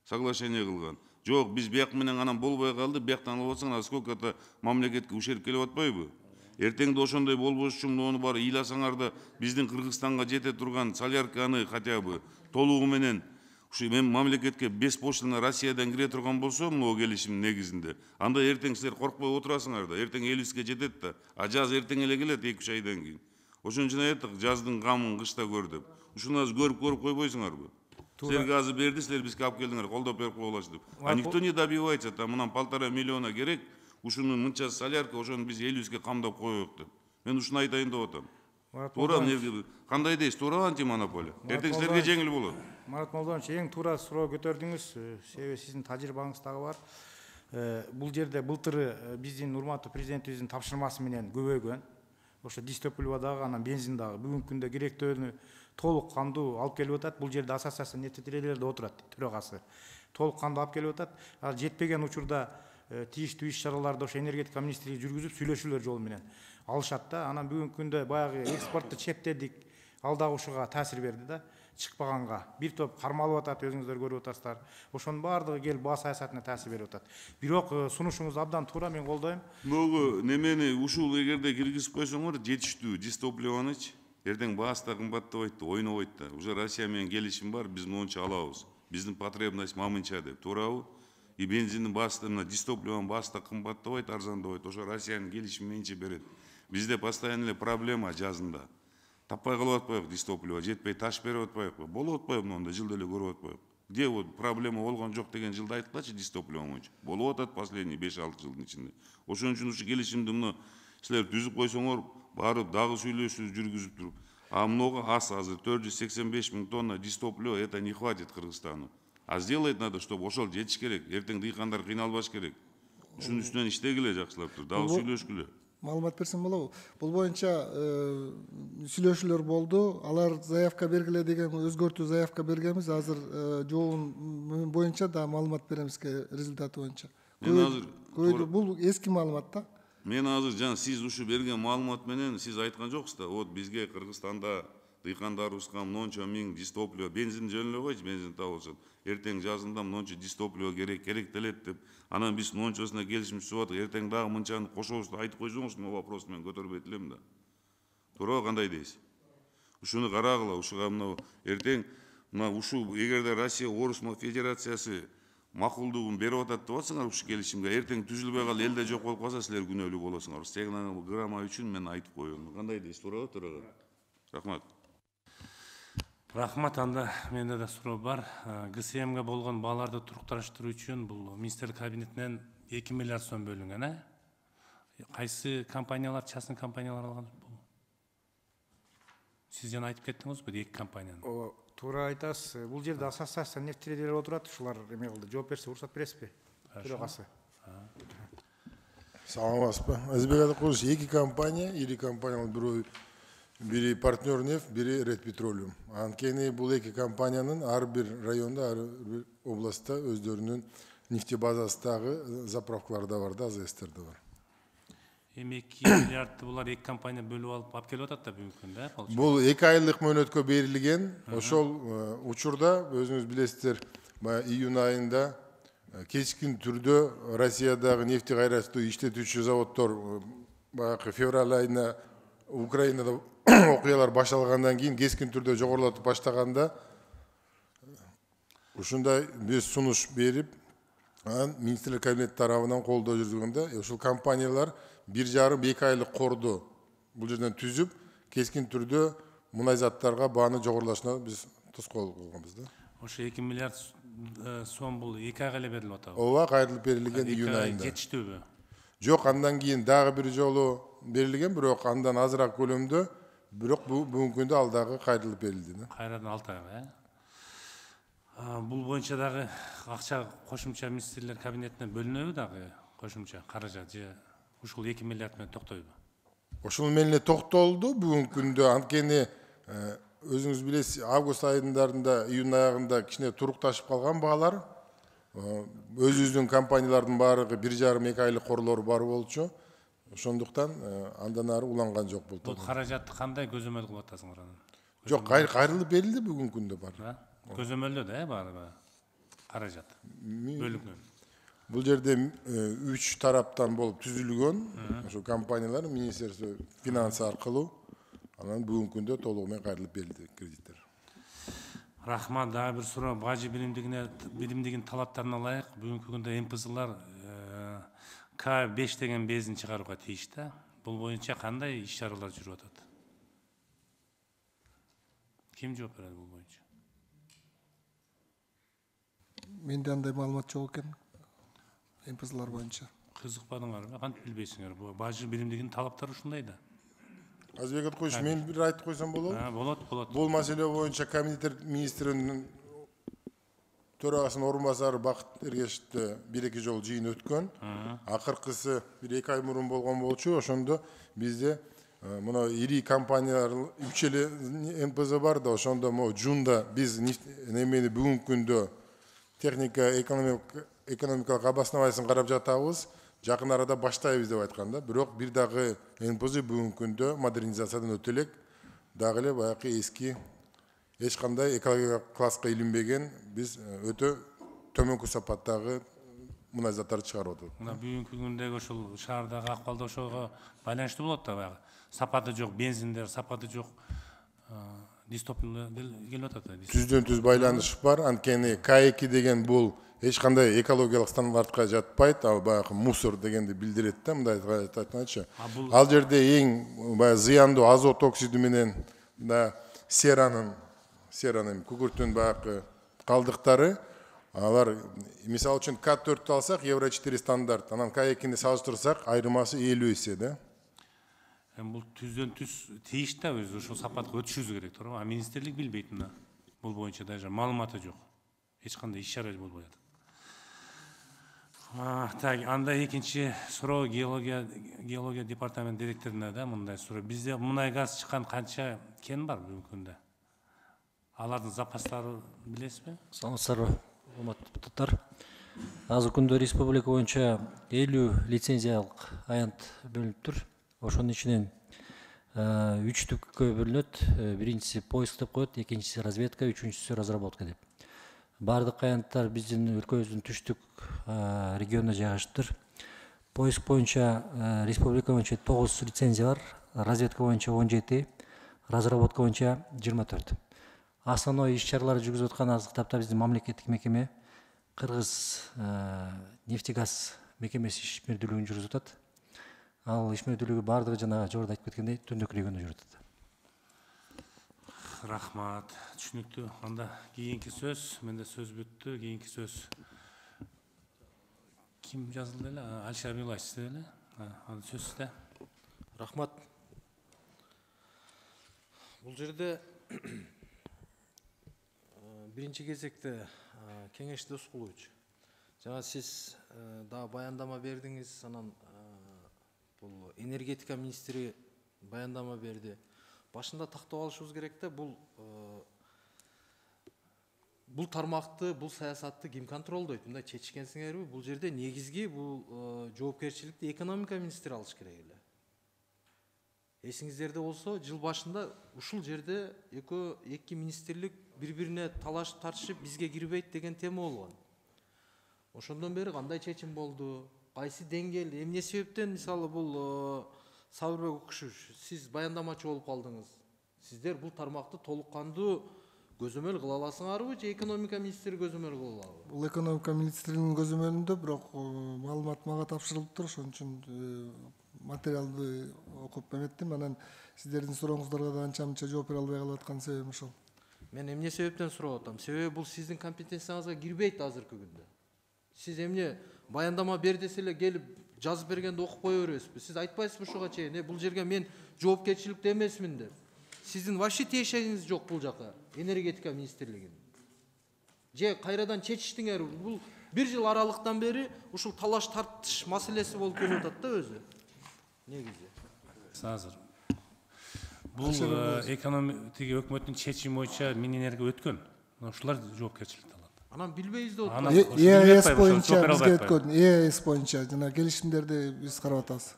соглашение кылган. Жок, биз бияк менен анан болбой калды, бияктан алып атсаң, сколько-то мамлекетке ушерип келип атпайбы? Эртеңде ошондой болбош үчүн ону баары ыйласаңар да биздин Кыргызстанга жете турган солярканы хотя бы толугу менен ушу мамлекетке беспошлино Россиядан кире турган болсо, могу келишимдин негизинде, анда эртең силер коркпой отурасыңар да, эртең элибизге жетет да, а жаз эртең эле келет 2-3 айдан кийин. Ошон үчүн айттык, жаздын камын кышта көр деп. Ушуну азыр көрүп койбойсуңарбы? Силерге азыр берди, силер бизге алып келдиңер, колдоп берип койгулачы деп. А никто не добивается, там мынан 1,5 миллиона керек, ушуну мынча солярка, ошону биз элибизге камдап коелук деп. Мен ушуну айтайын деп атам. Туура, кандай дейсиз, туурабы антимонополия? Эртең силерге жеңил болот. Марат Молдонович, эң туура суроо көтөрдүңүз, себеби сиздин тажрыйбаңыз дагы бар. Бул жерде былтыры биздин урматтуу президентибиздин тапшырмасы менен көбөйгөн. Ошо дистопливо дагы, анан бензин дагы бүгүнкү күндө керектөөнү толук кандуу алып келип атат. Бул жерде ассоциация нефтетилерде отурат, төрагасы. Толук кандуу алып келип атат. Ал жетпеген учурда тийиштүү иш чараларды ошо энергетика министрлиги жүргүзүп, сүйлөшүүлөр жолу менен алышат да. Анан бүгүнкү күндө баягы экспортты чектедик, ал дагы ушуга таасир берди да. Чыкпаганга бир топ кармалып атат, өзүңүздөр көрүп атасыздар. Ошонун баардыгы келип баа саясатына таасир берип атат. Бирок сунушуңуз абдан туура, мен колдойм. Могу немени ушул эгерде киргизип койсоңор, жетиштүү дистопливонычы эртең баасы да кымбаттабайт да, ойнобойт да. Уже Россия менен келишим бар, биз монча алабыз. Биздин потребность мамынча деп, туурабы? И бензиндин баасы да, дистопливонун баасы да кымбаттабайт, арзандабайт. Ошо Россиянын келишими менче берет. Бизде постоянно эле проблема жазында. Таппай калып атпайбы дистопливо, жетпей таш берип атпайбы? Болуп атпайбы монда, жылда эле көрүп атпайбы? Где вот проблема болгон жок деген жылда айткылачы дистопливо боюнча. Болуп атат последний 5-6 жылдын ичинде. Ошон үчүн ушу келишимди мына силер түзүп койсоңор, барып дагы сүйлөшүү жүргүзүп туруп. А много аз азыр 485 миң тонна дистопливо, это не хватит Кыргызстану. А сделать надо, чтобы ошол жетиш керек. Эртең дыйкандар кыйналбаш керек. Ушунун үстүнөн иштегиле жакшылап туруп, дагы сүйлөшкүлө. Маалымат берсем болобу? Бул боюнча сүйлөшүүлөр болду. Алар заявка бергиле деген өзгөртүү заявка бергенбиз. Азыр жообун боюнча да маалымат беребиз результаты боюнча. Бул эски маалымат да. Мен азыр жана сиз ушу берген маалымат менен сиз айткан жоксуз да, вот бизге Кыргызстанда дыйкандарыбызга монча миң дистопливо, бензин жөн эле койчу, бензин табылсын. Эртең жазында монча дистопливо керек делет деп. Анан биз мончосуна келишим түзүп атык. Эртең дагы мынчаны кошобуз деп айтып койсоңуз, мен вопросту мен көтөрбөйт элем да. Туурабы, кандай дейсиз? Ушуну карагыла, ушуга мына эртең мына ушу эгерде Россия Орус Федерациясы макулдугун берип атат деп атсаңар ушу келишимге, эртең түзүлбөй калып элде жок болуп калса силер күнөөлүү болосуңар. Стенограмма үчүн мен айтып коеюн. Кандай дейсиз, туурабы, төрага? Рахмат. Рахмат, анда менде да суроо бар. ГСМге болгон бааларды турукташтыруу үчүн бул министрлик кабинетинен 2 миллиард сом бөлүнгөн, Кайсы компаниялар, частный компаниялар алган? Сиз жана айтып кеттиңизби, 2 компанияны? Туура айтасыз. Бул жерде ассоциация нефтелер отурат, ушулар эме кылды. Жооп берсе уруксат бересизби? Төрагасы. Саламатсызбы? Азизбек Атакулович, 2 компания, ири компаниялар бири партнер нефть, бири Ред Петролиум. Анткени бул 2 компаниянын ар бир районда, ар бир областта өздөрүнүн нефтебазасындагы заправкалары да бар да, АЗС-тер да бар. Эми 2 миллиардты булар 2 компания бөлүп алып келип атат да бүгүнкү күндө, Бул 2 айлык мөөнөткө берилген. Ошол учурда өзүңүз билесиздер, июнь айында кечкин түрдө Россиядагы нефти кайраттуу иштетүүчү заводдор баягы февраль айына Украинада окуялар башталгандан кийин кескин түрдө жогорулатып баштаганда ушундай биз сунуш берип, анан министрлер кабинети тарабынан колдоо жүргөндө ушул компаниялар 1,5-2 айлык корду бул жерден түзүп, кескин түрдө мунай заттарга бааны жогорулашына биз тоскоол кылганбыз да. Ошо 2 миллиард сом бул 2 айга эле берилип атабы? Ооба, кайрылып берилген июнь айында. Жетиштүүбү? Жок, андан кийин дагы бир жолу берилген, бирок андан азыраак көлөмдө, бирок бүгүнкү күндө ал дагы кайрылып берилди. Кайрадан 6 айга, Бул боюнча дагы акча кошумча министрлер кабинетине бөлүнөбү дагы кошумча каражат же ушул 2 миллиард менен токтойбу? Ошол менен токтолду бүгүнкү күндө. Анткени өзүңүз билесиз, август айындарында, июнь аягында кичине турукташып калган баалар. Өзүбүздүн компаниялардын баардыгы 1,5-2 айлык корлору бар болчу. Ошондуктан андан ары уланган жок болду. Бул каражатты кандай көзөмөл кылып атасыңар анан? Жок, кайрылып берилди бүгүнкү күндө бар. Көзөмөлдө баары каражат бөлүнгөн. Бул жерде 3 тараптан болуп түзүлгөн ошо компаниялар Министерство финансы аркылуу анан бүгүнкү күндө толугу менен кайрылып берилди кредиттер. Рахмат, дагы бир суроо. Бажы биримдигинин талаптарына ылайык бүгүнкү күндө МПЗлар К5 деген безин чыгарууга тийиш да. Бул боюнча кандай иш-чаралар жүрүп атат? Ким жооп берет бул боюнча? Менде андай маалымат жок экен. МПЗлар боюнча. Кызыкпадыңарбы? Кантип билбейсиңер? Бул бажы биримдигинин талаптары ушундай да. Азбек Аткоевич, мен бир айтып койсом болобу? Болот. Бул маселе боюнча комитет министринин төрагасынын орун басары Бакыт Эргешевди 1-2 жолу жыйын өткөн. Акыркысы 1-2 ай мурун болгон болчу. Ошондо бизде мына ири компаниялар 3 эле МПЗ бар да, ошондо могу жунда биз немени бүгүнкү күндө техника экономикалык обоснованиясын карап жатабыз. Жакын арада баштайбыз деп айткан да. Бирок бир дагы МПЗ бүгүнкү күндө модернизациядан өтө элек. Дагы эле баягы эски эч кандай экологиялык класска илинбеген, биз өтө төмөнкү сапаттагы мунай заттарды чыгарып атат. Мына бүгүнкү күндөгү ушул шаардагы акыбалда ошого байланыштуу болот да баягы. Сапаты жок бензиндер, сапаты жок дистоплер келип атат да. Түздөн-түз байланыш бар. Анткени К2 деген бул эч кандай экологиялык стандартка жатпайт. Ал баягы мусор дегенди билдирет да, мындай айтканча. Ал жерде эң баягы зыяндуу азот оксиди менен да серанын күкүрттүн баягы калдыктары, алар мисалы үчүн К4-тү алсак, Евро 4 стандарт, анан К2-ни салыштырсак, айырмасы 50 эсе да. Бул түздөн түз тийиш да, өзү ошол сапатка өтүшүбүз керек, туура. А министрлик билбейт мына. Бул боюнча даже маалыматы жок. Эч кандай иш-чара болбой атат. Так, анда экинчи суроо геология департамент директоруна да мындай суроо. Бизде мунай газ чыккан канча кен бар бүгүнкү күндө? Алардын запастары билесизби? Саламатсыздарбы, урматтуу депутаттар. Азыркы күндө республика боюнча 50 лицензиялык аянт бөлүнүптүр. Ошонун ичинен 3 түпкө бөлүнөт. Биринчиси поиск деп коет, экинчиси разведка, үчүнчүсү разработка деп. Бардык аянттар биздин өлкөбүздүн түштүк регионуна жайгаштыр. Поиск боюнча республика боюнча 9 лицензия бар, разведка боюнча 17, разработка боюнча 24. Основной иш-чараларды жүргүзүп аткан азыркы тапта биздин мамлекеттик мекеме Кыргыз нефтегаз мекемеси ишмердүүлүгүн жүргүзүп атат. Ал ишмердүүлүгү бардыгы жана жогоруда айтып кеткендей Түндүк регионунда жүрүп атат. Рахмат, түшүнүктүү. Анда кийинки сөз, менде сөз бүттү. Кийинки сөз ким жазылды эле? Алишер Абилаевич сизде эле? Анда сөз сизде. Рахмат. Бул жерде биринчи кезекте Кеңеш Досқулович, жана сиз дагы баяндама бердиңиз, анан бул энергетика министри баяндама берди. Башында тактап алышыбыз керек да, бул тармакты, бул саясатты ким контролдойт? Мындай чечкенсиңерби? Бул жерде негизги бул жоопкерчиликти экономика министри алыш керек эле. Эсиңиздерде болсо, жыл башында ушул жерде эки министрлик бири-бирине талашып тартышып бизге кирбейт деген тема болгон. ошондон бери кандай чечим болду, кайсы деңгээл, эмне себептен мисалы бул Сабырбек Укушевич, сиз баяндамачы болуп калдыңыз. Сиздер бул тармакты толук кандуу көзөмөл кыла аласыңарбы же экономика министри көзөмөл кыла алабы? Бул экономика министринин көзөмөлүндө, бирок маалымат мага тапшырылыптыр, ошон үчүн материалды окуп эметтим. Анан сиздердин сурооңуздарга да анча мынча жооп бере албай калып аткан себебим ошол. Мен эмне себептен сурап атам? Себеби бул сиздин компетенцияңызга кирбейт азыркы күндө. Сиз эмне баяндама бер десе эле келип жазып бергенди окуп кое бересизби? Сиз айтпайсызбы ушуга чейин, бул жерге мен жоопкерчиликте эмесмин деп. Сиздин вообще тиешегиңиз жок бул жака, энергетика министрлигинин. Же кайрадан чечиштиңер, бул бир жыл аралыктан бери ушул талаш тартыш маселеси болуп келип атат да өзү. Негизи. Азыр. Бул экономика өкмөттүн чечими боюнча Минэнерго өткөн. Ушулар жоопкерчиликти алат. Анан билбейбиз деп атат. ЕАЭС боюнча бизге өткөн, ЕАЭС боюнча жана келишимдерди биз карап атабыз.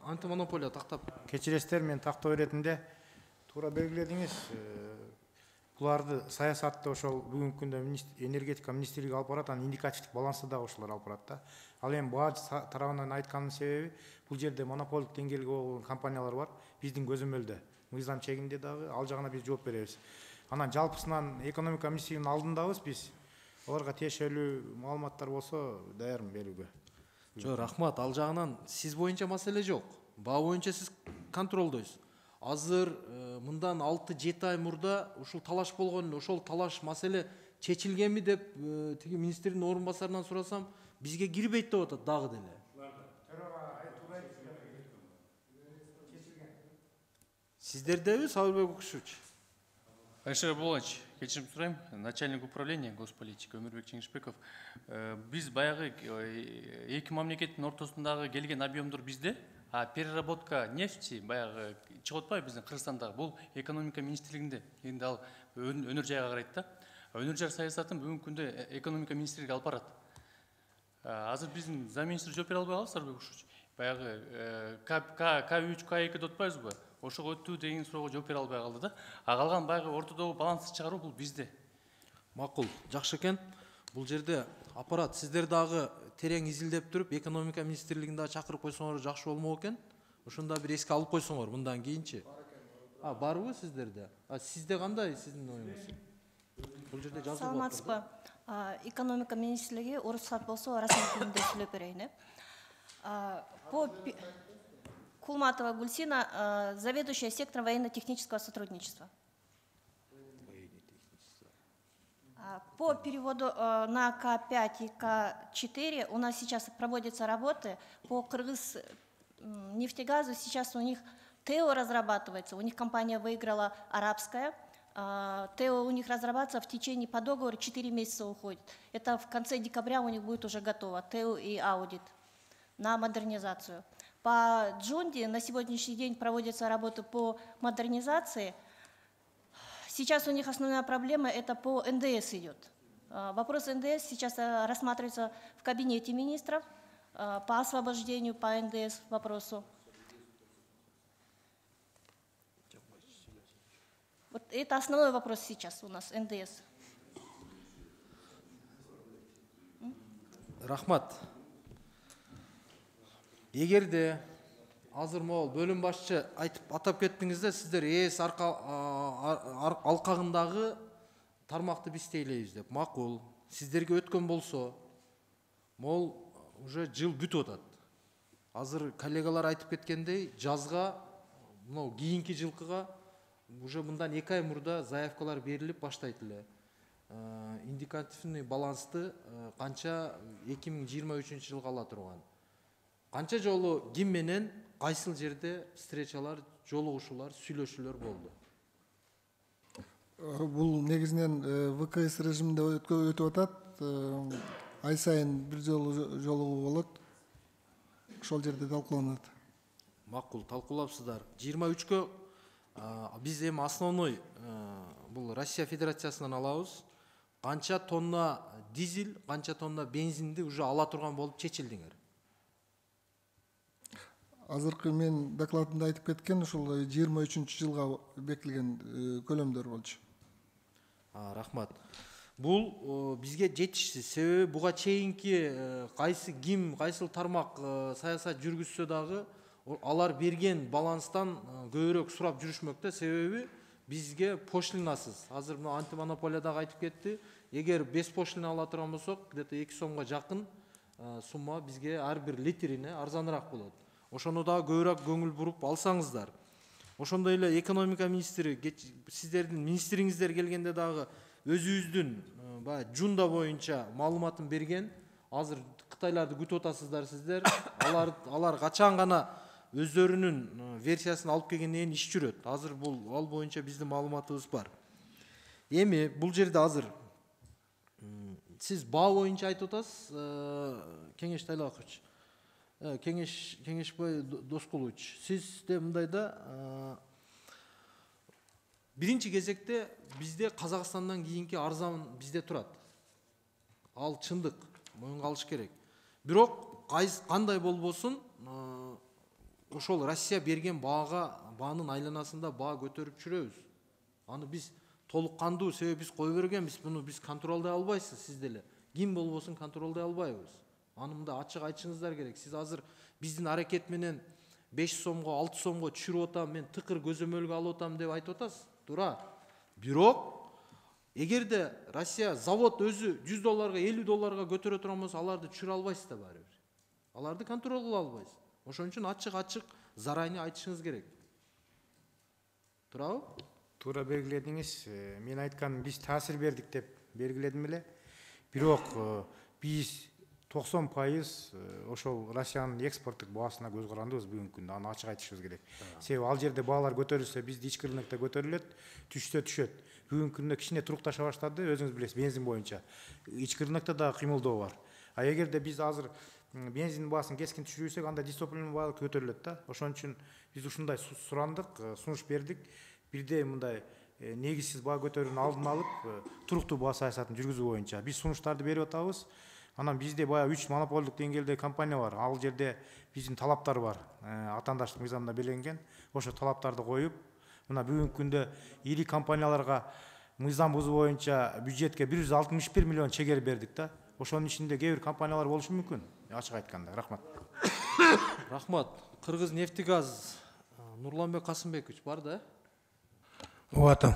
Антимонополия тактап. Кечиресиздер, мен тактоо иретинде туура белгиледиңиз. Буларды саясатты ошол бүгүнкү күндө энергетика министрлиги алып барат, анан индикативдик балансты дагы ошолор алып барат да. Ал эми бааж тарабынан айтканымдын себеби, бул жерде монополдук деңгээлге болгон компаниялар бар, биздин көзөмөлдө, мыйзам чегинде дагы, ал жагына биз жооп беребиз. Анан жалпысынан экономика министрлигинин алдындабыз биз. Аларга тиешелүү маалыматтар болсо даярмын берүүгө. Жок, рахмат. Ал жагынан сиз боюнча маселе жок. Баа боюнча сиз контролдойсуз. Азыр мындан 6-7 ай мурда ушул талаш болгон, ошол талаш маселе чечилгенби деп тиги министрдин орун басарынан сурасам, бизге кирбейт деп атат дагы деле. Сиздердеби, Сабырбек Укушевич? Алишер Абдуллович, кечирим сурайм, начальник управления госполитики Өмүрбек Чеңишбеков. Биз баягы эки мамлекеттин ортосундагы келген объемдор бизде, а переработка нефти баягы чыгып атпайбы биздин Кыргызстандагы, бул экономика министрлигинде. Эми ал өнөр жайга карайт да. Өнөр жай саясатын бүгүнкү күндө экономика министрлиги алып барат. Азыр биздин замминистр жооп бере албай калабыз, Сабырбек Укушевич. Баягы К3, К2 деп атпайбызбы? Ошого өттү деген суроого жооп бере албай калды да. А калган баягы ортодогу балансты чыгаруу бул бизде. Макул, жакшы экен. Бул жерде аппарат сиздер дагы терең изилдеп туруп, экономика министрлигин дагы чакырып койсоңор жакшы болмок экен. Ошондо бир эске алып койсоңор мындан кийинчи. Барбы сиздерде? Сизде кандай сиздин оюңуз? Бул жерде жазылып атат. Саламатсызбы? Экономика министрлиги уруксат болсо расмий тилинде сүйлөп берейин. По Кулматова Гульсина, заведующая сектором военно-технического сотрудничества. По переводу на К5 и К4 у нас сейчас проводятся работы по Кыргыз нефтегазу. Сейчас у них ТЭО разрабатывается, у них компания выиграла арабская. ТЭО у них разрабатывается в течение по договору 4 месяца уходит. Это в конце декабря у них будет уже готово, ТЭО и аудит на модернизацию. По Джунди на сегодняшний день проводятся работы по модернизации. Сейчас у них основная проблема это по НДС идет. Вопрос НДС сейчас рассматривается в кабинете министров по освобождению по НДС вопросу. Вот это основной вопрос сейчас у нас, НДС. Рахмат. Эгерде азыр могул бөлүм башчы атап кеттиңиздер, сиздер ЭС алкагындагы тармакты биз тейлейбиз деп. Макул. Сиздерге өткөн болсо, могул уже жыл бүтүп атат. Азыр коллегалар айтып кеткендей, жазга, мынау кийинки жылкыга уже мындан 2 ай мурда заявкалар берилип баштайт эле. Индикативный балансты канча 2023 жылга ала турган. Канча жолу ким менен кайсыл жерде встречалар, жолугушуулар, сүйлөшүүлөр болду? Бул негизинен ВКС режиминде өтүп атат. Ай сайын бир жолугуу болот. Ошол жерде талкууланат. Макул, талкуулапсыздар. 23-кө биз эми основной бул Россия Федерациясынан алабыз. Канча тонна дизель, канча тонна бензинди уже ала турган болуп чечилдиңер? Азыркы мен докладымда айтып кеткен ушул 23-жылга бекилген көлөмдөр болчу. Рахмат. Бул бизге жетишсиз. Себеби буга чейинки кайсыл тармак саясат жүргүзсө дагы алар берген баланстан көбүрөөк сурап жүрүшмөк да. Себеби бизге пошлинасыз. Азыр мына антимонополия дагы айтып кетти. Эгер без пошлина ала турган болсок, где-то 2 сомго жакын сумма бизге ар бир литрине арзаныраак болот. Ошону дагы көбүрөөк көңүл буруп алсаңыздар. Ошондой эле экономика министри, сиздердин министриңиздер келгенде дагы өзүбүздүн баягы жунда боюнча маалыматын берген. Азыр Кытайларды күтүп атасыздар сиздер. Алар качан гана өздөрүнүн версиясын алып келгенден кийин иш жүрөт. Азыр ал боюнча биздин маалыматыбыз бар. Эми бул жерде азыр сиз баа боюнча айтып атасыз, Кеңеш Тайлакович. Кеңешбай Доскулович, сизде мындай да биринчи кезекте бизде Казакстандан кийинки арзан бизде турат. Ал чындык, моюнга алыш керек. Бирок кандай болбосун, ошол Россия берген баанын айланасында баа көтөрүп жүрөбүз. Аны биз толук кандуу, себеби биз кое бергенбиз, буну биз контролдой албайсыз сиз деле. Ким болбосун контролдой албайбыз. Аны мында ачык айтышыңыздар керек. Сиз азыр биздин аракет менен 5 сомго, 6 сомго түшүрүп атам, мен тыкыр көзөмөлгө алып атам деп айтып атасыз. Туура. Бирок эгерде Россия завод өзү $100, $50 көтөрө турган болсо, аларды түшүрө албайсыз да баары бир. Аларды контрол кыла албайсыз. Ошон үчүн ачык заранее айтышыңыз керек. Туурабы? Туура белгиледиңиз. Мен айтканым, биз таасир бердик деп белгиледим эле. Бирок биз 90% ошол Россиянын экспорттук баасына көз карандыбыз бүгүнкү күндө. Аны ачык айтышыбыз керек. Себеби ал жерде баалар көтөрүлсө, бизде ички рынокто көтөрүлөт, түшсө түшөт. Бүгүнкү күндө кичине турукташа баштады, өзүңүз билесиз, бензин боюнча. Ички рынокто да кыймылдоо бар. А эгерде биз азыр бензин баасын кескин түшүрүрсөк, анда дистопливдин баасы көтөрүлөт да. Ошон үчүн биз ушундай сурандык, сунуш бердик. Бирде мындай негизсиз баа көтөрүүнүн алдын алып, туруктуу баа саясатын жүргүзүү боюнча биз сунуштарды берип атабыз. Анан бизде баягы 3 монополдук деңгээлде компания бар. Ал жерде биздин талаптар бар. Атаандаштык мыйзамында белгиленген. Ошо талаптарды коюп, мына бүгүнкү күндө ири компанияларга мыйзам бузуу боюнча бюджетке 161 миллион чегер бердик да. Ошонун ичинде кээ бир компаниялар болушу мүмкүн. Ачык айтканда, рахмат. Рахмат. Кыргыз нефтегаз Нурланбек Касымбекович бар да? Оотам.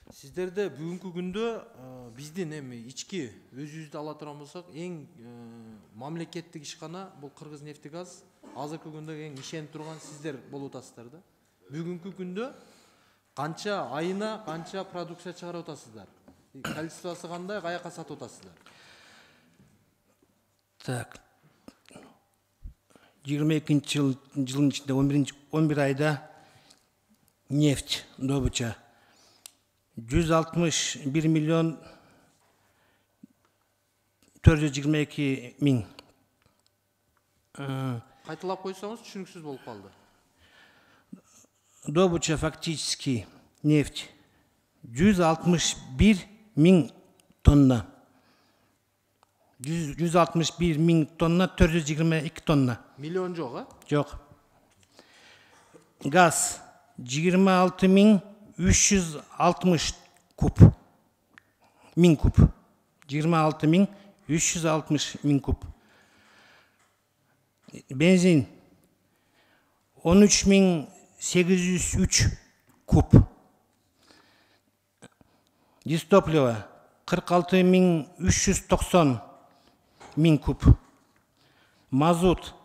Сиздерде бүгүнкү күндө биздин эми ички өзүбүздү ала турган болсок, эң мамлекеттик ишкана бул Кыргыз нефтегаз. Азыркы күндө эң ишенип турган сиздер болуп атасыздар да. Бүгүнкү күндө канча айына канча продукция чыгарып атасыздар? Количествосы кандай, каяка сатып атасыздар? Так. 22-жылдын ичинде 11 айда нефть добыча 161 миллион 422 миң. Кайталап койсоңуз түшүнүксүз болуп калды. Добыча фактически нефть 161 миң тонна. 161 миң тонна, 422 тонна. Миллион жок, а? Жок. Газ 26 миң 360 куб. Миң куб. 26 миң 360 миң куб. Бензин 13 миң 803 куб. Дистопливо 46 миң 390 миң куб. Мазут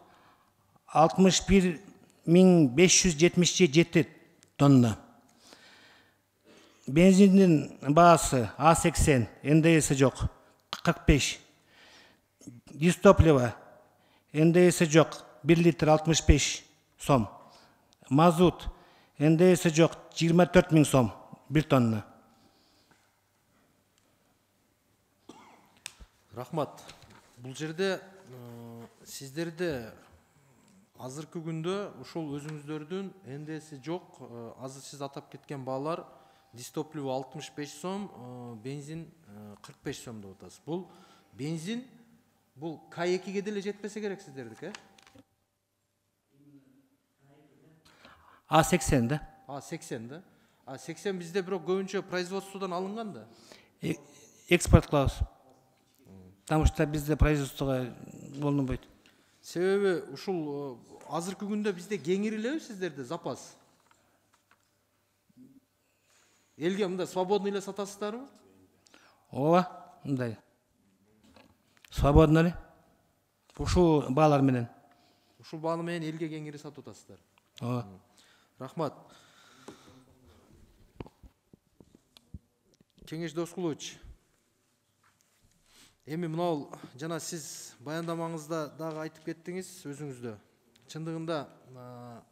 61 миң 577 тонна. Бензиндин баасы А80, НДС жок 45. Дистопливо НДС жок 1 литр 65 сом. Мазут НДС жок 24 миң сом 1 тонна. Рахмат. Бул жерде сиздерде азыркы күндө ушул өзүңүздөрдүн НДС жок, азыр сиз атап кеткен баалар дистопливо 65 сом, бензин 45 сом деп атасыз. Бул бензин бул К2ге деле жетпесе керек сиздердики, э? А80 да. А80 да. А80 бизде бирок көбүнчө производстводон алынган да. экспорт кылабыз. Потому что бизде производствого болбойт. Себеби ушул азыркы күндө бизде кеңирилеби сиздерде запас? Элге мындай свободный эле сатасыздарбы? Ооба, мындай. Свободно эле. Ушул баалар менен. Ушул бааны менен элге кеңири сатып атасыздар. Ооба. Рахмат. Кеңеш Доскулович, эми мынау жана сиз баяндамаңызда дагы айтып кеттиңиз өзүңүздө. Чындыгында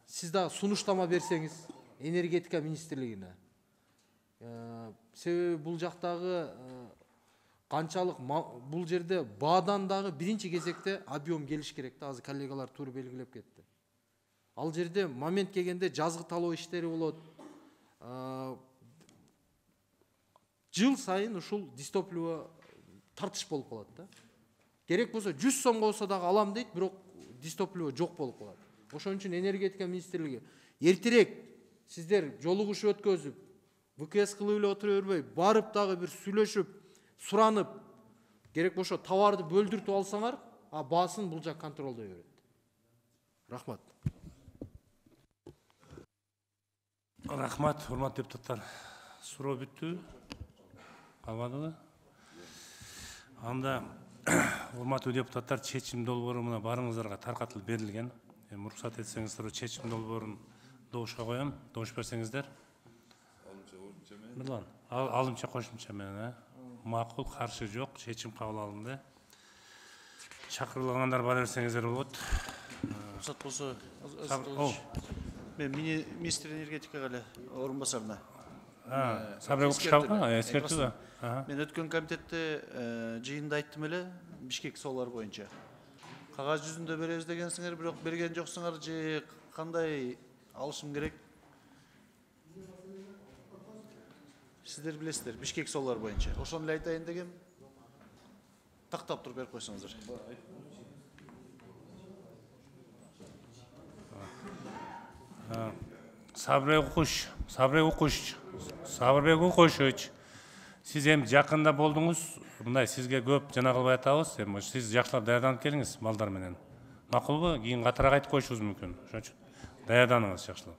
сиз дагы сунуштама берсеңиз энергетика министрлигине. Себеби бул жактагы канчалык бул жерде баадан дагы биринчи кезекте объем келиш керек да, азыр коллегалар туура белгилеп кетти. Ал жерде момент келгенде жазгы талоо иштери болот. Жыл сайын ушул дистопливо тартыш болуп калат да. Керек болсо 100 сомго болсо дагы алам дейт, бирок дистопливо жок болуп калат. Ошон үчүн энергетика министрлиги эртерээк сиздер жолугушуу өткөзүп, ВКС кылып эле отура бербей, барып дагы бир сүйлөшүп, суранып, керек болсо товарды бөлдүртүп алсаңар, баасын бул жак контролдой берет. Рахмат. Рахмат, урматтуу депутаттар. Суроо бүттү? Калбадыбы? Анда урматтуу депутаттар, чечим долбоору мына барыңыздарга таркатылып берилген. Уруксат этсеңиздер, чечим долбоорун добушка коем. Добуш берсеңиздер. Мырлан, алымча кошумча менен, макул, каршы жок, чечим кабыл алынды. Чакырылгандар бара берсеңиздер болот. Уруксат болсо, мен министр энергетикага эле орун басарына. Сабыр эскертүү. Мен өткөн комитетте жыйында айттым эле, Бишкек соолор боюнча. Кагаз жүзүндө беребиз дегенсиңер, бирок берген жоксуңар же кандай алышым керек? Сиздер билесиздер, Бишкек соолор боюнча. Ошону эле айтайын дегем. Тактап туруп берип койсоңуздар. Сабырбек Укуш, сиз эми жакында болдуңуз, мындай сизге көп жана кылбай атабыз, эми сиз жакшылап даярданып келиңиз малдар менен. Макулбу? Кийин катараак айтып коюшубуз мүмкүн. Ошон үчүн даярданыңыз жакшылап.